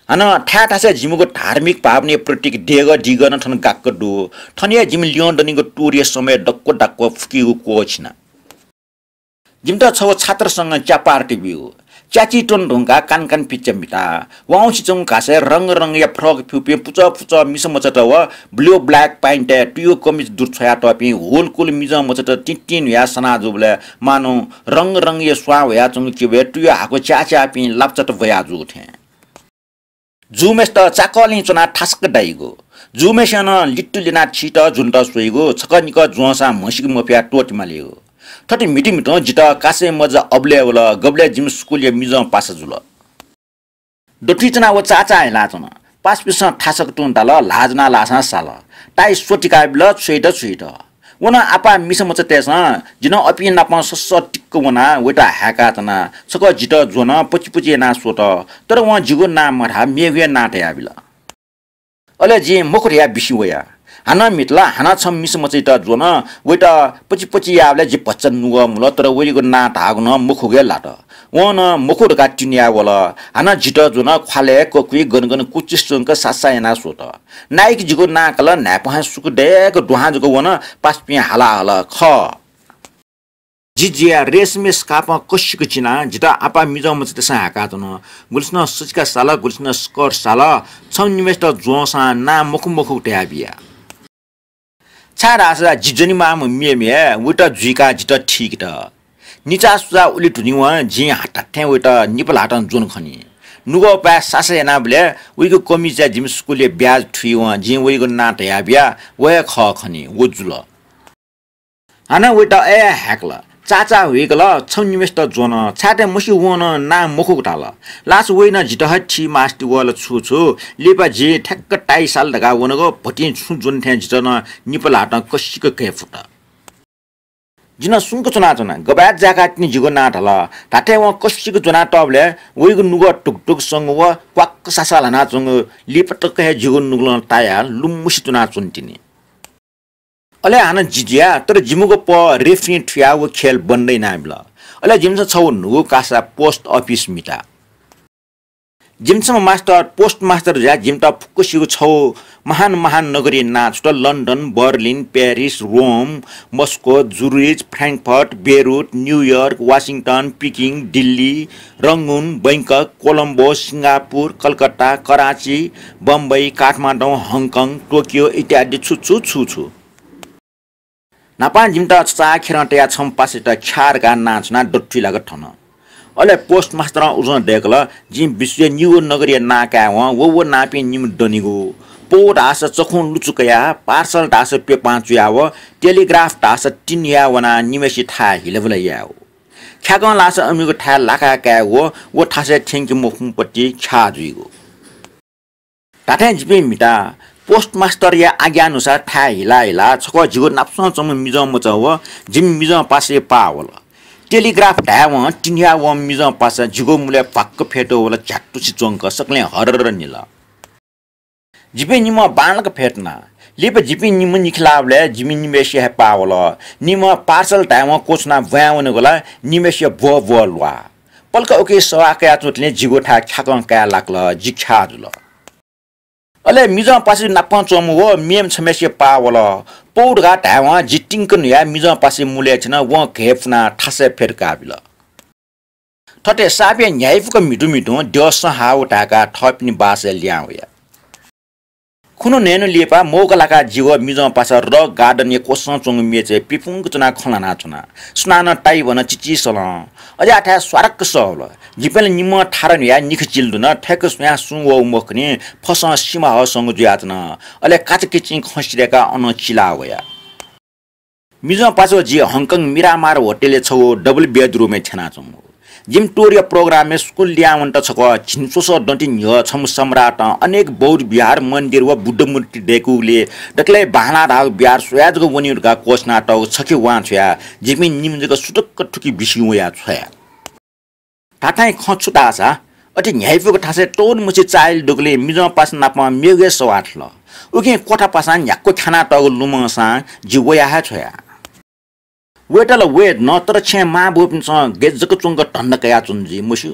हानं थाय् थासय् जिमिगु धार्मिक भावनाया प्रतीक देगः दिगः नं थन गाक्क दु। थन हे जिमि ल्यं दनिगु tour-या समय दक्व दक्व फुकीगु क्वःछिना। जिमित छगू छात्र संघं च्या पार्टी ब्यूगु। च्याची त्वने धुंकाः कान कान पिच्चा मिता। वाउँछि च्वंगु घासय् रंग रंगया फ्रक फ्यूपिं पुचः पुचः मिसा मचात व blue black pant-य् तुयु कमिज दुरु छ्वयातःपिं हुलकुल मिजं मचात तिंतिं न्हुयाः सना जूबलय् मानु रंग रंगया स्वां वयाच्वंगु चिबय् तुयु हाकु च्याःच्याःपिं लापचात ब्वया जूगु थें। जूम्हय्सित चाकःलिं च्वनाः थासक्क दाइगु। जूम्हय्सिनं लित्तु ल्यनाः थीत ज्वनेत स्वइगु, छकः निकः ज्वंसां म्हसीके मफयाः त्वःते मालीगु। थथे म्हितु म्हितुं जितः कासय् मजा अबलय् वल, गबलय् जिमि स्कुलया मिजं पासा जुल। दथुइ च्वनाः व चाःचाः हिलाच्वन। पासापिन्सं थासक तुं दाल, ल्हाः ज्वनाः लाःसां साल। ताइ स्वतिका बिल, छुइत छुइत। व नं आपाः मिसा मचातय्सं जि नं अपिं नाप ससः टिक्क वनाः वयात हाय्काच्वना। छकः जितः ज्वन, पचिपचि यानाः स्वत। तर वं जिगु नां मधाः, मेगु हे नां तयाबिल। अले जिं मखु धयाः बिस्युं वया। हानं म्हितल, हानं छम्ह मिसा मचायात ज्वन, वयात पचिपचि याःबलय् जि भचा नुगः मुल, तर वयागु नां धाःगु नं मखुगु हे लात। वं नं मखु धकाः तिनाः वल। हानं जितः ज्वन, ख्वालय् ककुइ गन गन कुचिस च्वंक सासा यानाः स्वत। नाइके जिगु नां काल, न्हाय्पं हे सुकु दय्क दुहां जक वन, पासापिं हाला हल, खः। जि जिया रेशमया स्कार्फं कसिक चिनाः जितः आपाः मिजं मचातय्सं हाय्काच्वन। गुलिसिनं सचिका साल, गुलिसिनं स्कर्ट साल, छम्ह निम्हय्सित ज्वंसां नां मखु मखु धयाबिया। छाय्धाःसा जि ज्वनेमाःम्ह मेम्ह हे, वयात जुइकाः जितः थीकेत। निचाः सुचाः उलि धुनिवं जिं धात्थें वयात निपा ल्हातं ज्वन खनी। नुगःपाय् सासा यानाबलय् वयागु कमिजय् जिमि स्कुलया ब्याज थुइवं जिं वयागु नां धयाबिया, व हे खः खनी, व जुल। हानं वयात अय् हाय्कल, चाःचाः हुइकल, छम्ह निम्हय्सित ज्वन, छाय्धाःसा मस्यू वं नं नां मखुगु धाल। लास वइनं जितः हे थी मास्ति वल छु छु, लिपा जि ठ्याक्क ताइ साल धकाः वनागु, भतिं छुं ज्वन थें जितः नं निपा ल्हातं कसिक घय्पुत। जि नं सुंक च्वनाच्वना, गबलय् जाय्काः तिनि जिगु नां धाल। धात्थें वं कसिक ज्वनातःबलय् वयागु नुगः टुकटुक संगु व क्वाक्क सासा ल्हानाच्वंगु लिपा तक हे जिगु नुगलं तायाः लुमुसे च्वनाच्वन तिनि। अले हानं जि जुया, तर जिमिगु पः रेफ्रिं थुयाः व खेल बन्द यानाबिल। अले जिमिसं छगू न्हूगु कासा पोस्ट अफिस मिता। जिमिसं मास्टर, पोस्ट मास्टर जुयाः जिमित फुक्कसिगु छगू महान महान नगरया नां छुत, लन्डन, बर्लिन, प्यारिस, रोम, मस्को, जुरिच, फ्र्याङ्कफर्ट, बेरुट, न्युयोर्क, वासिङटन, पिकिङ, दिल्ली, रंगुन, बैंकक, कोलम्बो, सिङ्गापुर, कलकत्ता, कराँची, बम्बई, काठमाडौँ, हङकङ, टोकियो इत्यादि छु छु छु छु। न्हापां जिमित छचाःखेरं तयाः छम्ह पासायात ख्याः धकाः नां छुनाः दथुइ लाक थन। अले पोस्ट मास्टरं उजं दय्कल, जिं विश्वया निगू नगरया नां कायेवं व व नांपिं निम्ह दनिगु। पौ धाःसा चखुं लुचु कयाः, पार्सल धाःसा प्यपां चुयाः व टेलिग्राफ धाःसा तिन्हुयाः वनाः निम्हय्सित थाय् हिलाबिला यायेगु। ख्याकं लाःसा अमिगु थाय् लाकाः कायेगु, व थासय् थ्यंके मफुम्ह पति ख्याः जुइगु। धात्थें जिपिं म्हिता। पोस्ट मास्टरया आज्ञानुसार थाय् हिला हिला छकः जिगु नापसं च्वंम्ह मिजं मचा व जिमि मिजं पासाया पाः वल। टेलिग्राफ धायेवं तिन्हुयाः वंम्ह मिजं पासा जिगु मुलय् भ्वाक्क फ्यतुः वल, झ्यात्तुसे च्वंक सकलें हर्रर्र निल। जिपिं निम्हं बांलाक फ्यतुना। लिपा जिपिं निम्ह निखे लाःबलय् जिमि निम्हय्सिया हे पाः वल। निम्हं पार्सल धायेवं क्वछुनाः ब्वाँय् वनेगु ला निम्हय्सिया ब्वः ब्वः ल्वाः। पलख उकी सवाः कयाच्वंतले जिगु थाय् ख्याकं काये लाकल, जि ख्याः जुल। अले मिजं पासा नापं च्वंम्ह व मेम्ह छम्हय्सिया पाः वल। पौ धकाः धायेवं जि तिंक न्हुयाः मिजं पासाया मुलय् थ्यन, वं घय्पुनाः थासय् फ्यतुकाबिल। थथे सापय् न्ह्याइपुक म्हितु म्हितुं द्यः सँ हाः वः धाय्काः थःपिनि बासय् लिहां वया। खुन्हु न्हय्न्हु लिपा मौका लाकाः जि व मिजं पासा रक गार्डनया क्वसं च्वंगु मेचय् पिपुंक च्वनाः खँ ल्हानाच्वना। सुनानं ताइ वन, चिचिसलं। अज्याःथाय् स्वारक्क सः वल। जिपिं ला निम्हं थारा न्हुयाः निखे चिल धुन, थय्क स्वयां सुं वःगु मखुनि, फसं सिमा हःसंगु जुयाच्वन। अले काचाकिचिं खँ सिधय्काः अनं चिला वया। मिजं पासा व जि हङकङ मिरामार होटलय् छगू डबल बेडरुमय् थ्यनाच्वंगु। जिमि टुरया प्रोग्रामय् स्कुल लिहां वनेत छकः झिंस्वसः दँति न्ह्यः छम्ह सम्राटं अनेक बौद्ध विहार, मन्दिर व बुद्ध मूर्ति दय्कूगुलिं दकलय् बांलाः धाःगु विहार स्वयाः जक वनेगु धकाः क्वछुनातःगु छखे वां छ्वयाः जिपिं निम्ह जक सुतुक्क थुकी बिस्युं वयाः छ्वया। धात्थें खँ छु धाःसा, अथे न्ह्याइपुक थासय् तःधंम्हसिया चाःहिला दुगुलिं मिजं पासा नाप मेगु हे सवाः थल। उकिं क्वथा पासां न्ह्याक्व ख्यानातःगु लुमंसां जि वया हे छ्वया। वयेत ला वये धुन, तर छेँय् मांबौपिन्सं गय् जक च्वंक धन्दा कयाच्वन जुइ मस्यू।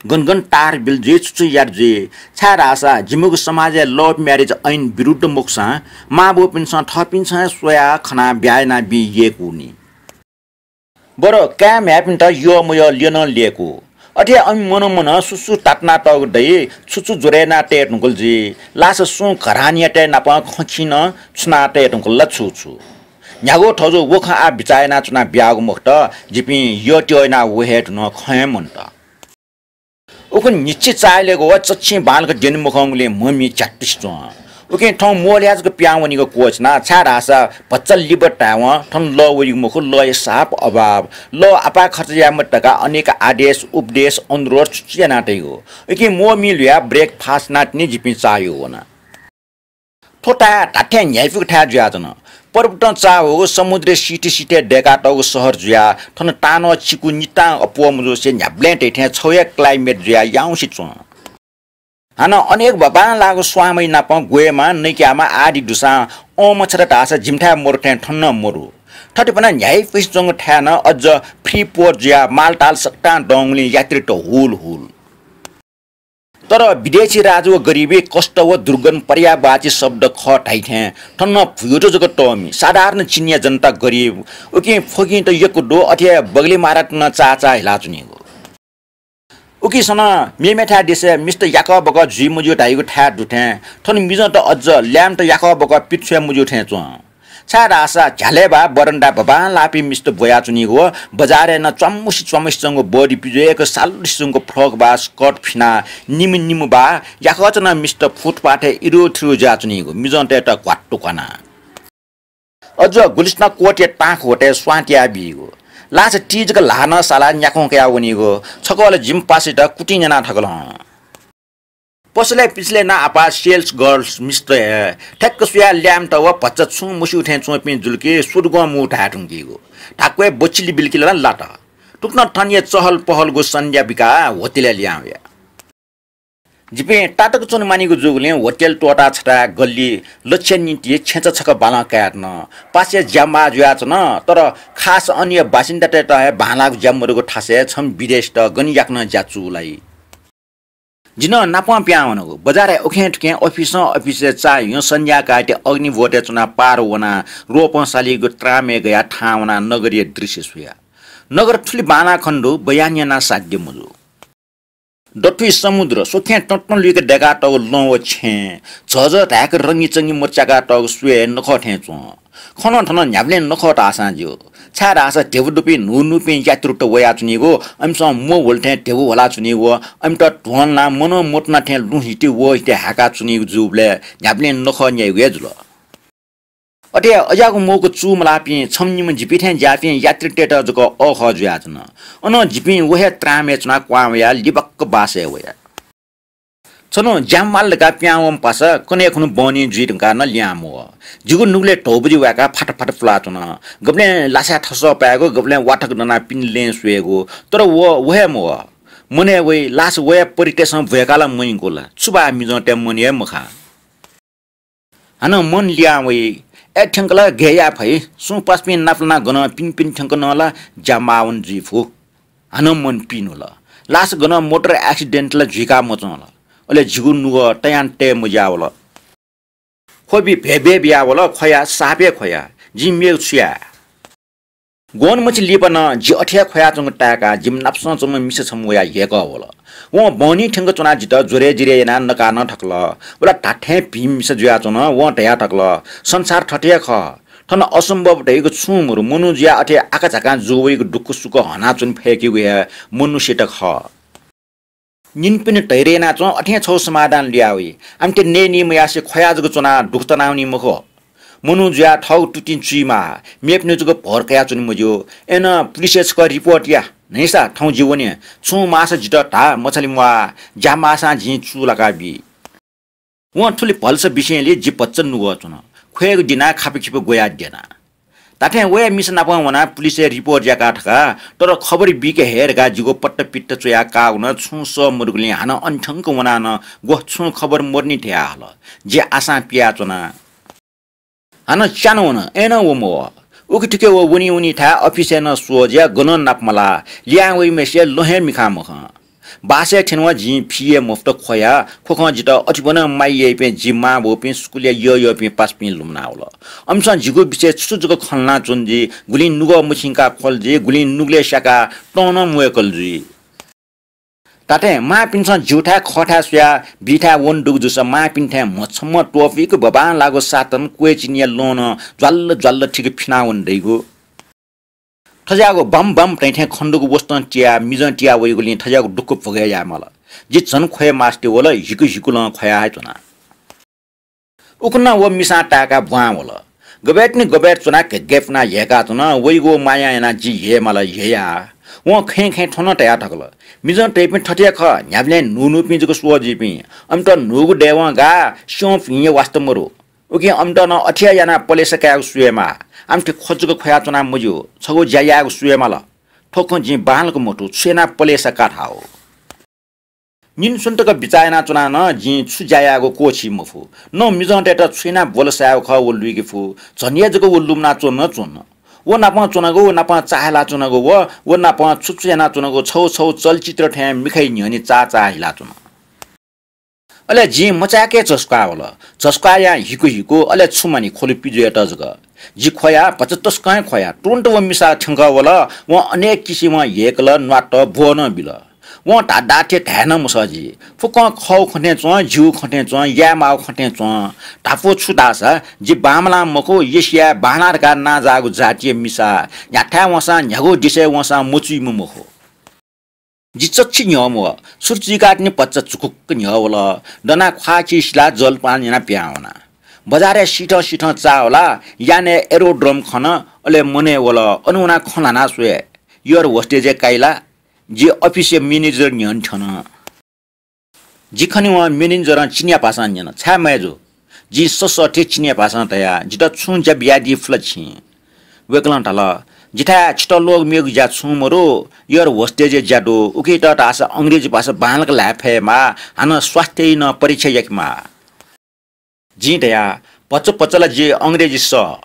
गन गन तार बिल जुइ, छु छु यात जुइ। छाय्धाःसा जिमिगु समाजय् love marriage ऐन विरुद्ध मखुसां मांबौपिन्सं थःपिन्सं हे स्वयाः खनाः ब्याहा यानाबी यय्कूनि। बरु काय् म्ह्याय्‌पिन्त यःमयः ल्यनं ल्यय्‌कू। अथे अन मनं मनं सुसु तातुनातःगु दइ, छु छु ज्वरय् याना तये धुंकल जुइ। लास सुं घरानीयातय् नाप खँ खिं नं छुना तये धुंकल ला छु छु। न्ह्यागु थजु व खँ आः बिचाः यानाच्वना बियागु मखुत, जिपिं यःत्यः यानाः व हे धुन खँ हे मन्त। उखुन्हु न्हिच्छि चाःहिलेगु व चच्छि बांलाक द्यने मखंगुलिं म्ह मि झ्यातुसे च्वं। उकिं थौं मोहलय् जक पिहां वनीगु क्वःछिना, छाय्‌धाःसा भचा लिबा धायेवं थन लः वइगु मखु, लःया साप अभाव। लः आपाः खर्च याये मते धकाः अनेक आदेश, उपदेश, अनुरोध छु छु याना तइगु। उकिं मोह मि ल्हुयाः breakfast यानातिनि जिपिं चाःह्यू वना। थ्व थाय् धात्थें न्ह्याइपुक थाय् जुयाच्वन। पर्वतं चाःह्वःगु समुद्रय् सिथय् सिथय् दय्‌कातःगु शहर जुयाः थन तानं चिकु नितां अप्वः मजूसे न्ह्याबलें धइथें छगू हे climate जुयाः याउँसे च्वं। हानं अनेक बांलाःगु स्वांमय् नाप ग्वयेमा, नइक्यामा आदि दुसां अँ मछात धाःसा जिमिथाय् मरु थें थन नं मरु। थथे ब्वना न्ह्याइपुसे च्वंगु थाय् नं अझ free port जुयाः मालताल सकतां दंगुलिं यात्रीत हुल हुल। तर विदेशी राज व गरिबी, कष्ट व दुर्गन्ध पर्यायवाची शब्द खः धाइथें थन नं भुइँत जक तःमि साधारण चिनियाँ जनता गरिब। उकिं फ्वगिंत यक्व दु, अथे बगलय् मारात नं चाःचाः हिलाच्वनीगु। उकिसनं मेमेथाय् देशय् मिस्त याकःबकः जुइ मज्यू धाइगु थाय् दुथें थन मिजंत अझ ल्याय्‌म्हत याकःबकः पित छ्वये मज्यू थें च्वं। छाय्‌धाःसा झ्यालय् बा बरण्डाय् बांलाःपिं मिस्त ब्वयाच्वनीगु व बजारय् नं च्वाम्मुसे च्वाम्मुसे च्वंगु body पिज्वय्‌क सालुसे च्वंगु frock बा skirt फिनाः निम्ह निम्ह बा याकःचा नं मिस्त फुटपाथय् इरुथिरु जुयाच्वनीगु मिजंतय्‌त घ्वात्तु क्वाना। अझ गुलिस्तां कोटया तांख ह्वतय् स्वां तयाबीगु। लास ति जक ल्हाः नं सालाः न्याखं कयाः वनीगु। छकः ला जिमि पासायात कुतिं न्याना थकल हं। पसलय् पिसलय् नं आपाः sales girls मिस्त हे। ठ्याक्क स्वयाः ल्याय्‌म्हत व भचा छुं मस्यू थें च्वंपिं जुल कि सुदुगं मू धाये धुंकीगु। धाक्वय् बच्चिली बिल्किलं लात। तुकथं थनया चहल पहलगु सन्ध्या बिकाः होटलय् लिहां वया। जिपिं तातक च्वने मानिगु जूगुलिं होटल त्वःता छथाय् गल्ली लच्छया निंतिं छेँचा छकः बालं कायेधुन। पासाया ज्यामाः जुयाच्वन, तर खास अनया बासिन्दातय्‌त हे बांलाःगु ज्या मदुगु थासय् छम्ह विदेशीत गन याकनं ज्या चूलाइ। जि नं नापं पिहां वनागु। बजारय् उखें थुखें अफिसं अफिसय् चाःह्यू सन्ध्याकाःति अग्निवोटय् च्वनाः पार वनाः रोपं सालीगु त्रामय् गयाः थाहां वनाः नगरया दृश्य स्वया। नगर थुलि बांलाः खने दु, बयान यानाः साध्य मजू। दथुइ समुद्र, स्वखें तँतँ लुइक दय्‌कातःगु लं व छेँ, झःझः धाय्‌क रंगीचंगी मचाय्‌कातःगु स्वये नखः थें च्वं। खनं थनं न्ह्याबलें नखः धाःसां ज्यू। छाय्‌धाःसा ध्यबा दुपिं न्हून्हूपिं यात्रुत वयाच्वनीगु, अमिसं म्व ह्वल थें ध्यबा ह्वलाच्वनीगु, अमित ध्वंलानाः मनं मतुना थें लुँ हिति व हिति हाय्‌काच्वनीगु जूबलय् न्ह्याबलें नखः न्याइगु हे जुल। अथे अज्याःगु मौका चूमलाःपिं छम्ह निम्ह जिपिं थें ज्याःपिं यात्रीतय्‌त जक अःखः जुयाच्वन। अनं जिपिं व हे त्रामय् च्वनाः क्वहां वयाः लिबाक्क बासय् वया। छन्हु ज्या माल धकाः पिहां वंम्ह पासा कन्हय् खुन्हु बहनी जुइ धुंकाः नं लिहां मवः। जिगु नुगलय् धौबजि वाय्‌काः फात फात पुलाच्वन। गबलें लासाय् थसः पायेगु, गबलें वाथक दनाः पिने लँय् स्वयेगु, तर व, व हे मवः। मनय् वइ, लास वया परितय्‌सं ब्वय्‌काः ला मयंकू ला, छु बा मिजंतय् मन हे मखा। हानं मन लिहां वइ। अय् थ्यंक ला गय् याये फइ? सुं पासापिं नापलानाः गनं पिने पिने थ्यंक नं ला ज्या माः वने जुइ फु। हानं मन पिन्हुल। लास गनं मोटर accident ला जुइका मच्वं ला? अले जिगु नुगः तयां तये मज्यावल। ख्वबि भय्‌भय् बियावल, ख्वया, साप हे ख्वया। जिं मेगु छु याये? ग्वन्हु मछि लिपा नं जि अथे हे ख्वयाच्वंगु ताय्‌काः जिमि नापसं च्वंम्ह मिसा छम्ह वयाः ह्यय्‌कः वल। वं बहनी थ्यंक च्वनाः जितः ज्वरय् जिरय् यानाः नका नं थकल। व ला धात्थें भिं मिसा जुयाच्वन। वं धया थकल, संसार थथे हे खः। थन असम्भव धइगु छुं मरु। मनू जुयाः अथे आकाझाकां जू वइगु दुःखसुख हनाच्वने फय्‌केगु हे मनुष्यत खः। निन्हु पिन्हु धैर्य यानाच्वँ, अथें छगू समाधान लुया वइ। आमथे नये नि मयासे ख्वया जक च्वनाः दुःख तनावनी मखु। मनू जुयाः थःगु तुतिं चुइमाः, मेपिनि जक भर कयाच्वने मज्यू। अय्‌नं पुलिसय् छकः रिपोर्ट या, न्हैसा थौं जि वने। छुं माःसा जितः धा, मछाले म्वाः, ज्या माःसां जिं चूलाका बी। वं थुलि भलसा बिसेंलि जि भचा नुगः च्वन। ख्वयेगु दिनाः खापाखिपा ग्वयाः द्यना। धात्थें वया मिसा नाप वनाः पुलिसय् रिपोर्ट याका थका, तर खबर बीके हे धकाः जिगु पत्ता पित्ता च्वयाः काःगु नं छुं सः मदुगुलिं हानं अन थ्यंक वनाः नं ग्वः छुं खबर मदुनि धया हल। जि आशां पियाच्वना। हानं च्यान वन, अय्‌नं व मवः। उखे थुखे व वनी वनी थाय् अफिसय् नं स्वः जुयाः गनं नाप मलाः। लिहां वइम्हय्‌सिया लं हे मिखां मखं। बासय् थ्यनेवं जिं फि हे मफुत ख्वया। ख्वखं जितः अथे ब्वनं माया याइपिं जि मांबौपिं, स्कुलय् यःयःपिं पासापिं लुमनावल। अमिसं जिगु विषयय् छु छु जक खँ ल्हानाच्वन जुइ, गुलिं नुगः मछिंकाः ख्वल जुइ, गुलिं नुगलय् स्याकाः तं नं म्वय्कल जुइ। धात्थें मांपिन्सं ज्यूथाय् खःथाय् स्वयाः बीथाय् वन दुगु जूसा मांपिन्थाय् म्हछम्ह त्वपुइक बबांलाःगु सातन क्वय् चिनिया लं नं ज्वाल्ल ज्वाल्ल थिक फिनावन दइगु। थज्याःगु बम बम तइथें खनेदुगु वसतं तियाः मिजं तिया वइगुलिं थज्याःगु दुःख भोगय् यायेमाल। जि झन ख्वये मास्ति वल, हिकु हिकुलं ख्वया हे च्वना। उखुन्हु व मिसां ताय्काः ब्वां वल। गबय्तिनि गबय् च्वनाः घेग्गय् पुनाः ह्यय्काच्वन। वइगु मायां यानाः जि ह्यय्माल ह्यया। वं खँय् खँय् थ्व नं तयाः थकल। मिजं तइपिं थथे हे खः, न्ह्याबलें न्हून्हूपिं जक स्वः जुइपिं। अमित न्हूगु दयेवं गाः, स्यं भिं हे वास्ता मरु। उकिं अमित नं अथे हे यानाः पलेसा कायेगु स्वयेमाः। आमि थथे ख्व जक ख्वयाच्वना मज्यू, छगू ज्या यायेगु स्वयेमाल। थ्व खँ जिं बांलाक मथू, छु यानाः पलेसा का धाःगु। निन्हु स्वन्हु तक बिचाः यानाच्वनाः नं जिं छु ज्या यायेगु क्वःछी मफु। न मिजंतय्त छु यानाः ब्वलसा यायेगु खः व लुइके फु। झन हे जक व लुमनाच्वन नं च्वन। व नाप च्वनागु, व नाप चाःहिलाच्वनागु, व, व नाप छु छु यानाच्वनागु छगू छगू चलचित्र थें मिखाया न्ह्यःने चाःचाः हिलाच्वन। अले जिं मचाय्के झसुकाः वल। झसुकाः यां हिकु हिकु, अले छु मानि ख्वलु पिज्वयेत जक। जि ख्वया, भचा तसकं हे ख्वया। तुरुन्त व मिसा थ्यंकः वल। वं अनेक किसिमं ह्यय्कल, न्वात, ब्वः नं बिल। वं धाधाथें धाये नं मसः जि। फुक्कं खःगु खँ थें च्वं, ज्यूगु खँ थें च्वं, यायेमाःगु खँ थें च्वं। धापू छु धाःसा, जि बांमलाः मखु, एसियाय् बांला धकाः नांजाःगु जातिया मिसा न्ह्याथाय् वंसां, न्ह्यागु देशय् वंसां मचुइम्ह मखु। जि चच्छि न्ह्यः म्वः। छुर चुइकाः तिनि भचा झुकुक्क न्ह्यः वल। दनाः ख्वाः चिसिलाः जलपान यानाः पिहां वना। बजारय् सिथं सिथं चाः वलाः यानय् aerodrome खन, अले मनय् वल। अन वनाः खँ ल्हानाः स्वये। Air hostage-य् काइला। जि अफिसया manager न्ह्यःने थ्यन। जि खनेवं manager-ं चिनियाँ भाषां न्यन, छाय् मय्जु? जिं ससःथें चिनियाँ भाषां धया, जितः छुं ज्या बियादी फु ला छिं? वय्कलं धाल, जिथाय् छितः लोग मेगु ज्या छुं मरु, air hostage-या ज्या दु। उकियात धाःसा अंग्रेजी भाषा बांलाक ल्हाये फयेमाः, हानं स्वास्थ्यया नं परीक्षा याकेमाः। जिं धया, भचा भचा ला जि अंग्रेजी सः।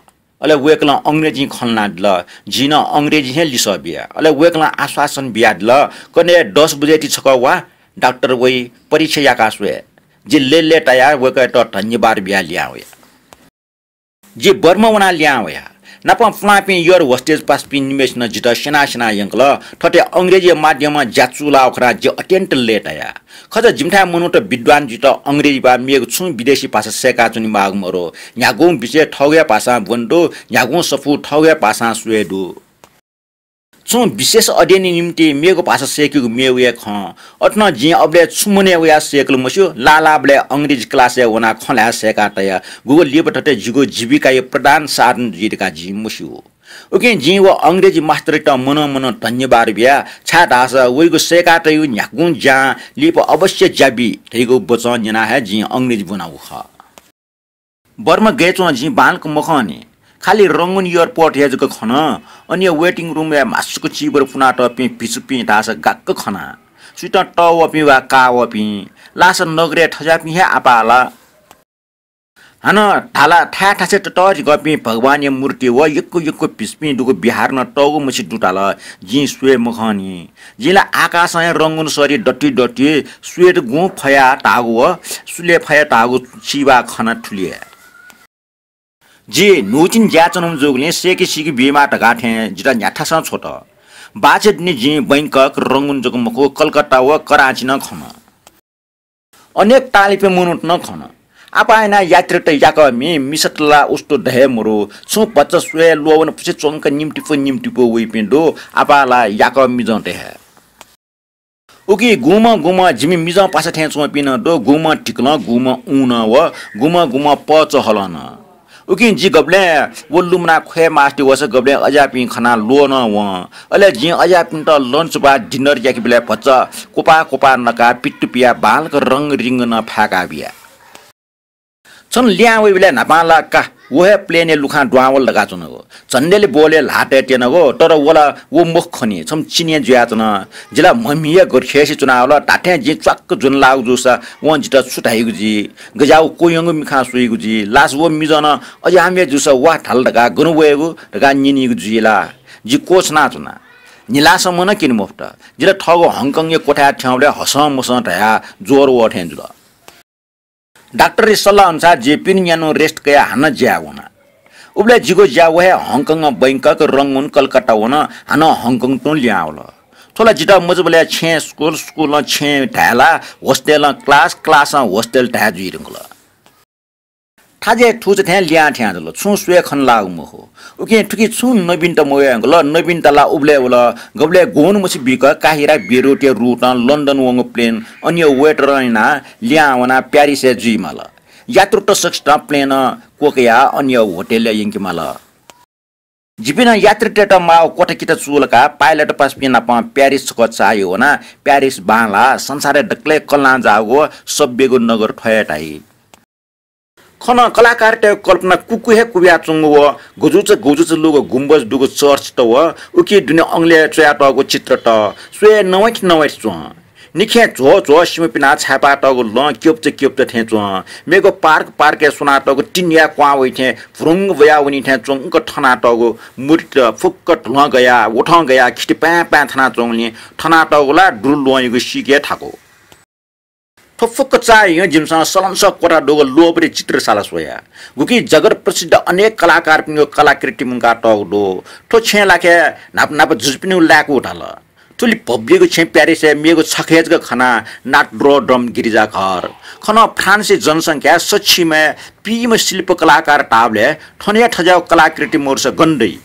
अले वय्कलं अंग्रेजीं खँ ल्हानादिल। जिं नं अंग्रेजीं हे लिसः बिया। अले वय्कलं आश्वासन बियादिल, कन्हय् दस बजे ति छकः वा, डाक्टर वइ, परीक्षा याका स्वये। जि लय्लय्तायाः वय्कःयात धन्यवाद बियाः लिहां वया। जि बर्मा वनाः लिहां वया। नापं पुलांपिं air hostage पासापिं निम्हय्सिनं जितः स्यना स्यना यंकल। थथे अंग्रेजी माध्यमं ज्या चूलाःगु खनाः जि अत्यन्त लय्ताया। खः, जिमिथाय् मनूत विद्वान जुइत अंग्रेजी बाहेक मेगु छुं विदेशी भाषा सय्काच्वने माःगु मरु। न्ह्यागुं विषय थःगु हे भाषां ब्वने दु, न्ह्यागुं सफू थःगु हे भाषां स्वये दु। छुं विशेष अध्ययनया निंतिं मेगु भाषा सय्केगु मेगु हे खँ। अथे नं जिं अबलय् छु मनय् वयाः सय्कल मस्यू, लाः लाःबलय् अंग्रेजी class-य् वनाः खँ ल्हाये सय्का तया। गुगु लिपा थथे जिगु जीविकाया प्रधान साधन जुइ धकाः जिं मस्यू। उकिं जिं व अंग्रेजी मास्टरयात मनं मनं धन्यवाद बिया, छाय्धाःसा वइगु सय्का तयागु न्ह्यागुं ज्यां लिपा अवश्य ज्या बी धइगु वचं न्यनाः हे जिं अंग्रेजी ब्वनागु खः। बर्मा गय् च्वं जिं बांलाक मखंनि। खालि रंगुन airport हे जक खन। अन waiting room-य् म्हासुक चिबर पुनातःपिं भिक्षुपिं धाःसा गाक्क खना। सुइतं तःवःपिं वा काःवःपिं। लासा नगरय् थज्याःपिं हे आपाः ला। हानं धाला थाय् थासय् ततःधिकःपिं भगवानया मूर्ति व यक्व यक्व भिक्षुपिं दुगु बिहार नं तःगु मछि दु धाल। जिं स्वये मखंनि। जिं ला आकाशं हे रंगुन सरी दति दति, स्वयेत गुं फया धाःगु व सुले फया धाःगु चिबा खना थुलि हे। जि न्हूतिनि ज्याय् च्वनाम्ह जूगुलिं सय्के सीके बीमाः धकाः थें जितः न्ह्याथासं छ्वत। बाचे दुने जिं बैंकक, रंगुन जक मखु, कलकत्ता व कराँची नं खन। अनेक ताःलाइपिं मनूत नं खन। आपाः यानाः यात्रीत याकःमि, मिसात ला उस्तु द हे मरु, छुं भचा स्वये ल्वःवन फुसे च्वंक निम्तिपु निम्तिपु वइपिं दु, आपाः ला याकः मिजंत हे। उकी गुम्हं गुम्हं जिमि मिजं पासा थें च्वंपिं नं दु, गुम्हं धिकलं, गुम्हं ऊनं व गुम्हं गुम्हं पचहलं नं। उकिं जि गबलें व लुमनाः ख्वये मास्ति वःसा गबलें अज्याःपिं खनाः ल्वः नं वं। अले जिं अज्याःपिन्त lunch वा dinner याकेबलय् भचा क्वपाः क्वपाः नकाः पित्तु पियाः बांलाक रंग रिंग नं फाय्का बिया। छन्हु लिहां वइबलय् न्हापां ला का व हे plane-य् लुखां दुहां वल धकाः च्वनागु। झन्डेली बोलय् ल्हाः तये त्यनागु, तर व ला व मखु खनी, छम्ह चिनियाँ जुयाच्वन। जि ला म्हमिया गथे खय्से च्वनावल, धात्थें जिं च्वाक्क ज्वनालाःगु जूसा वं जितः छु धाइगु जुइ, गज्याःगु क्वह्यंगु मिखां स्वइगु जुइ, लास व मिजं नं अज्याःम्ह जूसा वा धाल धकाः गन वयेगु धकाः न्यनीगु जुइ ला। जि क्वछुनाच्वना। निलासम्म नं क्यने मफुत। जितः थःगु हङकङया क्वथाय् थ्यंबलय् हसं मसं धयाः ज्वर वः थें जुल। डाक्टरया सल्लाह अनुसार जि पिने न्यान्हु rest कयाः हानं ज्याय् वना। उबलय् जिगु ज्या व हे हङकङ, बैंकक, रंगुन, कलकत्ता वन, हानं हङकङ तुं लिहां वल। थ्व ला जितः मजूबलय् छेँय् स्कुल, स्कुलं छेँय् धाय्‌ला, होस्टेलं class, classं hostel धाये जुइ धुंकल। थाजय् थुचा थें लिहां थें जुल, छुं स्वये खने लाःगु मखु। उकिं थुकी छुं नवीनता मवये धुंकल, नवीनता ला उबलय् वल, गबलय् ग्वन्हु मछि बीक काहिरा बेरुटया route-ं लन्डन वंगु plane अन्य waiter-ं यानाः लिहां वनाः प्यारिसय् जुइमाल। यात्रुत सकसितं plane-ं क्वकयाः अन्य होटेलय् यंकेमाल। जिपिं नं यात्रीतय्‌त माःगु क्वथाकिता चूलाकाः pilot पासापिं नाप प्यारिस छकः चाःह्यू वनाः प्यारिस बांलाः संसारय् दकलय् कल्लां जाःगु सभ्यगु नगर थ्व हे धाइ। खन कलाकारतय्‌गु कल्पना कुकु हे कुब्याच्वंगु व गुजुचा गुजुचा लूगु गुम्बज दुगु चर्चत व उकी दुने अंगलय् च्वयातःगु चित्रत स्वये नवैत नवैत च्वं। निखें झ्वः झ्वः सिमा पिनाः छाय्‌पातःगु लं क्यब्च क्यब्च थें च्वं। मेगु park park-य् स्वनातःगु टिनया क्वां वइ थें भ्रुंग वयावनी थें च्वंक थनातःगु मूर्तित फुक्क धुलं गयाः, वथं गयाः खिति पाँय् पाँय् थनाच्वंगुलिं थनातःगु ला दुरु ल्वहंयागु सीके थाकु। थ्व फुक्क चाःह्यू जिमिसं सलंसः क्वथा दुगु लोभरी चित्रशाला स्वया। गुकी जगत प्रसिद्ध अनेक कलाकारपिनिगु कलाकृति मुंकातःगु दु। थ्व छेँय् लाखे न्हापा न्हापा जुजुपिनिगु लाय्‌कू धाल। थुलि भव्यगु छेँ प्यारिसय् मेगु छखे जक खना, Notre Dame गिरिजाघर। खन फ्रान्सया जनसंख्या सछिमय् पीम्ह शिल्प कलाकार धाःबलय् थन हे थज्याःगु कलाकृति मरुसा गन दइ?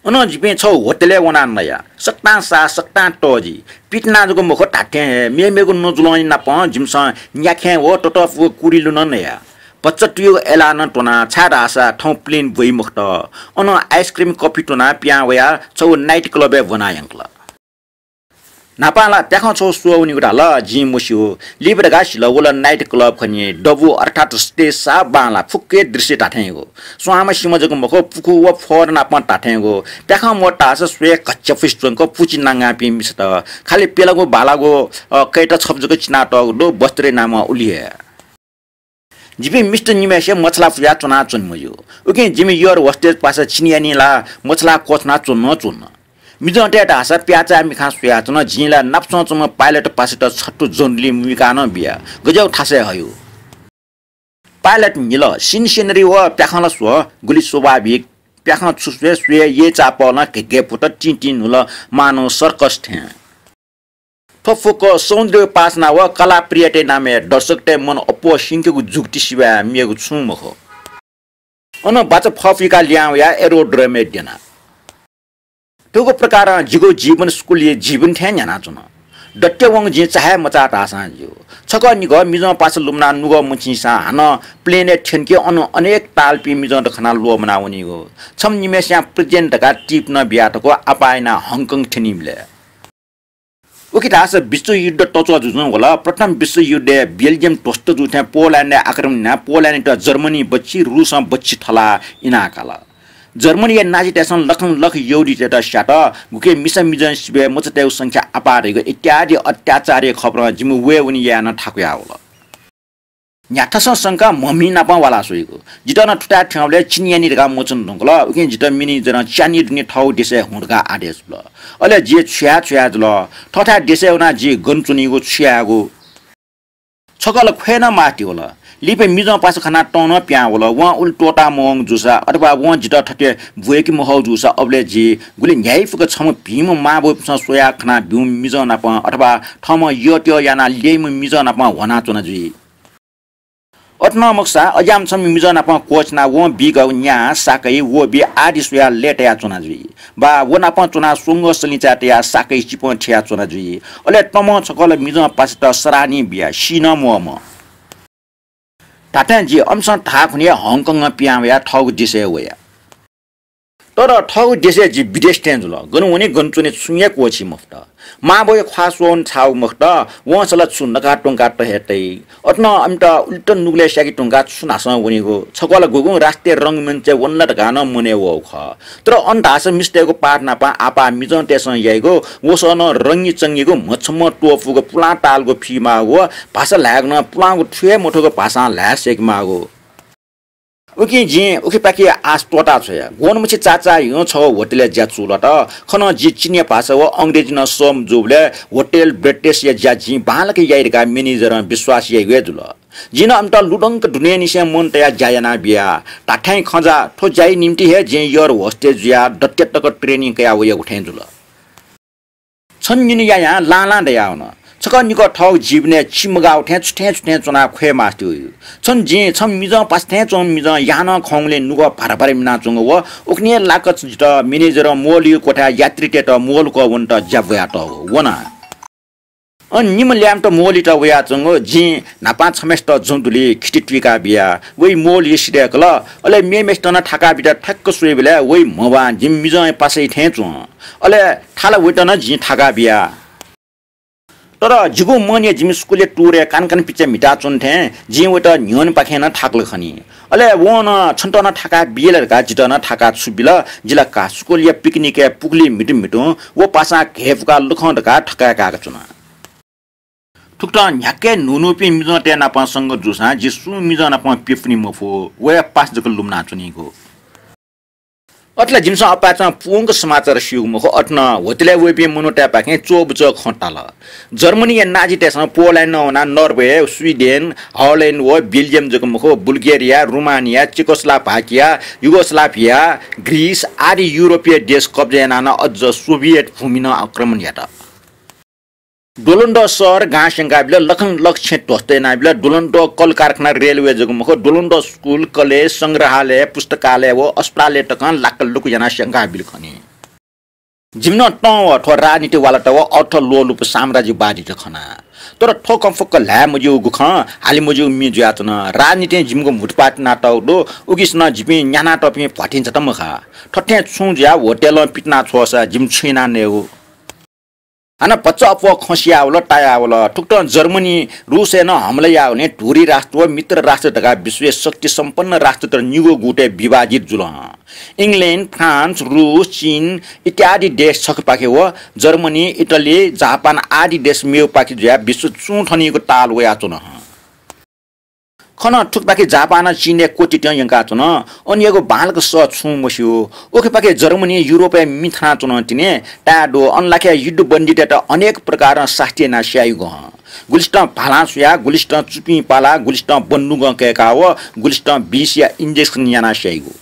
अनं जिपिं छगू होटेलय् वनाः नया। सकतां साः, सकतां तःजि। पितिना जक मखु, धात्थें हे मेमेगु नजुलंया नाप जिमिसं न्याखें व ततःपुगु कुरिलु नं नया। भचा तुयुगु एलानं त्वना, छाय्‌धाःसा थौं plane ब्वइ मखुत। अनं ice cream coffee त्वनाः पिहां वयाः छगू night club-य् ब्वना यंकल। न्हापां ला प्याखं छगू स्वः वनीगु धाल, जिं मस्यू। लिपा धकाः सिल, व ला night club खनी। दबू अर्थात् stage साफ बांलाः, फुक्क हे दृश्य धात्थेंगु। स्वांम्ह सिम्ह जक मखु, पुखू व फर नापं धात्थेंगु। प्याखं मवत धाःसा स्वये घच्याफुसि च्वंक पुचि नांगांपिं मिसात। खालि प्यलागु बालागु, अ, कैता छपु जक चिनातःगु दु, वस्त्रया नामं उलि हे। जिपिं मिस्त निम्हय्‌सिया मछालाः पुयाः च्वनाच्वने मज्यू। उकिं जिमि air hostess पासा चिनियानि ला मछालाः क्वछुना च्वन नं च्वन। मिजंतय् धाःसा प्याःचाः मिखां स्वयाच्वन, जिं ला नापसं च्वंम्ह pilot पासायात छत्तु जन्डुलि मुइकाः नं बिया। गज्याःगु थासय् हयू। Pilot निल, scene scenery व प्याखं ला स्व, गुलि स्वाभाविक। प्याखं छु स्वये, स्वये यय् चाःपलं घे घे पुत, तिं तिं न्हुल, मानव circus थें। थ्व फुक्क सौन्दर्य उपासना व कलाप्रियतय् नामय् दर्शकतय् मन अप्वः सिंकेगु जुक्ति सिवाय् मेगु छुं मखु। अन बाचा फफुइकाः लिहां वयाः aerodrome-य् द्यना। थुगु प्रकारं जिगु जीवन स्कुलया जीवन थें न्ह्यानाच्वन। दथ्य वंगु जिं चाहे मचाः धाःसां ज्यू। छकः निगः मिजं पासा लुमनाः नुगः मछिंसां हानं plane-य् थ्यंके अन अनेक तालपिं मिजंत खनाः ल्वःमना वनीगु। छम्ह निम्हय्‌सियां president धकाः tip नं बिया धकाः आपाः यानाः हङकङ थ्यनीबलय्। उखे धाःसा विश्वयुद्ध तच्वः जुजुं वल। प्रथम विश्वयुद्धय् बेल्जियम ध्वस्त जू थें पोल्याण्डय् आक्रमण यानाः पोल्याण्डयात जर्मनी बच्छि, रुसं बच्छि थलाः इनाकाल। जर्मनीया नाजीतय्‌सं लखं लख यहूदीतय्‌त स्यात, गुकी मिसा मिजं सिबय् मचातय्‌गु संख्या आपाः धइगु इत्यादि अत्याचारया खबरं जिमि वयेवने यायेनं थाकुया वल। न्ह्याथासं संकाः म्हमि नापं वाला स्वइगु। जितः नं थुथाय् थ्यंबलय् चिनियानि धकाः मच्वने धुंकल। उकिं जितः manager-ं च्यानि दुने थःगु देशय् हुँ धकाः आदेश बिल। अले जि छु याये छु याये जुल। थःथाय् देशय् वनाः जि गन च्वनीगु, छु यायेगु? छकः ला ख्वये नं मास्ति वल। लिपा मिजं पासा खनाः तं नं पिहां वल। वं उलि त्वःता मवंगु जूसा अथवा वं जितः थथे ब्वय्‌के महःगु जूसा अबलय् जि गुलि न्ह्याइपुक छम्ह भिंम्ह मांबौपिन्सं स्वयाः खना ब्यूम्ह मिजं नाप अथवा थःम्हं यःत्यः यानाः ल्यइम्ह मिजं नाप ह्वनाच्वना जुइ। अथे नं मखुसा अज्याःम्ह छम्ह मिजं नाप क्वःछिनाः वं बीगु न्याः, साकय्, वःबी आदि स्वयाः लय्‌तायाच्वना जुइ। वा व नाप च्वनाः स्वंगः सलिंचाय् तयाः साकय् चिपं थियाच्वना जुइ। अले तमं छकः ला मिजं पासात सराहनीय बिया, सी नं म्वःम्ह। धात्थें जि अमिसं धाःखुन्हु हे हङकङं पिहां वयाः थःगु देशय् वया। तर थःगु देशय् जि विदेशी थें जुल। गन वने गन च्वने छुं हे क्वःछी मफुत। मांबौया ख्वाः स्वःवने छाःगु मखुत, वंसा ला छु नकाः त्वंकाः त हे तइ। अथे नं अमित उलित नुगलय् स्याके त्वंकाः छु न्हासं वनीगु। छकः ला गुगुं राष्ट्रिय रंगमञ्चय् वन ला धकाः नं मनय् वःगु खः। तर अन धाःसा मिस्तय्‌गु पाठ नाप आपाः मिजंतय्‌सं याइगु वसः नं रंगीचंगीगु म्हछम्ह त्वःपूगु पुलां तालगु फी माःगु व भाषा ल्हायेगु नं पुलांगु थु हे मथूगु भाषां ल्हाये सय्‌के माःगु। उकिं जिं उखेपाखे आश त्वःता छ्वया। ग्वन्हु मछि चाचां छगू होटलय् ज्या चूलात। खनं जि चिनियाँ भाषा व अंग्रेजी नं सःमजूबलय् होटल ब्रेटेसया ज्या जिं बांलाक याइ धकाः म्यानेजरं विश्वास याइगु हे जुल। जिं नं अमित लुधंक दुनेंनिसें मन तयाः ज्या यानाबिया। धात्थें खँ जा, थ्व ज्याया निंतिं हे जिं एयर होस्टेज जुयाः दत्ते तक ट्रेनिङ कयाः वयागु थें जुल। छन्हु निन्हु यायां लां लां दयावन। छकः निकः थःगु जीवनय् चिमगाःगु थें छुथें छुथें च्वनाः ख्वये मास्ति वइ। छन्हु जिं छम्ह मिजं पासा थें च्वंम्ह मिजं याहानं खंगुलिं नुगः भारा भारा मिनाच्वंगु व उखुन्हु हे लाक्क जितः म्यानेजरं मोलया क्वथाय् यात्रीतय्त मोल कः वनेत ज्या ब्वयातःगु वना। अन निम्ह ल्याय्म्हत मोलयात वयाच्वंगु जिं न्हापां छम्हय्सित जं दुलिइ खिति तुइका बिया। वइ मोलया सिधय्कल। अले मेम्हय्सित नं थाका बीत ठ्याक्क स्वइबलय् वइ म्हवां जिमि मिजंया पासाया थें च्वं। अले थाला वइत नं जिं थाका बिया। तर जिगु मनया जिमि स्कुलया टुरय् कानकान पिचा म्हिताच्वन थें जिं वइत न्ह्यःनेपाखें नं थाकल खनी। अले वं नं छन्त नं थाका बिये ला धकाः जितः नं थाका छु बिल। जि ला का स्कुलया पिकनिकय् पुखुलिइ म्हितु म्हितुं व पासां घय्पुकाः लखं धकाः थकाय् काय्का च्वना। थुकथं न्ह्याक्व हे न्हून्हूपिं मिजंतय् नाप संगत जूसां जि सुं मिजं नाप प्यपुनी मफु, वया पासा जक लुमनाच्वनीगु। अथे ला जिमिसं अपाय्चं पूवंक समाचार स्यूगु मखु, अथे नं होटलय् वइपिं मनूतय्पाखें च्वःबुच्वः खँ ताल। जर्मनीया नाजीतय्सं पोल्याण्डं वनाः नर्वे, स्विडेन, हल्याण्ड व बेल्जियम जक मखु, Bulgaria, Romania, Czechoslovakia, Yugoslavia, Greece आदि युरोपीय देश कब्जा यानाः नं अझ सोभियत भूमि नं आक्रमण यात। द्वलंद्वः शहर गां स्यंकाबिल, लखं लख छेँ ध्वस्त यानाबिल, द्वलंद्वः कलकारखाना, रेलवे जक मखु, द्वलंद्वः स्कुल, कलेज, संग्रहालय, पुस्तकालय व अस्पतालय् तकं लाक्क लुक्क यानाः स्यंकाबिल खनी। जिमिसं नं व थ्व राजनीतिवालात व अर्थलोलुप साम्राज्यवादीत खना। तर थ्व खँ फुक्क ल्हाये मज्यूगु खँ, हाले मज्यूगु मि जुयाच्वन। राजनीतिं जिमिगु म्हुतुप्वाः तिनातःगु दु, उकिसनं जिपिं न्यानातःपिं भ्वाथिं झात मखा। थथे छुं जुयाः होटलं पितिना छ्वःसा जिमि छु याना नयेगु? हानं भचा अप्वः खँ सियावल, तायावल। थुकथं जर्मनी रुसय् नं हमला याःगुलिं धुरी राष्ट्र व मित्र राष्ट्र धकाः विश्वया शक्ति सम्पन्न राष्ट्रत निगू गुटय् विभाजित जुल हं। इङ्ग्ल्याण्ड, फ्रान्स, रुस, चीन इत्यादि देश छखेपाखे व जर्मनी, इटली, जापान आदि देश मेगुपाखे जुयाः विश्व चुं थनीगु ताल वयाच्वन हं। खनं थुकपाखे जापानं चीनय् क्वतितं यंकाच्वन। अनयागु बांलाक सः छुं मस्यू। उखेपाखे जर्मनी युरोपय् मि थानाच्वन तिनि ताये दु। अन लाखे युद्धबन्दीतय्त अनेक प्रकारं सास्ती यानाः स्याइगु हं। गुलिसितं भालां सुयाः, गुलिसितं चुपिं पालाः, गुलिसितं बन्दुकं कय्काः व गुलिसितं विषया injection यानाः स्याइगु।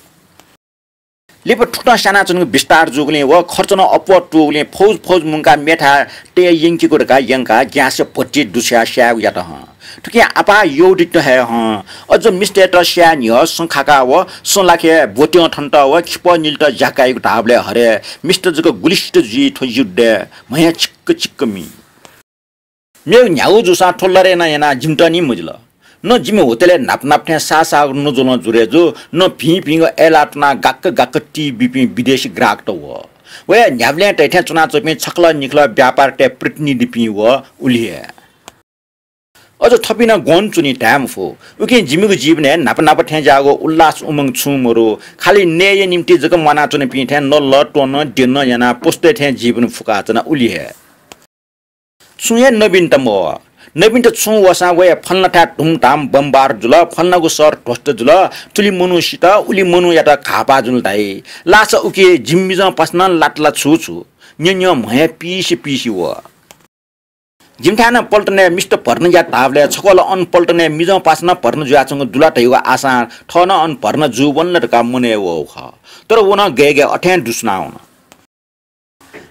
लिपा थुकथं स्यानाच्वनेगु विस्तार जूगुलिं व खर्च नं अप्वः तूगुलिं फौज फौज मुंकाः मेथाय् तये यंकेगु धकाः यंकाः ग्यासय् भट्टी दुछ्याः स्यायेगु यात हं। थुकिं आपाः यहूदीत हे हं। अझ मिस्तय्त स्याये न्ह्यः सँ खाकाः व सँ लाखे ब्वत्यं थन्त व खिपः निलित ज्या काइगु धाःबलय् हरे मिस्त जक गुलिसित जुइ थ्व युद्धय् म्हया चिक्क चिक्क मि। मेगु न्ह्यागु जूसां थ्व लरे नं यानाः जिमित नि मजिल। न जिमि होटलय् न्हापा न्हापा थें साःसाःगु नजुलं जुरे जू, न भिंभिंगु अय्लाः तुनाः गाक्क गाक्क टी बीपिं विदेशी ग्राहकत वः। वया न्ह्याबलें तयेथें च्वनाच्वंपिं छकलं निखलं व्यापारतय् प्रतिनिधिपिं वः, उलि हे। अझ थपिं नं ग्वन्हु च्वनी धाये मफु। उकिं जिमिगु जीवनय् न्हापा न्हापा थें ज्याःगु उल्लास उमंग छुं मरु। खालि नयेया निंतिं जक म्वानाच्वनीपिं थें नल त्वन द्यन यानाः पशुतय् थें जीवन फुकाच्वना, उलि हे। छुं हे नवीनत मवः। नवीनत छुं वःसां वया फलानाथाय् धुमधाम बमबार जुल, फलानागु शहर ध्वस्त जुल, थुलि मनू सित, उलि मनूयात घाःपाः जुल धाइ। लासा उकी जिमि मिजं पासां नं लात ला छु छु। न्यँ न्यँ म्हया पिसि पिसि वः। जिमिथाय् नं पल्टनय् मिस्त भर्ना यात धाःबलय् छकः ला अन पल्टनय् मिजं पासां नं भर्ना जुयाच्वंगु दु ला धयागु आशां थः नं अन भर्ना जूवन ला धकाः मनय् वःगु खः। तर व नं गय् गय् अथें दुस्वनावन।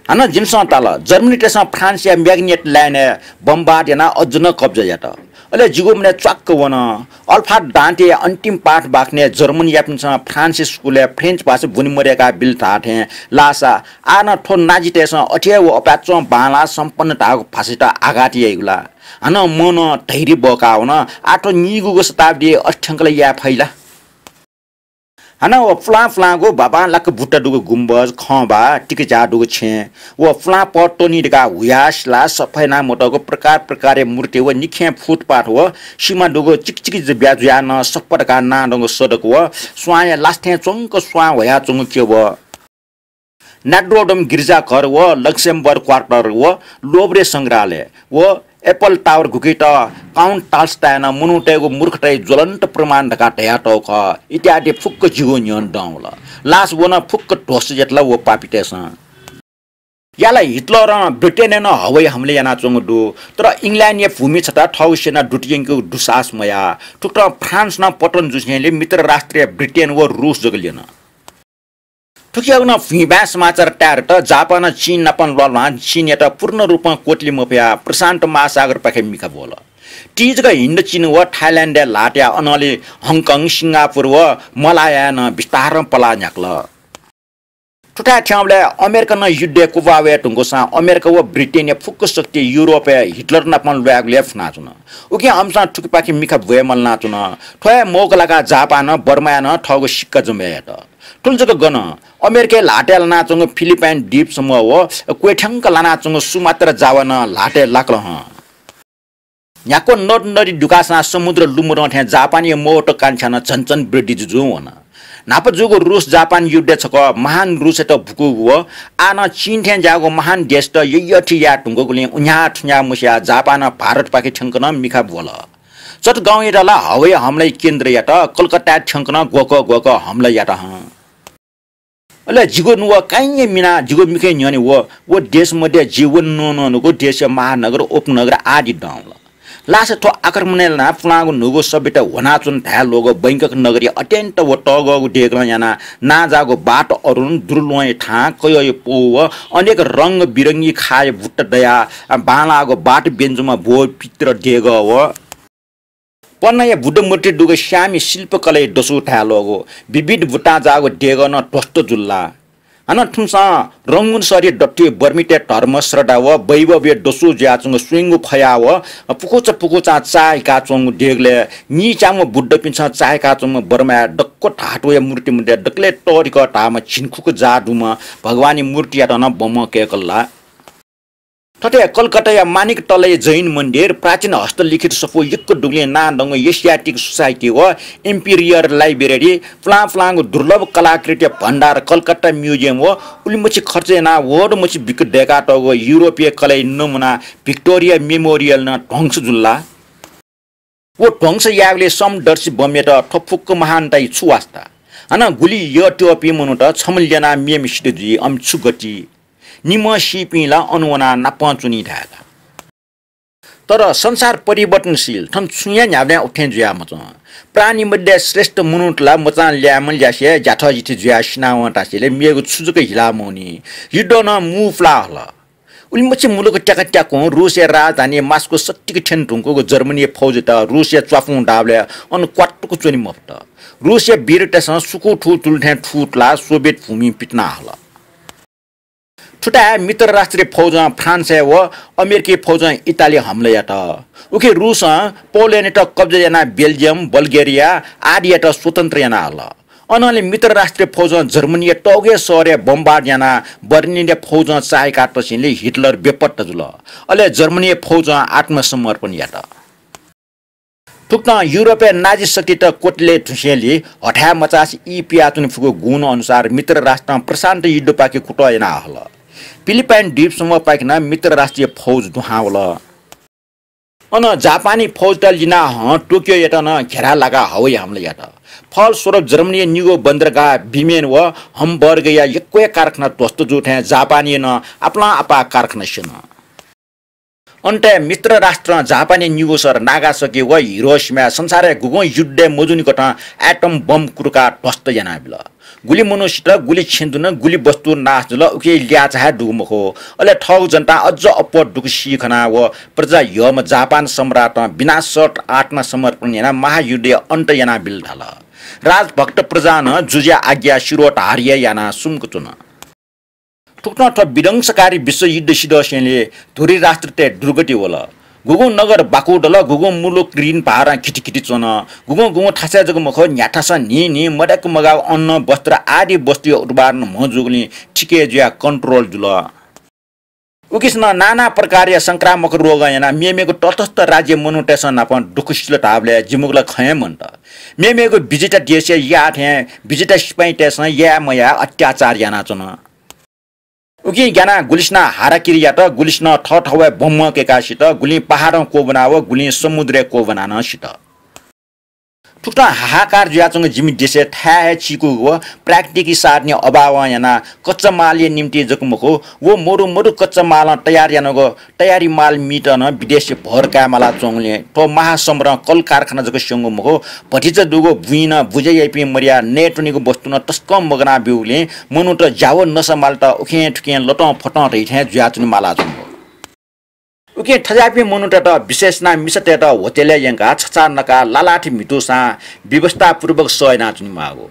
हानं जिमिसं ताल, जर्मनीतय्सं फ्रान्सया म्याग्नेट लाइनय् बमबार यानाः अझ नं कब्जा यात। अले जिगु मनय् च्वाक्क वन। अल्फाड दान्तेया अन्तिम पाठ बाखनय् जर्मनीयापिन्सं फ्रान्सिस स्कुलय् फ्रेन्च भाषा ब्वने मदय्काः बिल धाःथें लासा आः नं थ्व नाजीतय्सं अथे हे व अपाय्चं बांलाः सम्पन्न धाःगु भाषायात आघात याइगु ला? हानं मनं धैर्य बकावन। आः थ्व नीगूगु शताब्दीइ अथे थ्यंक ला याये फइ ला? हानं व पुलां पुलांगु बाबांलाक बुट्टा दुगु गुम्बज, खंबा, तिकिझ्याः दुगु छेँ, व पुलां पः त्वनी धकाः हुयाः सिलाः सफा यानाः मतःगु प्रकार प्रकारया मूर्ति व निखें फुटपाथ व सिमा दुगु चिकिचिकि ब्या जुयाः नं सफा धकाः नां दंगु सडक व स्वांया लासा थें च्वंक स्वां ह्वयाच्वंगु क्यब। नोट्रोडम गिर्जाघर व लक्सेमबर्ग क्वार्टर व लोभ्रे संग्रहालय व एफेल टावर गुकित, काउन्ट टाल्सताय् नं मनूतय्गु मूर्खताया ज्वलन्त प्रमाण धकाः धयातःगु खः इत्यादि फुक्क जिगु न्ह्यःने दं वल। लास व नं फुक्क ध्वस्त यात ला व पापीतय्सं। या ला हिटलरं ब्रिटेनय् नं हवाई हमला यानाच्वंगु दु, तर इङ्ल्यान्डया भूमि छता थःगु सेना दुत यंकेगु दुस्साहस मयाः। थुकथं फ्रान्स नं पतन जुसेंलि मित्र राष्ट्रया ब्रिटेन व रूस जक ल्यन। थुकियागु नं भुइँबाय् समाचार ताये दत, जापानं चीन नाप ल्वाल्वां चीनयात पूर्ण रूपं क्वतुले मफयाः प्रशान्त महासागरपाखे मिखा ब्वल। तिजक हिन्द चीन व थाइल्यान्डय् ल्हाः तयाः अनंलि हङकङ, सिंगापुर व मलायाय् नं बिस्तारं पलाः न्ह्याकल। थुथाय् थ्यंबलय् अमेरिका नं युद्धय् क्वब्वाः वये धुंकूसां अमेरिका व ब्रिटेनया फुक्क शक्ति युरोपय् हिटलर नाप ल्वायेगुलिइ फुनाच्वन। उकिं अमिसं थुकिपाखे मिखा ब्वये मलानाच्वन। थ्व हे मौका लाकाः जापानं बर्माय् नं थःगु सिक्का जमा यात। थुलि जक गन, अमेरिकाय् ल्हातय् लानाच्वंगु फिलिपाइन द्वीप समूह व क्वथ्यंक लानाच्वंगु सुमात्रा जावा नं ल्हातय् लाकल हं। न्ह्याक्व नद नदी दुकाःसां समुद्र लुमधं थें जापानया महत्वाकांक्षा नं झन झन वृद्धि जुजुं वन। न्हापा जूगु रूस जापान युद्धय् छकः महान रूसयात भुकूगु व आः नं चीन थें ज्याःगु महान देशत यःयःथी याये धुंकूगुलिं उन्ह्याः थुन्ह्याः मस्याः जापानं भारतपाखे थ्यंक नं मिखा ब्वल। चटगाउँयात ला हवाई हमलाया केन्द्र यात, कलकत्ताय् थ्यंक नं ग्वःकः ग्वःकः हमला यात हं। अले जिगु नुगः काइँया मिनाः जिगु मिखा न्ह्यःने व, व देश मध्ये जि वने नं नंगु देशया महानगर, उपनगर आदि दं वल। लास थ्व आक्रमणय् लानाः पुलांगु न्हूगु सभ्यता ह्वनाच्वन धाये ल्वःगु बैंकक नगरया अत्यन्त व तःगःगु देगलं यानाः नांजाःगु बात अरुण, दुर्लुवंया थां, कयःया पौ व अनेक रंग बिरंगी खाःया बुट्टा दयाः बांलाःगु बात ब्यंजुम्ह ब्वः पितृ देगः व पन्नाया बुद्ध मूर्ति दुगु स्यामि शिल्पकलाया दसु धाये ल्वःगु विविध बुट्टां जाःगु देगः नं ध्वस्त जुल ला? हानं थुमिसं रंगून सरी दथुइ बर्मीतय् धर्म, श्रद्धा व वैभवया दसु जुयाच्वंगु स्वयंगू फयाः व पुकुचा पुकुचां चाःहिकाच्वंगु देगलय् नीच्याम्ह बुद्धपिन्सं चाःहिकाच्वंम्ह बर्माया दक्व धातुया मूर्ति मध्ये दकलय् तःधिकः धाःम्ह झिंखुक जाः दुम्ह भगवानया मूर्तियात नं बमं कय्कल ला? थथे कलकत्ताया मानिक तलया जैन मन्दिर, प्राचीन हस्तलिखित सफू यक्व दुगुलिं नां दंगु एसियाटिक सोसाइटी व इम्पिरियल लाइब्रेरी, पुलां पुलांगु दुर्लभ कलाकृतिया भण्डार कलकत्ता म्युजियम व उलिमछि खर्च यानाः वःदमछि बिक्री दय्कातःगु युरोपीय कलाया नमुना भिक्टोरिया मेमोरियल नं ध्वंस जुल ला? व ध्वंस यायेगुलिइ समदर्शी बमयात थ्व फुक्क महानताया छु वास्ता? हानं गुलि यःत्यःपिं मनूत छम्ह ल्यनाः मेम्ह सित जुइ, अन छु गति? निम्हं सीपिं ला अन वनाः नापं च्वनी धायेत। तर संसार परिवर्तनशील, थन छुं हे न्ह्याबलें उथें जुयाः मच्वं। प्राणी मध्ये श्रेष्ठ मनूत ला मचां ल्याय्म्ह ल्यासे ज्याथःजिथि जुयाः सिनावं धासेंलि मेगु छु जक हिला मवनी। युद्ध नं मू पुलाः हल। उलिमछि मुलुक त्याका त्याकुं रूसया राजधानी मास्को सत्तिक थ्यने धुंकूगु जर्मनीया फौजयात रूसया च्वापुं दाःबलय् अन क्वातुक च्वने मफुत। रूसया वीरतय्सं सुकुं थू जुल थें थू तुलाः सोभियत भूमिइ पितिना हल। थुथाय् मित्र राष्ट्रिय फौजं फ्रान्सय् व अमेरिकी फौजं इटाली हमला यात। उखे रूसं पोल्याण्डयात कब्जा यानाः बेल्जियम, बल्गेरिया आदियात स्वतन्त्र याना हल। अनंलि मित्र राष्ट्रिय फौजं जर्मनीया तःगु हे शहरय् बमबार्ड यानाः बर्लिनया फौजं चाःहिका तसेंलि हिटलर बेपत्ता जुल। अले जर्मनीया फौजं आत्मसमर्पण यात। थुकथं युरोपय् नाजी शक्तित क्वतुले धुसेंलि हथाय् मचासे ई पियाच्वने फुगु गुण अनुसार मित्र राष्ट्रं प्रशान्त युद्धपाखे कुतः याना हल। फिलिपाइन द्वीप समूहपाखे नं मित्र राष्ट्रिय फौज दुहां वल। अन जापानी फौजत लिनाः हं टोकियोयात नं घेरा लाकाः हवाई हमला यात। फलस्वरूप जर्मनीया निगू बन्दरगाह बिमेन व हमबर्गया यक्व हे कारखाना ध्वस्त जू थें जापानया नं आपालं आपाः कारखाना स्यन। अन्तय् मित्र राष्ट्रं जापानया निगू शहर नागासाकी व हिरोसिमाय् संसारय् गुगुं युद्धय् मजूनि कथं एटम बम कुर्काः ध्वस्त यानाबिल। गुलि मनू सित, गुलि छेँ दुन, गुलि वस्तु नाश जुल, उकिया ल्याःचाः हे दुगु मखु। अले थःगु जनतां अझ अप्वः दुःख सी खनाः व प्रजा ह्यःम्ह जापान सम्राटं बिना शर्त आत्मसमर्पण यानाः महायुद्धया अन्त यानाबिल धाल। राजभक्त प्रजां नं जुजुया आज्ञा शिरोधार्य यानाः सुम्क च्वन। थुकथं थ्व विध्वंसकारी विश्वयुद्ध सिधःसेंलि धुरी राष्ट्रतय् दुर्गति वल। गुगुं नगर बाकु दल, गुगुं मुलुक ऋण भारं घितिघिति च्वन। गुगुं गुगुं थासय् जक मखु, न्ह्याथासं न्हिं न्हिं मदय्क मगाःगु अन्न, वस्त्र आदि वस्तुया उत्पादन म्हं जूगुलिं थिके जुयाः control जुल। उकिसनं नाना प्रकारया संक्रामक रोगं यानाः मेमेगु तटस्थ राज्य मनूतय्सं नापं दुःख सिल धाःबलय् जिमिगु ला खँ हे मन्त। मेमेगु विजेता देशय् याः थें विजेता सिपाइँतय्सं याये मयाः अत्याचार यानाच्वन। उकिं ग्यानाः गुलिसिनं हाराकिरी यात, गुलिसिनं थःथवय् बम्ह कय्काः सित, गुलिं पहाडं क्वब्वना व गुलिं समुद्रय् क्वब्वनाः नं सित। थुकथं हाहाकार जुयाच्वंगु जिमि देशय् थाय् हे चीकूगु व प्राकृतिक साधनया अभावं यानाः कच्चा मालया निंतिं जक मखु, व मरु मरु कच्चा मालं तयार यानागु तयारी माल मीत नं विदेशय् भर काये मालाच्वंगुलिं थ्व महासमरं कल कारखाना जक स्यंगु मखु, भतिचा दुगु बुँइ नं बुझे याइपिं मदयाः नयेत्वनीगु वस्तु नं तसकं मगाना ब्यूगुलिं मनूत ज्या व नसा मालेत उखें थुखें लतं फतं धइथें जुयाच्वने मालाच्वंगु। उकिं थज्याःपिं मनूतय्त विशेष यानाः मिसातय्त होटलय् यंकाः छचाः नकाः लालाथि म्हितुसां व्यवस्थापूर्वक सह यानाच्वने माःगु।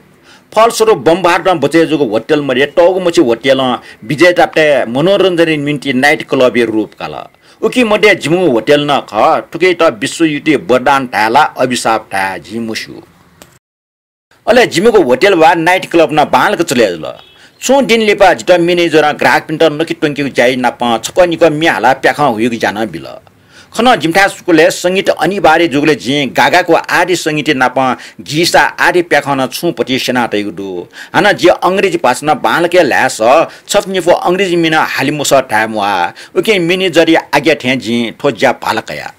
फलस्वरूप बम्बार्डनं बचय् जूगु होटल मध्ये तःगु मछि होटलं विजेतातय् मनोरञ्जनया निंतिं night club-या रूप काल। उकी मध्ये जिमिगु होटल नं खः। थुकियात विश्वयुति वरदान धाये ला अभिशाप धाये जिं मस्यू। अले जिमिगु होटल वा night club नं बांलाक चले जुल। छुं दिं लिपा जितः manager-ं ग्राहकपिन्त नके त्वंकेगु ज्याया नापं छकः निकः म्ये हालाः प्याखं हुइगु ज्या नं बिल। खनं जिमिथाय् स्कूलय् संगीत अनिवार्य जूगुलिं जिं गागाक व आदि संगीतया नापं गीसा आदि प्याखं नं छुं भति स्यना तयागु दु। हानं जि अंग्रेजी भाषा नं बांलाक हे ल्हाये सः, छपु निपु अंग्रेजी म्ये नं हाले मसः धाये म्वाः। उकिं manager-या आज्ञा थें जिं थ्व ज्या भाला कया।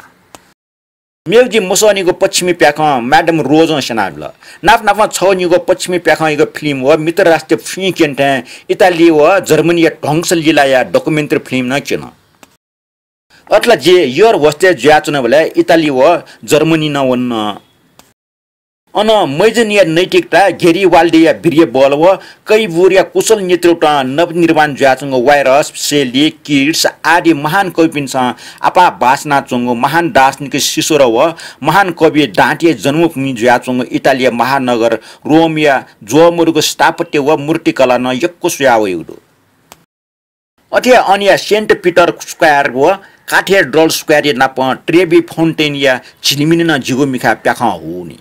मेगु जि मसःनिगु पश्चिमी प्याखं Madame Rose-ं स्यनाबिल। नाप नापं छगू निगू पश्चिमी प्याखंयागु film व मित्र राष्ट्र फ्रिंकेन थें इटाली व जर्मनीया ध्वंस लीलाया documentary film नं क्यन। अथे ला जि air hostess जुयाच्वनाबलय् इटाली व जर्मनी नं वन। अन मैजनया नैतिकता, गेरिबाल्डीया वीर्य बल व कैबुरया कुशल नेतृत्वं नवनिर्माण जुयाच्वंगु वायरस, सेली, किट्स आदि महान कविपिन्सं आपाः बासनाच्वंगु महान दार्शनिक सिसरो व महान कवि दान्तेया जन्मभूमि जुयाच्वंगु इटालीया महानगर रोमया ज्वःमदुगु स्थापत्य व मूर्तिकला नं यक्व स्वयावयागु दु। अथे हे अनया सेन्ट पिटर स्क्वायर व काथेड्रल स्क्वायरया नापं ट्रेभी फाउन्टेनया झिलिमिलि नं जिगु मिखाय् प्याखं हूनि।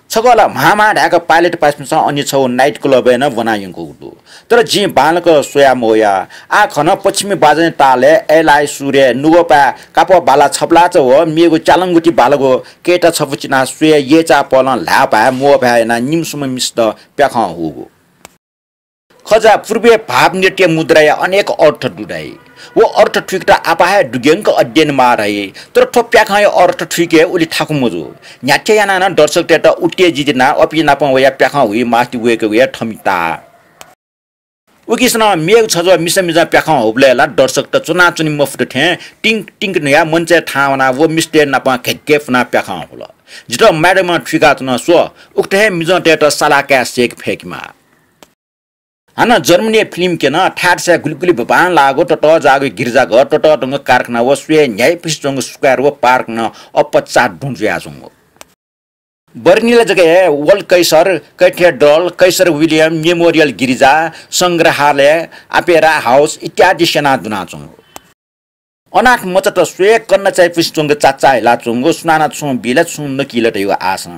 छकः ला म्हां म्हां धाय्क पाइलट पासापिन्सं अन छगू night club-य् नं ब्वना यंकूगु दु। तर जिं बांलाक स्वया मवया। आः खन पश्चिमी बाजंया तालय् एलाइ सुरय् नुगःपाय् कापः बाला छपलाचा व मेगु च्यालंगुति बालागु कय्ता छपु चिनाः स्वये यय्चाः पलं ल्हाय्भाय् म्वःभाय् यानाः निम्हसिम्ह मिसात प्याखं हूगु। खजा पूर्वय् भाव नृत्य मुद्राया अनेक अर्थ दु धाइ। व अर्थ थुइकेत आपाः हे दुग्यंक अध्ययन माः धाइ। तर थ्व प्याखंया अर्थ थुइके उलि थाकु मजू। न्ह्याथे यानाः नं दर्शकतय्त उत्तेजित यानाः अपिं नाप वयाः प्याखं हुइ मास्ति वय्कःगु हे थमिता। उकिसनं मेगु छजः मिसा मिजं प्याखं हूबलय् ला दर्शकत च्वनाच्वने मफुत थें टिंक टिंक न्हुयाः मञ्चय् थाहां वनाः व मिस्तय् नाप घेग्घे फुनाः प्याखं हुल। जितः madam-ं थुइकाच्वन, स्व, उकथं हे मिजंतय्त सालाः काये सय्के फय्केमाः। हानं जर्मनीया film क्यन, थाय् थासय् गुलि गुलि बांलाःगु ततःजाःगु गिरिजाघर, ततःधंगु कारखाना व स्वये न्ह्याइपुसे च्वंगु square व park नं अप्पा चादुं जुयाच्वंगु। बर्लिनय् जक हे वल कैसर कैथेड्रल, कैसर विलियम मेमोरियल गिरिजा, संग्रहालय, अपेरा हाउस इत्यादि स्यना दुनाच्वंगु। अनाथ मचात स्वये कन्ना चायापुसे च्वंगु चाचा हिलाच्वंगु, सुनानं छुं बी ला छुं नकी ला धयागु आशं।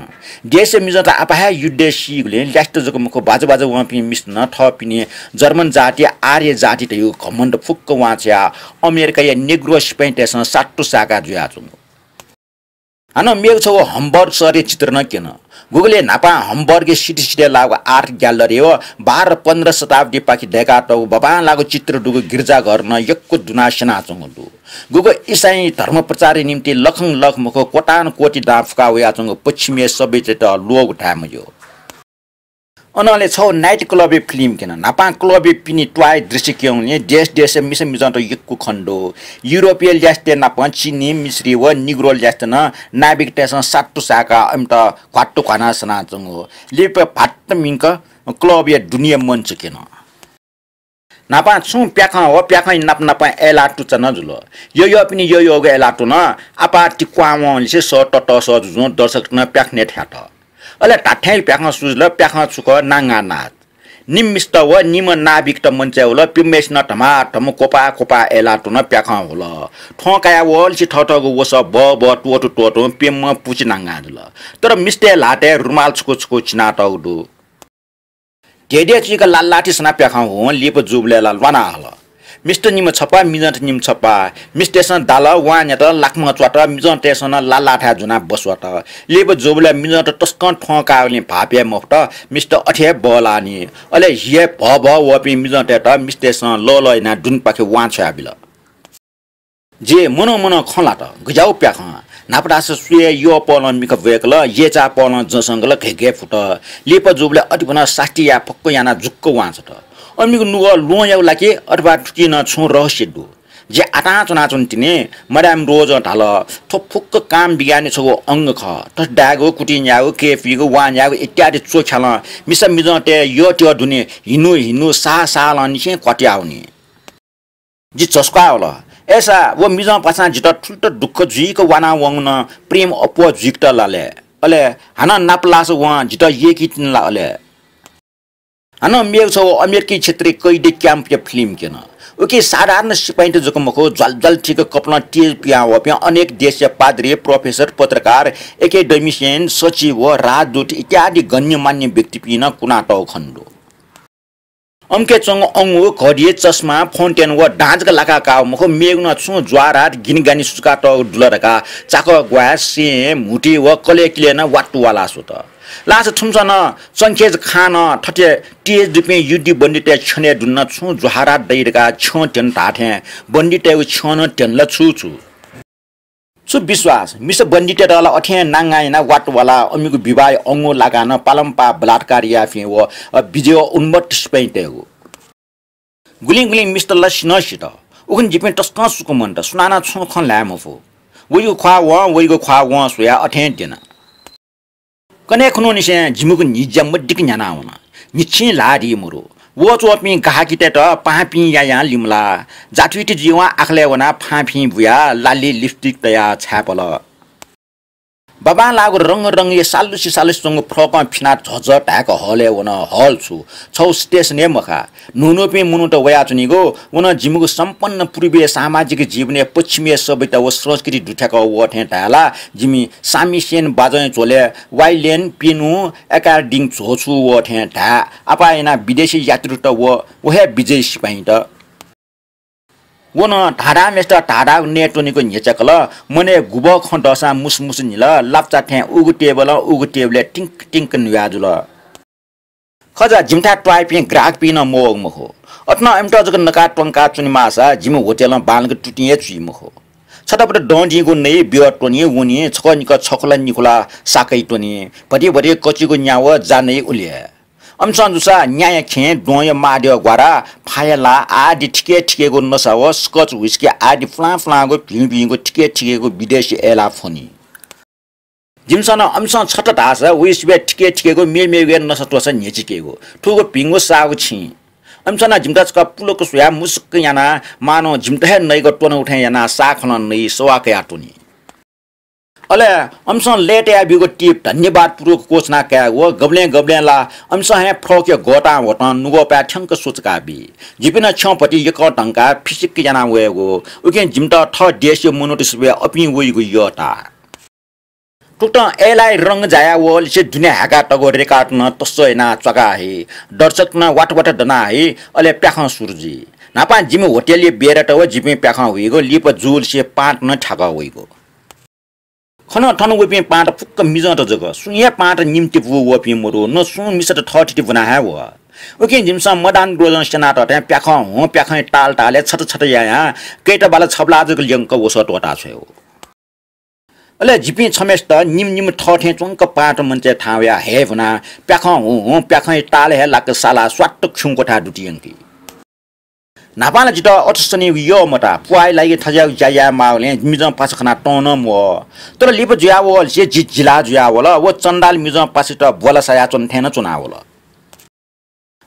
देशय् मिजंत आपाः हे युद्धय् सीगुलिं ल्यासेत जक मखु, बाजु बाजु वंपिं मिस्त नं थःपिनि जर्मन जाति, आर्य जाति धयागु घमण्ड फुक्क वांछ्वयाः अमेरिकाया नेग्रो सिपाइँतय्सं सात्तु साय्का जुयाच्वंगु। हानं मेगु छगू हम्बर्ग शहरया चित्र नं क्यन। गुगलय् न्हापां हम्बर्गया city city-य् लाःगु art gallery व बाह्र पन्ध्र शताब्दीपाखे दय्कातःगु बांबांलाःगु चित्र दुगु गिरिजाघर नं यक्व दुनाः स्यनाच्वंगु दु। गुगु इसाई धर्म प्रचारया निंतिं लखं लख मखु, कोटान कोटि दां फुका वयाच्वंगु पश्चिमया सभ्यतायात ल्वःगु धाये मज्यू। अनंलि छगू night club-या film क्यन। न्हापां club-या पिने त्वाःया दृश्य क्यंगुलिं देश देशया मिसा मिजंत यक्व खने दु। युरोपया ल्यासेतय् नापं चिनी, मिश्री व निग्रो ल्यासेत नं नाविकतय्सं सात्तु साय्काः इमित घ्वात्तु घ्वानाः सनाच्वंगु। लिपा भात्त मिंक club-या दुनेया मञ्च क्यन। न्हापां छुं प्याखं व प्याखंया नाप नापं अय्लाः तुचा नं जुल। यःयःपिनि यःयःगु अय्लाः तुं आपाः तिक्वां वंलिसे सः ततःसः जुजुं दर्शकत नं प्याखनय् थ्यात। अले धात्थें प्याखं सुजुल, प्याखं छु खः, नांगाः नाच। निम्ह मिस्त व निम्ह नाविकत मञ्चय् हुल, प्यम्हय्सिनं धमाधम क्वपाः क्वपाः अय्लाः तुं प्याखं हुल। थ्वँ काया वःलिसे थःथःगु वसः बः बः त्वःतू त्वःतूं प्यम्ह पुचि नांगाः जुल। तर मिस्तय् ल्हातय् रुमाल छकू छकू चिनातःगु दु। धेधे चुइक लालाथि सनाः प्याखं हुं लिपा जूबलय् ला ल्वाना हल। मिस्त निम्ह छपा, मिजंत निम्ह छपा। मिस्तय्सं दाल, वां न्यात, लाखम्ह च्वात, मिजंतय्सं नं लाः लाःथाय् ज्वनाः बस्वात। लिपा जूबलय् मिजंत तसकं थ्वंकाः वलिं भाःपे मफुत, मिस्त अथे हे बल्लाः नि। अले हि हे भः भः वःपिं मिजंतय्त मिस्तय्सं लः लः यानाः दुनेपाखे वां छ्वयाबिल। जि मनं मनं खँ ल्हात, गज्याःगु प्याखं। न्हापा धाःसा स्वये यःपलं मिखा ब्वय्कल, यय्चाःपलं जसंगल घय्घय् फुत। लिपा जूबलय् अतिभनं सास्ती याये फक्व यानाः जुक्क वां छ्वत। अमिगु नुगः ल्वहंयागु ला कि अथवा थुकी नं छुं रहस्य दु? जि आतां च्वनाच्वने तिनि। Madame Rose-ं धाल, थ्व फुक्क काम विज्ञानया छगू अंग खः। थथे दायेगु, कुतिं न्यायेगु, कय् पुइगु, वां न्यायेगु इत्यादि च्वख्यालं मिसा मिजंतय् यःत्यः दुने हिन्हु हिन्हु साः सालंनिसें क्वातुयावनी। जि झसुकाः वल। अय्सा व मिजंपासां जितः थुलि तक दुःख जुइक वानावंगु नं प्रेम अप्वः जुइकेत ला लय्? अले हानं नापलास वं जितः यय्की तिनि ला अले? हानं मेगु छगू अमेरिकी क्षेत्रय् कैदी camp-या film क्यन। उकी साधारण सिपाइँत जक मखु, ज्वालज्वाल थीक कपालं तेज पिहां वःपिं अनेक देशया पाद्री, professor, पत्रकार, academician, सचिव, राजदूत इत्यादि गण्यमान्य व्यक्तिपिं नं कुनातःगु खनेदु। अम्के च्वंगु अंगु, घडी, चस्मा, fountain व दां जक लाकाः काःगु मखु, मेगु नं छुं ज्वाःरात गिनिगानि सुचुकातःगु दु ला धकाः चाकः ग्वाँय्, सें, म्हुतुइ व कलय् किलय् नं वातुवालाः स्वत। लास थुमिसं नं चंखेज खां नं थथे तेज दुपिं युद्धि बन्दीतय् छ्यनय् दुने नं छुं ज्वाःरात दइ धकाः छ्यं त्यन धाःथें बन्दीतय्गु छ्यं नं त्यन ला छु छु? छु विश्वास? मिसा बन्दीतय्त ला अथें नांगां यानाः वातुवालाः अमिगु विवाहया अंगु लाकाः नं पालंपाः बलात्कार याःपिं व, अ, विजय उन्मत्त सिपाइँतय्गु। गुलिं गुलिं मिस्त ला सिनं सित। उखुन्हु जिपिं तसकं सुकमन्त, सुनानं छुं खँ ल्हाये मफु। वइगु ख्वाः वं, वइगु ख्वाः वं स्वयाः अथें द्यन। कन्हय् खुन्हुनिसें जिमिगु न्हिज्या मदिक्क न्ह्यानावन। न्हिच्छिं ल्हाः दी मरु। वःच्वंपिं गाःकितय्त पाहांपिं यायां लिमलाः। जातुइत जुइवं आखलय् वनाः फांफिं बुयाः लालि lipstick तयाः छाय्पल। बाबांलाःगु रंग रंगया सालुसि सालुसि च्वंगु फ्रकं फिनाः झःझः धाय्क हलय् वन। हल छु? छगू station हे मखा। न्हून्हूपिं मनूत वयाच्वनीगु। व नं जिमिगु सम्पन्न पूर्वीय सामाजिक जीवनया पश्चिमीय सभ्यता व संस्कृति दुथ्याकः वः थें धाये ला जिमि सामिसेन बाजंया झ्वलय् violin, piano, accordion झ्वःछुं वः थें धाये। आपाः यानाः विदेशी यात्रुत व, व हे विजयी सिपाइँत। व नं धाधाःम्हेसित धाधाःगु नये त्वनीगु न्ह्यच्याकल। मनय् गुबः खँ दःसां मुसुमुसु न्हिल। लापचा थें उगु टेबलं उगु टेबलय् तिंक तिंक न्हुया जुल। खजा, जिमिथाय् त्वाःपिं ग्राहकपिं नं मवःगु मखु। अथे नं इमित जक नकाः त्वंकाः च्वनेमाःसा जिमि होटेलं बांलाक तुतिं हे चुइ मखु। छतापत दँ दीगु नइ, ब्यः त्वनी, वनी, छकः निकः छखुला निखुला साकय् त्वनी, भति भति कचिगु न्यावः जा नइ उलि हे। अमिसं जूसा न्याया खेँ, द्वहंया माःद्यः ग्वारा, फाया ला आदि थिके थिकेगु नसा व Scotch whisky आदि फुलां फुलांगु भिं भिंगु थिके थिकेगु विदेशी अय्लाः फ्वनी। जिमिसं नं अमिसं छता धाःसा वइसिबय् थिके थिकेगु मेमेगु हे नसा त्वःसा न्ह्यचिकेगु। थुगु भिंगु साःगु छिं। अमिसं नं जिमित छकः पुलुक स्वयाः मुसुक्क यानाः मानं जिमित हे नइक त्वनागु थें यानाः साःखलं नइ सवाः कयाः त्वनी। अले अमिसं लय्ताया ब्यूगु टिप धन्यवादपूर्वक क्वछुना कायेगु व गबलें गबलें ला अमिसं हे फ्रकया गःतां वतं नुगःपाय् थ्यंक स्वचुका बी। जिपिं नं छ्यं भति यकः धंकाः फिसिक्क यानाः वयेगु। उकिं जिमित थः देशया मनूत सिबय् अपिं वइगु यःता। थुकथं अय्लाःया रंग जाया वःलिसे दुने हाय्कातःगु रेकात नं तस्स यानाः च्वाका हइ। दर्शकत नं वात वात दना हइ। अले प्याखं सुरु जुइ। न्हापां जिमि होटेलया बेरात व जिपिं प्याखं हुइगु, लिपा जूलिसे पाँत नं थ्याकः वइगु। खन थन वःपिं पाँत फुक्क मिजंत जक। सुं हे पाँत निम्ति पू वःपिं मदु, न सुं मिसात थःथिति ब्वना हे वः। उकिं जिमिसं Madame Rose-ं स्यनातःथें प्याखं हुँ, प्याखंया ताल तालय् छत छत यायां कय्ता बाला छबलाः जक ल्यंक वसः त्वःता छ्वयेगु। अले जिपिं छम्हेसित निम्ह निम्ह थःथें च्वंक पाँत मञ्चय् थाहां वयाः हये ब्वनाः प्याखं हुँ हुँ, प्याखंया ताल हे लाक सालाः स्वात्त खिउँ क्वथाय् दुतियंकी। न्हापां ला जितः अथे सनीगु यः मताः, पुवाःया लागि थज्याःगु ज्या याये माःगुलिं मिजं पासा खनाः तं नं म्वः। तर लिपा जुयावःलिसे जि जिलाः जुयावल। व चन्दाल मिजं पासायात ब्वला सायाच्वन थें नं च्वनावल।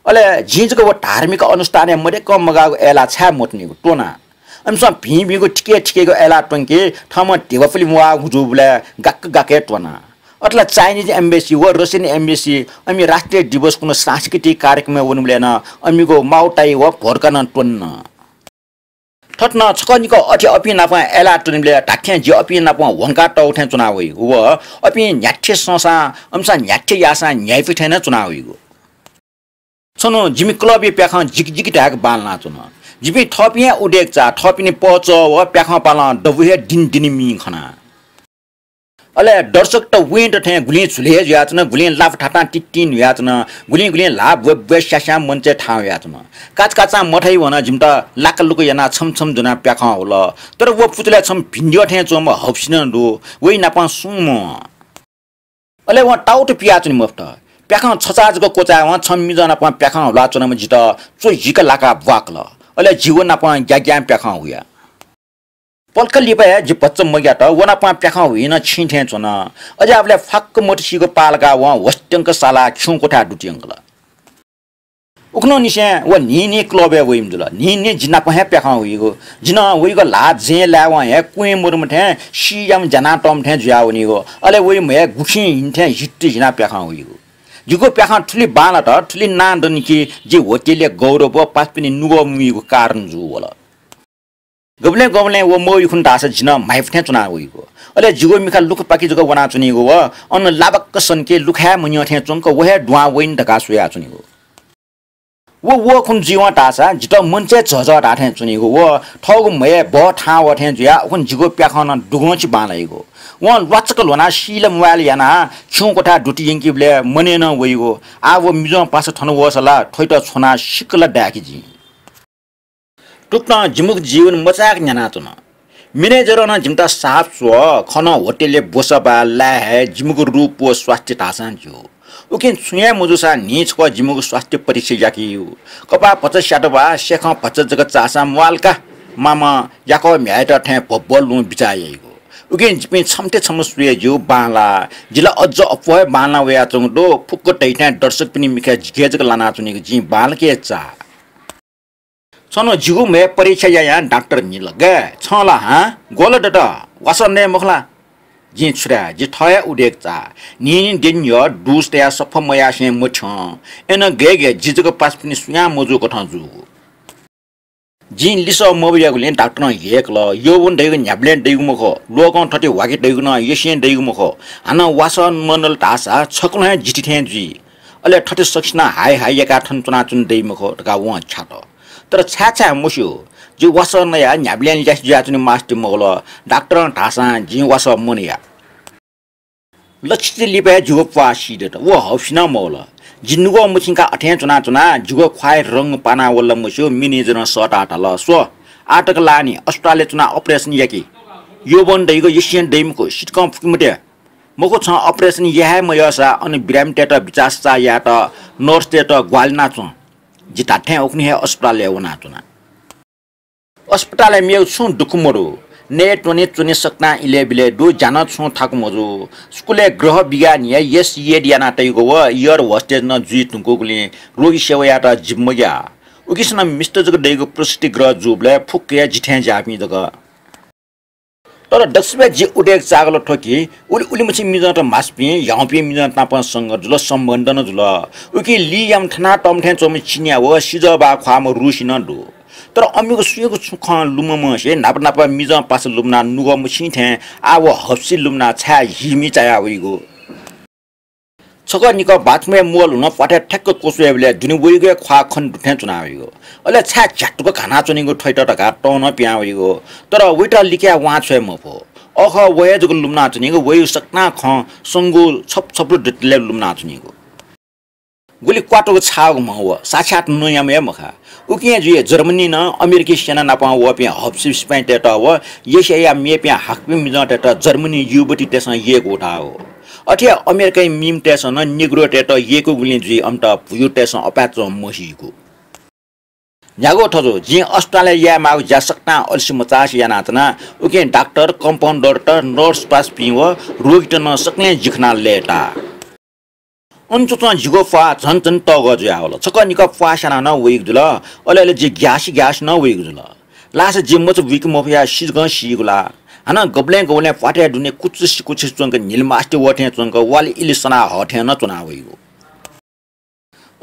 अले जिं जक व धार्मिक अनुष्ठानय् मदय्कं मगाःगु अय्लाः छाय् मत्वनीगु त्वना। अमिसं भिं भिंगु थिके थिकेगु अय्लाः त्वंके थःम्हं धिबा पुले म्वाःगु जूबलय् गाक्क गाक्क हे त्वना। अथे ला Chinese embassy व Russian embassy अमि राष्ट्रिय दिवसकुन्हु सांस्कृतिक कार्यक्रमय् वनीबलय् नं अमिगु माउताइ व भोर्का नं त्वन्न। थथे नं छकः निकः अथे अपिं नाप अय्लाः त्वनीबलय् धात्थें जि अपिं नाप ह्वंकातःगु थें च्वना वइगु व अपिं न्ह्याथे संसां अमिसं न्ह्याथे याःसां न्ह्याइपु थें नं च्वना वइगु। छन्हु जिमि club-या प्याखं जिकिजिकि धाय्क बांलानाच्वन। जिपिं थःपिं हे उदेक चाः, थःपिनि पहचः व प्याखं पालं दबू हे दिनदिन मि खना। अले दर्शकत वय्‌त थें गुलिं झुले हे जुयाच्वन, गुलिं लापा थातां तित्तिं न्हुयाच्वन, गुलिं गुलिं ल्हाः ब्वय् ब्वय् स्यास्यां मञ्चय् थाहां वयाच्वन। काचाकाचां मथाइ वन, जिमित लाकालुक यानाः छम्ह छम्ह ज्वनाः प्याखं हुल। तर व पुचलय् छम्ह भिंद्यः थें च्वंम्ह हःपिं नं दु, वइ नापं सुं मवं। अले वं ताउत पियाच्वने मफुत। प्याखं छचाः जक क्वचाय्‌वं छम्ह मिजं नापं प्याखं हुलाच्वनाम्ह जितः च्वजिक लाकाः ब्वाकल। अले जि व नापं ग्याग्यां प्याखं हुया। पलख लिपा हे जि भचा मग्यात, व नापं प्याखं हुइ नं छिं थें च्वन। अज्याःबलय् फाक्क मतिसिक पालकाः वं ह्वस्त्यंक सालाः खिउँ क्वथाय् दुतियंकल। उखुन्हुनिसें व न्हिं न्हिं क्लबय् वइम्ह जुल। न्हिं न्हिं जि नाप हे प्याखं हुइगु। जिं वइगु ल्हाः जँय् लायेवं हे क्वँय् मदुम्ह थें सीयाम्ह ज्यानातःम्ह थें जुयावनीगु। अले वइम्ह हे गुखिं हिं थें हित्त हिनाः प्याखं हुइगु। जिगु प्याखं थुलि बांलात, थुलि नां दनि कि जि होटलय् गौरव व पासापिनि नुगः मुइगु कारण जू वल। गबलें गबलें व मवइ खुन्हु धाःसा जि नं म्हाइपु थें च्वना वइगु। अले जिगु मिखा लुखापाखे जक वनाच्वनीगु व अन लाबाक्क सन्के लुखाय् मन्यं थें च्वंक व हे दुहां वइन धकाः स्वयाच्वनीगु। व व खुन्हु जुइवं धाःसा जितः मञ्चय् झःझः धाः थें च्वनीगु व थःगु म्हय् बः थाहां वः थें जुयाः उखुन्हु जिगु प्याखं नं दुगंछि बांलाइगु। वं ल्वाचक ल्ह्वनाः सील म्वाइल यानाः खिउँ क्वथाय् दुतियंकीबलय् मनय् नं वइगु। आः व मिजं पासा थन वःसा ला थ्वइत छ्वनाः सिक्क ला दाय्‌के जिं। थुकथं जिमिगु जीवन मचाय्‌क न्यानाच्वन। म्यानेजरं नं जिमित साप स्व, खः नं होटलय् ब्वसाः बाय् लाये हये, जिमिगु रूप व स्वास्थ्य धाःसां ज्यू। उकिं छुं हे मजूसां न्हिं छकः जिमिगु स्वास्थ्य परीक्षा याकेयु। कपाः भचा स्यात वा, स्याखं भचा जक चाःसां म्वाःल का, मामं याकः म्ह्याय्‌त थें भब्वः लुँ बिचाः याइगु। उकिं जिपिं छम्हथें छम्ह स्वये ज्यू, बांलाः। जि ला अज्ज अप्वः हे बांलाः वयाच्वंगु दु, फुक्क धइथें दर्शकपिनि मिखाय् जिके जक लानाच्वनीगु जिं बांलाक हे चाः। छन्हु जिगु म्हय् परीक्षा यायां डाक्टर न्हिल, "गय्, छं ला हां ग्वल दत? वासः नये मखु ला?" जिं छु धाये, जि थः हे उदेक चाः। न्हिं न्हिं द्यने न्ह्यः दुस तयाः सफा मयासें मथ्यं। अय्‌नं गय् गय् जि जक पासापिनि सुयां मजूकथं जूगु। जिं लिसः मबियागुलिं डाक्टरं यय्‌कल, "यौवन धइगु न्ह्याबलें दइगु मखु, लोकं थथे ह्वाके दइगु नं यसें दइगु मखु। हानं वासः मनल धाःसा छकलं हे जिति थें जुइ। अले थथे सकसिनं हाय हाय याकाः थन च्वनाच्वने दइ मखु" धकाः वं छ्यात। तर छाय् छाय् मस्यू, जि वासः नयाः न्ह्याबलें ल्यासे जुयाच्वने मास्ति मवल। डाक्टरं धाःसां जिं वासः मनया। लच्छि लिपा हे जिगु प्वाः सीदत। व हःपिं नं मवल। जि नुगः मछिंकाः अथें च्वनाच्वना, जिगु ख्वाः रंग पाना वल ला मस्यू, म्यानेजरं सःताः धाल, "स्व, आः तक लानि, अस्पतालय् च्वनाः operation याकि। यौवन धइगु यसें दइ मखु, सितिकं फुके मते। मखु, छं operation याये हे मयःसा अन बिरामीतय्‌त बिचाः सचाः यायेत nurse-तय्‌त ग्वाहालि याना च्वँ।" जि धात्थें उखुन्हु हे अस्पतालय् वनाच्वना। अस्पतालय् मेगु छुं दुःख मदु। नये त्वने च्वने सकतां इलय् बिलय् दु, ज्या नं छुं थाकु मजू। स्कुलय् गृह विज्ञानया yes, येड याना तइगु व air hostess नं जुइ धुंकूगुलिं रोगी सेवा यायेत जि मग्याः। उकिसनं मिस्त जक दइगु प्रसूति गृह जूबलय् फुक्क हे जि थें ज्याःपिं जक। तर दक्वसिबय् जि उदेक चाःगु ला थ्व कि उलि उलिमछि मिजंत म्हाःपिं, ह्याउँपिं मिजंत नाप संगत जुल, सम्बन्ध नं जुल। उकिं लियाम्ह थनातःम्ह थें च्वंम्ह चिनियाँ व सिजः बाः ख्वाःम्ह रुसी नं दु। तर अमिगु सुयागु छुं खँ लुमंमसे न्हापा न्हापा मिजं पासा लुमनाः नुगः मछिं थें आः व हप्सि लुमनाः छाय् हिमि चाया वइगु। छकः निकः बाथरुमय् म्वःल्हुनं प्वाथय् ठ्याक्क क्वछुइबलय् दुने वइगु हे ख्वाः खने दु थें च्वना वइगु। अले छाय् झ्यातुक घानाच्वनीगु थ्वइत धकाः तं नं पिहां वइगु। तर वइत लिकयाः वां छ्वये मफु। अःखः व हे जक लुमनाच्वनीगु, वइगु सकतां खँ संगु छपु छपु दतले लुमनाच्वनीगु। गुलि क्वातुक छाःगु म्ह व, साक्षात् नँयाम्ह हे मखा। उकिं हे जुइ जर्मनीं नं अमेरिकी सेना नाप वःपिं हप्सि सिपाइँतय्‌त व एसियाया मेपिं हाकपिं मिजंतय्‌त जर्मनी युवतीतय्‌सं यय्‌कू धाःगु। अथे हे अमेरिकाया मिम्हतय्‌सं नं नेग्रोतय्‌त यय्‌कूगुलिं जुइ अमित भुयुतय्‌सं अपाय्‌चं मसीगु। न्ह्यागु थजु, जिं अस्पतालय् याये माःगु ज्या सकतां अलसे मचासे यानाच्वना। उकिं डाक्टर, कम्पाउन्डरत, नर्स पासापिं व रोगीत नं सकलें जि खनाः लय्‌ताः। अन च्वंच्वं जिगु प्वाः झन झन तःगः जुयावल। छकः निकः प्वाः स्यानाः नं वइगु जुल। अले अले जि ग्यासे ग्यासे नं वइगु जुल। लासा जि मचा बुइके मफयाः सिजकं सीगु ला। हानं गबलें गबलें प्वाथय् दुने कुचुसि कुचुसि च्वंक न्हिलिमास्ति वः थें च्वंक वालि इलि सनाः हः थें नं च्वना वइगु।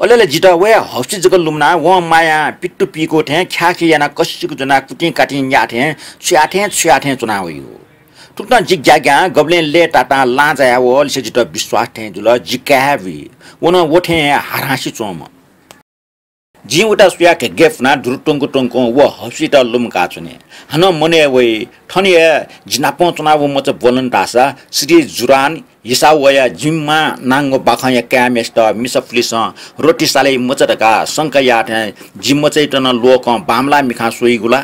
अले अले जितः वया हप्सि जक लुमनाः वं मायां पित्तु पीकू थें ख्याःखे यानाः कसिक ज्वनाः कुतिं कातिं न्याः थें छुया थें छुया थें च्वना वइगु। थुकथं जि ग्याग्यां गबलें लय्‌तातां लां जाया वःलिसे जितः विश्वास थें जुल, जि काय् हे बुइ। व नं व थें हे हारांसि च्वंम्ह। जिं उता सुया घेग्गे फुना दुरु त्वंक त्वंक व हौसित लुमका च्वने। हानं मनय् वइ, थन हे जि नापं च्वना व मचा ब्वलन धाःसा श्री जुरान हिसावया जिम्मा नांगो बाखंया काय्‌म्हेसित मिसा पुलिसं रोटी सालय् मचा धकाः शंका याः थें जि मचाइत नं लोकं बांमलाः मिखां स्वइगु ला?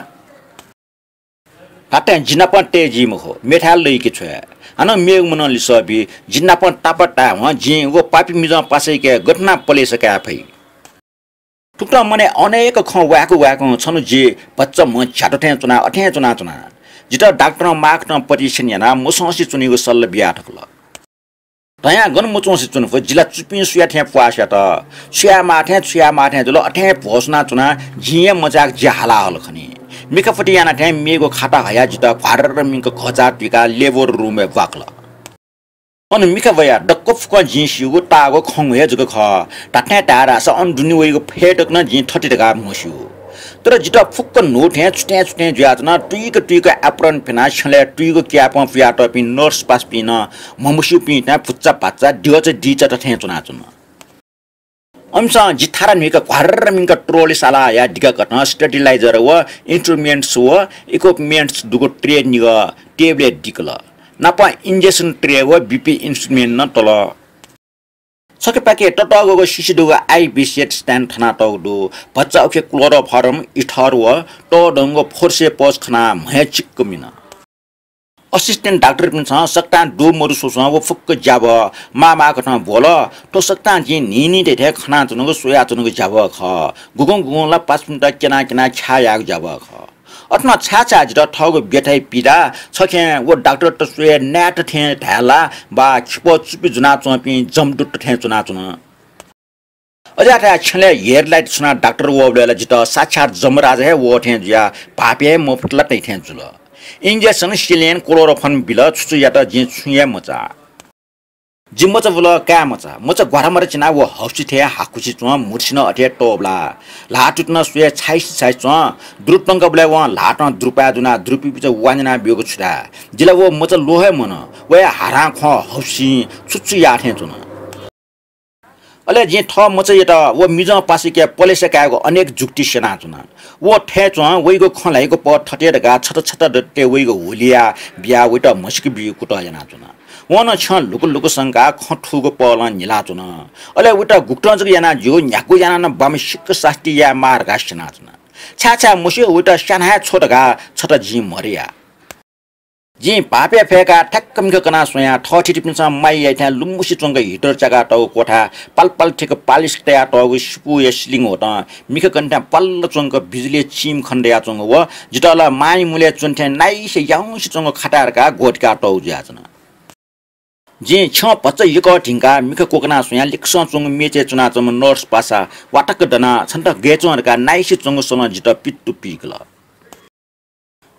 धात्थें जि नापं तये जी मखु, मेथाय् लइके छ्वये। हानं मेगु मनं लिसः बी, जि नापं तापाः तायेवं जिं व पापी मिजं पासाइके गथे याना पलेसा काये फइ? थुकथं मनय् अनेक खँ वाय्‌क वाय्‌कं छन्हु जि भचा म्ह झ्यात थें च्वना अथें च्वनाच्वना। जितः डाक्टरं माःकथं परीक्षण यानाः मसंसे च्वनेगु सल्लाह बिया थकल। धयां गन मच्वंसे च्वने फु, जि ला चुपिं सुया थें प्वाः स्यात। छु यायेमाः थें, छु यायेमाः थें जुल, अथें भ्वसुना च्वना, जिं हे मचायेक जि हाला हल खनी। मिखा फति याना थें मेगु खाता हयाः जितः घ्वार्र मिंक घःचाः तुइकाः labour room-य् ब्वाकल। अन मिखा वयाः दक्व फुक्कं जिं स्यूगु ताःगु खंगु हे जक खः। धात्थें धाये धाःसा अन दुने वइगु फय् तक नं जिं थथे धकाः मस्यू। तर जितः फुक्क न्हू थें छुथें छुथें जुयाच्वन। तुइक तुइक apron फ्यनाः छ्यलय् तुइगु क्यापं पुयातःपिं nurse पासापिं नं म्हमस्यूपिं थें भुच्चा भाच्चा द्यःचा दिचा थें च्वनाच्वन। अमिसं जि थारा न्हुइक घ्वार्र मिंक trolley साला हयाः दिकाकथं sterilizer व instruments व equipments दुगु tray निगः table-य् दिकल। नापं injection tray व BP instrument नं तल। छखेपाखे ततःगुगु सिसि दुगु IV set stand थनातःगु दु। भचा उखे chloroform, ether व तःधंगु forceps खनाः म्हय् चिक्क मिन। Assistant डाक्टरपिन्सं सकतां दु मदु स्वस्वं व फुक्क ज्याभः माःमाःकथं ब्वल। थ्व सकतां जिं न्हिं न्हिं धइथें खनाच्वनागु स्वयाच्वनागु ज्याभः खः। गुगुं गुगुं ला पासापिन्त क्यना क्यना ख्याः याःगु ज्याभः खः। अथे नं छाय् छाय् जितः थःगु ब्यथाय् पीडाः छखें व डाक्टरत स्वये नायेत थें धाये ला वा खिपः चुपि ज्वनाच्वंपिं जमदूत थें च्वनाच्वन। अज्याःथाय् छ्यलय् headlight छुनाः डाक्टर वःबलय् ला जितः साक्षात् जमराजा हे वः थें जुयाः भाःपे हे मफुत ला तइ थें जुल। Injection, saline, chloroform बिल, छु छु यात जिं छुं हे मचाः। जि मचा बुल, काय् मचा। मचा ग्वारामारा चिनाः व हौसि थें हाकुसे च्वं, मुर्सि नं अथे तःबलाः। ल्हाः तुति नं स्वये छाइसे छाइसे च्वं। दुरु त्वंकाबलय् वं ल्हातं दुरुपाय् दुनाः दुरुपिं बिचा वान्यना ब्यूगु छु धाये। जि ला व मचा ल्वः हे मन। वया हारां ख्वं हौसिं छु छु याः थें च्वन। अले जिं थः मचायात व मिजं पासाके पलेसा कायेगु अनेक जुक्ति स्यनाच्वना। व थथे च्वं, वइगु खँ ल्हाइगु पः थथे धकाः छता छता दतले वइगु हुलिया बियाः वइत म्हसीके बीगु कुतः यानाच्वना। वं नं छ्यं लुकु लुकु संकाः खँ थूगु पहलं न्हिलाच्वन। अले वइत गुकथं जक यानाः ज्यू, न्ह्यागु यानाः नं बांमसिक सास्ती यायेमाः धकाः स्यनाच्वना। छाय् छाय् मस्यू, वइत स्याना हे छ्व धकाः छता जिं मदया। जिं भाःपे फय्काः ठ्याक्क मिखा कनाः स्वयाः थःथितिपिन्सं माया याइथाय् लुमुसे च्वंक heater च्याकातःगु क्वथाय् पाल पाल थिक पालिस तयातःगु सिपूया ceiling होतं मिखा कनेथाय् पाल च्वंक बिजुलीया चिम खने दयाच्वंगु व जितः ला मांया मुलय् च्वनेथें नाइसे याउँसे च्वंगु खताय् धकाः ग्वःतिकातःगु जुयाच्वन। जिं छ्यं भचा यकः धिंकाः मिखा क्वकनाः स्वयाः लिक्कसं च्वंगु मेचय् च्वनाच्वंम्ह nurse पासा वातक्क दनाः छन्त गय् च्वं धकाः नाइसे च्वंगु स्वलं जितः पित्तु पीकल।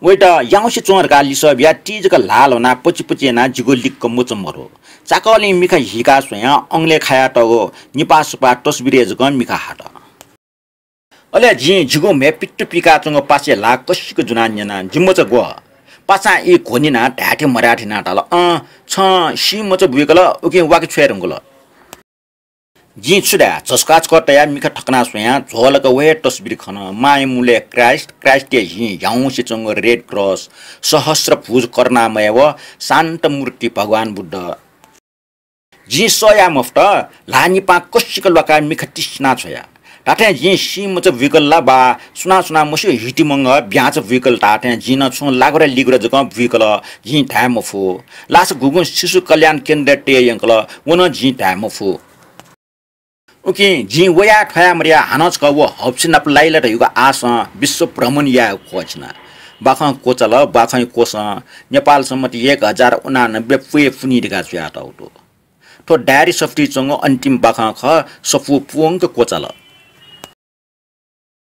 वइत याउँसे च्वं धकाः लिसः बियाः ति जक ल्हाः ल्ह्वनाः पचिपचि यानाः जिगु लिक्क मचा मरु। चाकःलिं मिखा हीकाः स्वयाः अंगलय् खायातःगु निपाः सुपाः तस्बिरय् जक मिखा हात। अले जिं जिगु म्हय् पित्तु पीकाच्वंगु पासाया ल्हाः कसिक ज्वनाः न्यना, जि मचा ग्व? पासां ई घ्वनिनाः धायेथें मधायेथें यानाः धाल, अँ, छं सी मचा बुइकल, उकिं वाके छ्वये धुंकल। जिं छु धाये, झसुकाछुकः तयाः मिखा थकनाः स्वयाः झ्वलक व हे तस्बिर खन। मांया मुलय् क्राइस्ट, क्राइस्टया हिं ह्याउँसे च्वंगु रेड क्रस, सहस्र भुज करुणामय व शान्त मूर्ति भगवान बुद्ध। जिं सह याये मफुत, ल्हाः निपां कसिक ल्वाकाः मिखा तिसिना छ्वया। धात्थें जिं सी मचा बुइकल ला वा सुनां सुनां मस्यू, हितिमंगः ब्याँचा बुइकल धात्थें जिं नं छुं लागुरा लिगुरा जकं बुइकल, जिं धाये मफु। लासा गुगुं शिशु कल्याण केन्द्रय् तये यंकल, व नं जिं धाये मफु। उकिं जिं वया थ्वया मदया हानं छकः व हौपसि नाप लाइ ला धइगु आशं विश्व भ्रमण यायेगु क्वःछिना। बाखं क्वचाल, बाखंया क्वसं नेपाल सम्बत एक हजार उनानब्बे पुये पुनि धकाः जुयातःगु दु। थ्व डायरी सफुतिइ च्वंगु अन्तिम बाखं खः, सफू पूवंक क्वचाल।